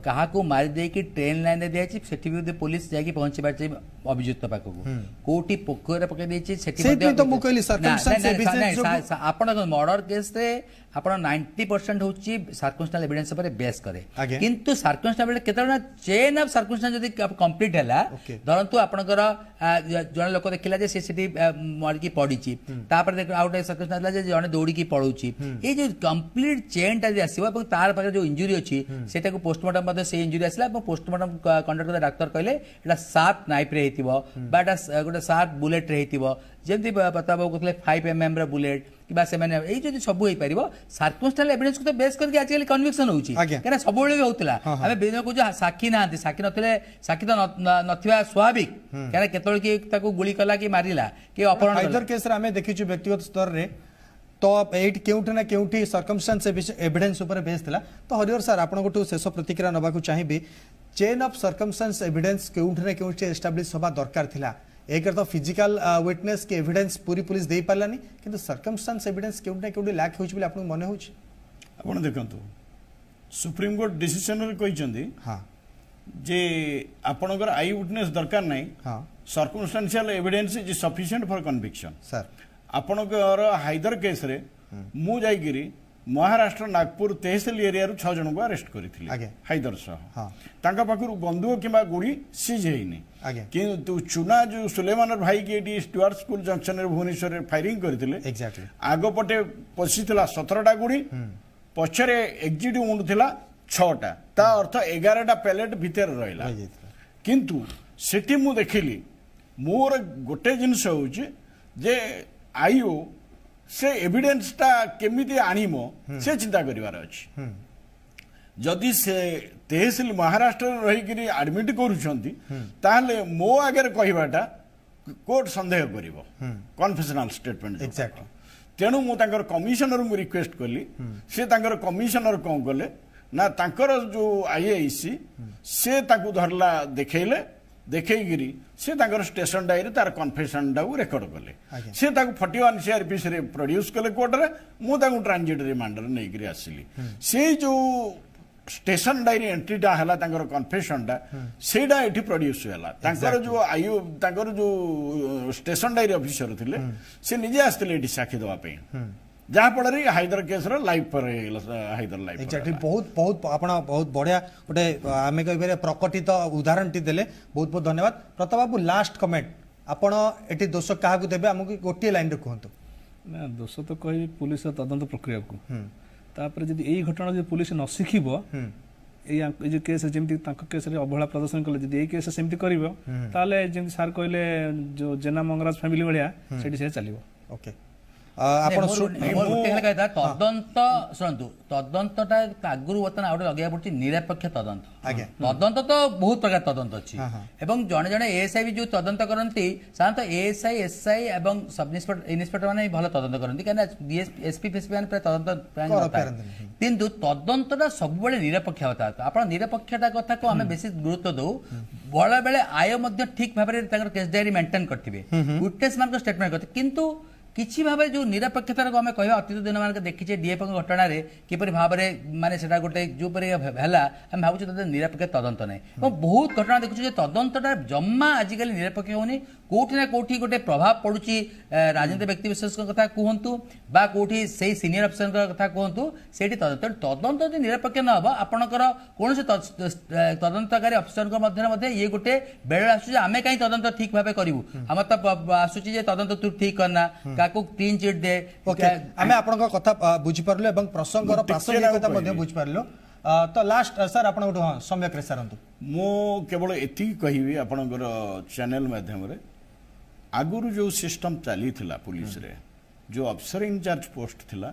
କାହାକୁ ମାରି ଦେଇକି ଟ୍ରେନ୍ ଲାଇନରେ ଦିଆଯାଇଛି, ସେଠି ବି ପୋଲିସ ଯାଇକି ପହଞ୍ଚି ପାରିଛି ଅଭିଯୁକ୍ତ ପାଖକୁ। କୋଉଠି ପୋଖରୀରେ ପକେଇ ଦେଇଛି, ସେଠି ମଧ୍ୟ। ଆପଣ ମର୍ଡର କେସ୍ରେ ଆପଣ 90% ହେଉଛି ସାର୍କମଷ୍ଟାନ୍ସ ଏଭିଡେନ୍ସ ଉପରେ ବେସ୍ କରେ। କିନ୍ତୁ ସାର୍କମଷ୍ଟାନ୍ସ କେତେବେଳେ ନା ଚେନ୍ ଅଫ୍ ସାର୍କମଷ୍ଟାନ୍ସ ଯଦି କମ୍ପ୍ଲିଟ୍ ହେଲା, ଧରନ୍ତୁ ଆପଣଙ୍କର ଜଣେ ଲୋକ ଦେଖିଲା ଯେ ସେ ସେଠି ମରିକି ପଡ଼ିଛି, ତାପରେ ଆଉ ଗୋଟେ ସାର୍କମଷ୍ଟାନ୍ସ ହେଲା ଯେ ଜଣେ ଦୌଡ଼ିକି ପଳଉଛି, ଏଇ ଯୋଉ କମ୍ପ୍ଲିଟ୍ ଚେନ୍ଟା ଯଦି ଆସିବ ଏବଂ ତାର ପାଖରେ ଯୋଉ ଇଞ୍ଜୁରି ଅଛି ସେଟାକୁ ପୋଷ୍ଟମର୍ଟମ ମଧ୍ୟ ସେଇ ଇଞ୍ଜୁରି ଆସିଲା ଏବଂ ପୋଷ୍ଟମର୍ଟମ କଣ୍ଡକ୍ଟ କଲେ ଡାକ୍ତର କହିଲେ ଏଇଟା ସାର୍ପ ନାଇଫ୍ରେ ହେଇଥିବ ବା ଏଇଟା ଗୋଟେ ସାର୍ପ ବୁଲେଟ୍ରେ ହେଇଥିବ, ଯେମିତି ପ୍ରତାପ ବାବୁ କହୁଥିଲେ 5 mm ର ବୁଲେଟ୍ କିମ୍ବା ସେମାନେ ଏଇ ଯଦି ସବୁ ହେଇପାରିବ, ସାର୍କମଷ୍ଟାନ୍ସ ଏଭିଡେନ୍ସକୁ ତ ବେସ୍ କରିକି ଆଜିକାଲି କନଭିକ୍ସନ ହେଉଛି। କାହିଁକିନା ସବୁବେଳେ ବି ହଉଥିଲା। ଆମେ ବିଭିନ୍ନ କହୁଛୁ ସାକ୍ଷୀ ନାହାନ୍ତି, ସାକ୍ଷୀ ନଥିଲେ, ସାକ୍ଷୀ ତ ନଥିବା ସ୍ୱାଭାବିକ, କାହିଁକିନା କେତେବେଳେ କି ତାକୁ ଗୁଳି କଲା କି ମାରିଲା କି ଅପହରଣ। ହାଇଦର କେସ୍ରେ ଆମେ ଦେଖିଛୁ ବ୍ୟକ୍ତିଗତ ସ୍ତରରେ ତ ଏଇଠି କେଉଁଠି ନା କେଉଁଠି ସର୍କମଷ୍ଟାନ୍ସ ଏଭିଡେନ୍ସ ଉପରେ ବେସ୍ ଥିଲା। ତ ହରିହର ସାର୍, ଆପଣଙ୍କଠୁ ଶେଷ ପ୍ରତିକ୍ରିୟା ନେବାକୁ ଚାହିଁବି। ଚେନ୍ ଅଫ୍ ସର୍କମଷ୍ଟାନ୍ସ ଏଭିଡେନ୍ସ କେଉଁଠି ନା କେଉଁଠି ଏଷ୍ଟାବ୍ଲିଶ ହେବା ଦରକାର ଥିଲା। ଏକରେ ତ ଫିଜିକାଲ ୱିଟନେସ୍ କି ଏଭିଡେନ୍ସ ପୁରୀ ପୁଲିସ ଦେଇପାରିଲାନି, କିନ୍ତୁ ସର୍କମଷ୍ଟାନ୍ସ ଏଭିଡେନ୍ସ କେଉଁଠି ନା କେଉଁଠି ଲ୍ୟାକ୍ ହେଉଛି ବୋଲି ଆପଣଙ୍କୁ ମନେ ହେଉଛି? ଆପଣ ଦେଖନ୍ତୁ, ସୁପ୍ରିମକୋର୍ଟ ଡିସିସନରେ କହିଛନ୍ତି ଯେ ଆପଣଙ୍କର I witness ଦରକାର ନାହିଁ, circumstantial evidence is sufficient for conviction. Sir, ଆପଣଙ୍କର ହାଇଦର କେସ୍ରେ ମୁଁ ଯାଇକିରି ମହାରାଷ୍ଟ୍ର ନାଗପୁର ତେହସିଲ ଏରିଆରୁ 6 ଜଣଙ୍କୁ ଆରେଷ୍ଟ କରିଥିଲି ହାଇଦର ସହ। ତାଙ୍କ ପାଖରୁ ବନ୍ଧୁକ କିମ୍ବା ଗୁଳି ସିଜ୍ ହେଇନି। କିନ୍ତୁ ଚୁନା ଯୋଉ ସୁଲେମାନର ଭାଇକି ଏଠି ଷ୍ଟୁଆର୍ଟ ସ୍କୁଲ ଜଙ୍କସନରେ ଭୁବନେଶ୍ୱରରେ ଫାୟାରିଂ କରିଥିଲେ, ଆଗ ପଟେ ପଶିଥିଲା 17ଟା ଗୁଳି, ପଛରେ ଏକ୍ଜିଟ୍ ଉଣ୍ଡ ଥିଲା 6ଟା, ତା ଅର୍ଥ 11ଟା ପ୍ୟାଲେଟ୍ ଭିତରେ ରହିଲା। କିନ୍ତୁ ସେଠି ମୁଁ ଦେଖିଲି, ମୋର ଗୋଟେ ଜିନିଷ ହେଉଛି ଯେ ଆଇଓ ସେ ଏଭିଡେନ୍ସଟା କେମିତି ଆଣିବ ସେ ଚିନ୍ତା କରିବାର ଅଛି। ଯଦି ସେ ତେହସିଲ ମହାରାଷ୍ଟ୍ରରେ ରହିକିରି ଆଡମିଟ୍ କରୁଛନ୍ତି, ତାହେଲେ ମୋ ଆଗରେ କହିବାଟା କୋର୍ଟ ସନ୍ଦେହ କରିବ, କନଫେସନାଲ ଷ୍ଟେଟମେଣ୍ଟ। ତେଣୁ ମୁଁ ତାଙ୍କର କମିଶନରଙ୍କୁ ରିକ୍ୱେଷ୍ଟ କଲି। ସେ ତାଙ୍କର କମିଶନର କ'ଣ କଲେ ନା, ତାଙ୍କର ଯୋଉ ଆଇଆଇସି ସେ ତାକୁ ଧରିଲା, ଦେଖେଇଲେ, ଦେଖେଇକିରି ସେ ତାଙ୍କର ଷ୍ଟେସନ ଡାଏରୀ ତାର କନଫେସନଟାକୁ ରେକର୍ଡ କଲେ। ସେ ତାକୁ 41 ସିଆରପିସିରେ ପ୍ରଡ୍ୟୁସ୍ କଲେ କୋର୍ଟରେ। ମୁଁ ତାଙ୍କୁ ଟ୍ରାନଜିଟ୍ ରିମାଣ୍ଡରେ ନେଇକିରି ଆସିଲି। ସେଇ ଯୋଉ ଷ୍ଟେସନ ଡାଏରୀ ଏଣ୍ଟ୍ରିଟା ହେଲା, ତାଙ୍କର କନଫେସନଟା, ସେଇଟା ଏଠି ପ୍ରଡ୍ୟୁସ୍ ହେଲା। ତାଙ୍କର ଯୋଉ ଆୟୁ ତାଙ୍କର ଯୋଉ ଷ୍ଟେସନ ଡାଏରୀ ଅଫିସର ଥିଲେ, ସେ ନିଜେ ଆସିଥିଲେ ଏଠି ସାକ୍ଷୀ ଦେବା ପାଇଁ, ଯାହାଫଳରେ ହାଇଦର କେସ୍ର ଲାଇଫ୍ ହେଇଗଲା, ହାଇଦର ଲାଇଫ୍। ଏକ୍ଜାକ୍ଟଲି, ବହୁତ ବହୁତ ଆପଣ ବହୁତ ବଢ଼ିଆ ଗୋଟେ ଆମେ କହିପାରିବା ପ୍ରକଟିତ ଉଦାହରଣଟି ଦେଲେ। ବହୁତ ବହୁତ ଧନ୍ୟବାଦ ପ୍ରତାପ ବାବୁ। ଲାଷ୍ଟ କମେଣ୍ଟ, ଆପଣ ଏଠି ଦୋଷ କାହାକୁ ଦେବେ, ଆମକୁ ଗୋଟିଏ ଲାଇନରେ କୁହନ୍ତୁ। ନା, ଦୋଷ ତ କହିବି ପୁଲିସର ତଦନ୍ତ ପ୍ରକ୍ରିୟାକୁ। ତାପରେ ଯଦି ଏଇ ଘଟଣା ଯଦି ପୁଲିସ ନ ଶିଖିବ, ଏଇ ଏଇ ଯୋଉ କେସ୍ ଯେମିତି ତାଙ୍କ କେସ୍ରେ ଅବହେଳା ପ୍ରଦର୍ଶନ କଲେ, ଯଦି ଏଇ କେସ୍ ସେମିତି କରିବ, ତାହେଲେ ଯେମିତି ସାର୍ କହିଲେ ଯୋଉ ଜେନା ମଙ୍ଗରାଜ ଫ୍ୟାମିଲି ଭଳିଆ ସେଠି ସେ ଚାଲିବ। ଓକେ, ଆପଣ ତଦନ୍ତ ଶୁଣନ୍ତୁ, ତଦନ୍ତଟା ଆଗରୁ ବର୍ତ୍ତମାନ ଆଉ ଗୋଟେ ଲଗେଇବାକୁ ପଡୁଛି ନିରପେକ୍ଷ ତଦନ୍ତ। ତଦନ୍ତ ତ ବହୁତ ପ୍ରକାର ତଦନ୍ତ ଅଛି ଏବଂ ଜଣେ ଜଣେ ଏଏସ୍ଆଇ ବି ଯୋଉ ତଦନ୍ତ କରନ୍ତି, ସାଧାରଣତଃ ଏଏସ୍ଆଇ, ଏସ୍ଆଇ ଏବଂ ସବ୍ ଇନ୍ସପେକ୍ଟର ମାନେ ଭଲ ତଦନ୍ତ କରନ୍ତି, କାହିଁକିନା ଏସ୍ପି ଫେସ୍ପି ମାନେ ପ୍ରାୟ ତଦନ୍ତ ପ୍ରାୟ। କିନ୍ତୁ ତଦନ୍ତଟା ସବୁବେଳେ ନିରପେକ୍ଷ ହେବା। ଆପଣ ନିରପେକ୍ଷତା କଥାକୁ ଆମେ ବେଶୀ ଗୁରୁତ୍ୱ ଦଉ। ବେଳେବେଳେ ଆୟ ମଧ୍ୟ ଠିକ ଭାବରେ ତାଙ୍କର କେସ୍ ଡାଏରୀ ମେଣ୍ଟେନ୍ କରିଥିବେ, ୱିଟନେସ୍ ମାନଙ୍କ ଷ୍ଟେଟମେଣ୍ଟ କରିଥିବେ, କିନ୍ତୁ କିଛି ଭାବରେ ଯେଉଁ ନିରପେକ୍ଷତାକୁ ଆମେ କହିବା, ଅତୀତ ଦିନମାନଙ୍କ ଦେଖିଛେ ଡିଏଫ୍ଓଙ୍କ ଘଟଣାରେ କିପରି ଭାବରେ ମାନେ ସେଟା ଗୋଟେ ଯେଉଁପରି ହେଲା, ଆମେ ଭାବୁଛୁ ତଦନ୍ତ ନିରପେକ୍ଷ ତଦନ୍ତ ନାହିଁ। ଏବଂ ବହୁତ ଘଟଣା ଦେଖୁଛୁ ଯେ ତଦନ୍ତଟା ଜମା ଆଜିକାଲି ନିରପେକ୍ଷ ହେଉନି। କୋଉଠି ନା କୋଉଠି ଗୋଟେ ପ୍ରଭାବ ପଡୁଛି, ରାଜନୀତି ବ୍ୟକ୍ତି ବିଶେଷଙ୍କ କଥା କୁହନ୍ତୁ ବା କୋଉଠି ସେଇ ସିନିୟର ଅଫିସରଙ୍କ କଥା କୁହନ୍ତୁ, ସେଇଠି ତଦନ୍ତ ତଦନ୍ତ ଯଦି ନିରପେକ୍ଷ ନ ହେବ, ଆପଣଙ୍କର କୌଣସି ତଦନ୍ତକାରୀ ଅଫିସରଙ୍କ ମଧ୍ୟରେ ମଧ୍ୟ ଇଏ ଗୋଟେ ବେଳେ ଆସୁଛି ଯେ ଆମେ କାହିଁ ତଦନ୍ତ ଠିକ ଭାବେ କରିବୁ, ଆମର ତ ଆସୁଛି ଯେ ତଦନ୍ତ ତୁ ଠିକ କରନା, କାହାକୁ କ୍ଲିନ୍ ଚିଟ୍ ଦେ। ଓକେ, ଆମେ ଆପଣଙ୍କ କଥା ବୁଝିପାରିଲୁ ଏବଂ ପ୍ରସଙ୍ଗର ପ୍ରାସଙ୍ଗିକତା ମଧ୍ୟ ବୁଝିପାରିଲୁ। ତ ଲାଷ୍ଟ ସାର୍ ଆପଣଙ୍କଠୁ, ହଁ, ସମ୍ୟକରେ ସାରନ୍ତୁ। ମୁଁ କେବଳ ଏତିକି କହିବି ଆପଣଙ୍କର ଚ୍ୟାନେଲ ମାଧ୍ୟମରେ, ଆଗରୁ ଯେଉଁ ସିଷ୍ଟମ ଚାଲିଥିଲା ପୁଲିସରେ, ଯେଉଁ ଅଫିସର ଇନଚାର୍ଜ ପୋଷ୍ଟ ଥିଲା,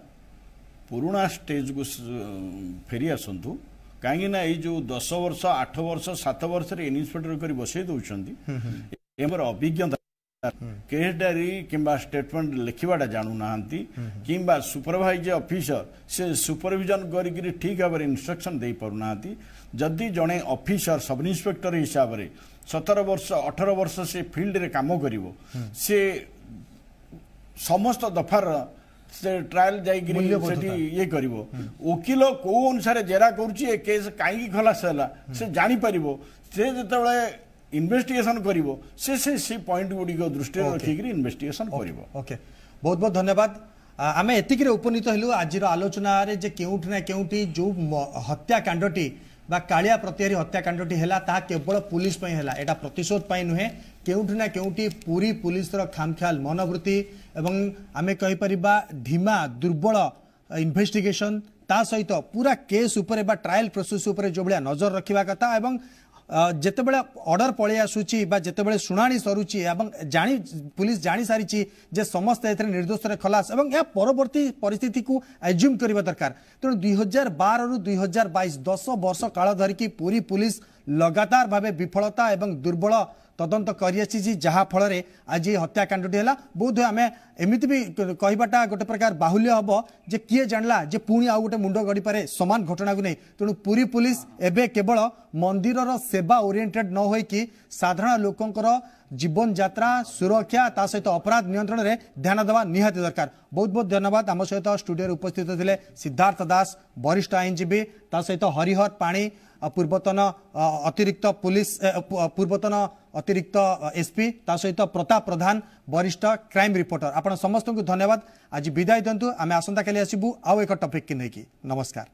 ପୁରୁଣା ଷ୍ଟେଜକୁ ଫେରି ଆସନ୍ତୁ। କାହିଁକି ନା ଏଇ ଯେଉଁ 10 ବର୍ଷ, 8 ବର୍ଷ, 7 ବର୍ଷରେ ଇନ୍ସପେକ୍ଟର କରି ବସେଇ ଦେଉଛନ୍ତି, ଏହାର ଅଭିଜ୍ଞତା କେସ୍ ଡାଏରୀ କିମ୍ବା ଷ୍ଟେଟମେଣ୍ଟ ଲେଖିବାଟା ଜାଣୁନାହାନ୍ତି, କିମ୍ବା ସୁପରଭାଇଜ ଅଫିସର ସେ ସୁପରଭିଜନ କରିକିରି ଠିକ୍ ଭାବରେ ଇନଷ୍ଟ୍ରକ୍ସନ ଦେଇପାରୁନାହାନ୍ତି। ଯଦି ଜଣେ ଅଫିସର ସବ୍ ଇନ୍ସପେକ୍ଟର ହିସାବରେ 17 ବର୍ଷ 18 ବର୍ଷ ସେ ଫିଲ୍ଡରେ କାମ କରିବ, ସେ ସମସ୍ତ ଦଫାର ସେ ଟ୍ରାଏଲ ଯାଇକିରି ସେଠି ଇଏ କରିବ, ଓକିଲ କୋଉ ଅନୁସାରେ ଜେରା କରୁଛି, ଏ କେସ୍ କାହିଁକି ଖଲାସ ହେଲା ସେ ଜାଣିପାରିବ। ସେ ଯେତେବେଳେ ଇନଭେଷ୍ଟିଗେସନ କରିବ ସେ ସେ ସେ ପଏଣ୍ଟ ଗୁଡ଼ିକ ଦୃଷ୍ଟିରେ ରଖିକିରି ଇନଭେଷ୍ଟିଗେସନ କରିବ। ଓକେ, ବହୁତ ବହୁତ ଧନ୍ୟବାଦ। ଆମେ ଏତିକିରେ ଉପନୀତ ହେଲୁ ଆଜିର ଆଲୋଚନାରେ ଯେ କେଉଁଠି ନା କେଉଁଠି ଯେଉଁ ହତ୍ୟାକାଣ୍ଡଟି ବା କାଳିଆ ପ୍ରତିହାରୀ ହତ୍ୟାକାଣ୍ଡଟି ହେଲା ତାହା କେବଳ ପୁଲିସ ପାଇଁ ହେଲା, ଏଇଟା ପ୍ରତିଶୋଧ ପାଇଁ ନୁହେଁ। କେଉଁଠି ନା କେଉଁଠି ପୁରୀ ପୁଲିସର ଖାମଖିଆଲ ମନୋବୃତ୍ତି ଏବଂ ଆମେ କହିପାରିବା ଧିମା ଦୁର୍ବଳ ଇନଭେଷ୍ଟିଗେସନ, ତା ସହିତ ପୁରା କେସ୍ ଉପରେ ବା ଟ୍ରାଏଲ ପ୍ରୋସେସ୍ ଉପରେ ଯେଉଁଭଳିଆ ନଜର ରଖିବା କଥା ଏବଂ ଯେତେବେଳେ ଅର୍ଡର ପଳେଇ ଆସୁଛି ବା ଯେତେବେଳେ ଶୁଣାଣି ସରୁଛି ଏବଂ ଜାଣି ପୁଲିସ ଜାଣିସାରିଛି ଯେ ସମସ୍ତେ ଏଥିରେ ନିର୍ଦ୍ଦୋଷରେ ଖଲାସ ଏବଂ ଏହା ପରବର୍ତ୍ତୀ ପରିସ୍ଥିତିକୁ ଆଜ୍ୟୁମ୍ କରିବା ଦରକାର। ତେଣୁ 2012ରୁ 2022 10 ବର୍ଷ କାଳ ଧରିକି ପୁରୀ ପୁଲିସ ଲଗାତାର ଭାବେ ବିଫଳତା ଏବଂ ଦୁର୍ବଳ ତଦନ୍ତ କରିଆସିଛି, ଯାହାଫଳରେ ଆଜି ହତ୍ୟାକାଣ୍ଡଟି ହେଲା। ବୋଧହୁଏ ଆମେ ଏମିତି ବି କହିବାଟା ଗୋଟେ ପ୍ରକାର ବାହୁଲ୍ୟ ହେବ ଯେ କିଏ ଜାଣିଲା ଯେ ପୁଣି ଆଉ ଗୋଟେ ମୁଣ୍ଡ ଗଡ଼ିପାରେ ସମାନ ଘଟଣାକୁ ନେଇ। ତେଣୁ ପୁରୀ ପୁଲିସ ଏବେ କେବଳ ମନ୍ଦିରର ସେବା ଓରିଏଣ୍ଟେଡ୍ ନ ହୋଇକି ସାଧାରଣ ଲୋକଙ୍କର ଜୀବନଯାତ୍ରା ସୁରକ୍ଷା ତା ସହିତ ଅପରାଧ ନିୟନ୍ତ୍ରଣରେ ଧ୍ୟାନ ଦେବା ନିହାତି ଦରକାର। ବହୁତ ବହୁତ ଧନ୍ୟବାଦ। ଆମ ସହିତ ଷ୍ଟୁଡିଓରେ ଉପସ୍ଥିତ ଥିଲେ ସିଦ୍ଧାର୍ଥ ଦାସ, ବରିଷ୍ଠ ଆଇନଜୀବୀ, ତା ସହିତ ହରିହର ପାଣି, ପୂର୍ବତନ ଅତିରିକ୍ତ ପୁଲିସ, ପୂର୍ବତନ ଅତିରିକ୍ତ ଏସପି, ତା ସହିତ ପ୍ରତାପ ପ୍ରଧାନ, ବରିଷ୍ଠ କ୍ରାଇମ୍ ରିପୋର୍ଟର। ଆପଣ ସମସ୍ତଙ୍କୁ ଧନ୍ୟବାଦ। ଆଜି ବିଦାୟ ଦିଅନ୍ତୁ, ଆମେ ଆସନ୍ତାକାଲି ଆସିବୁ ଆଉ ଏକ ଟପିକ୍ ନେଇକି। ନମସ୍କାର।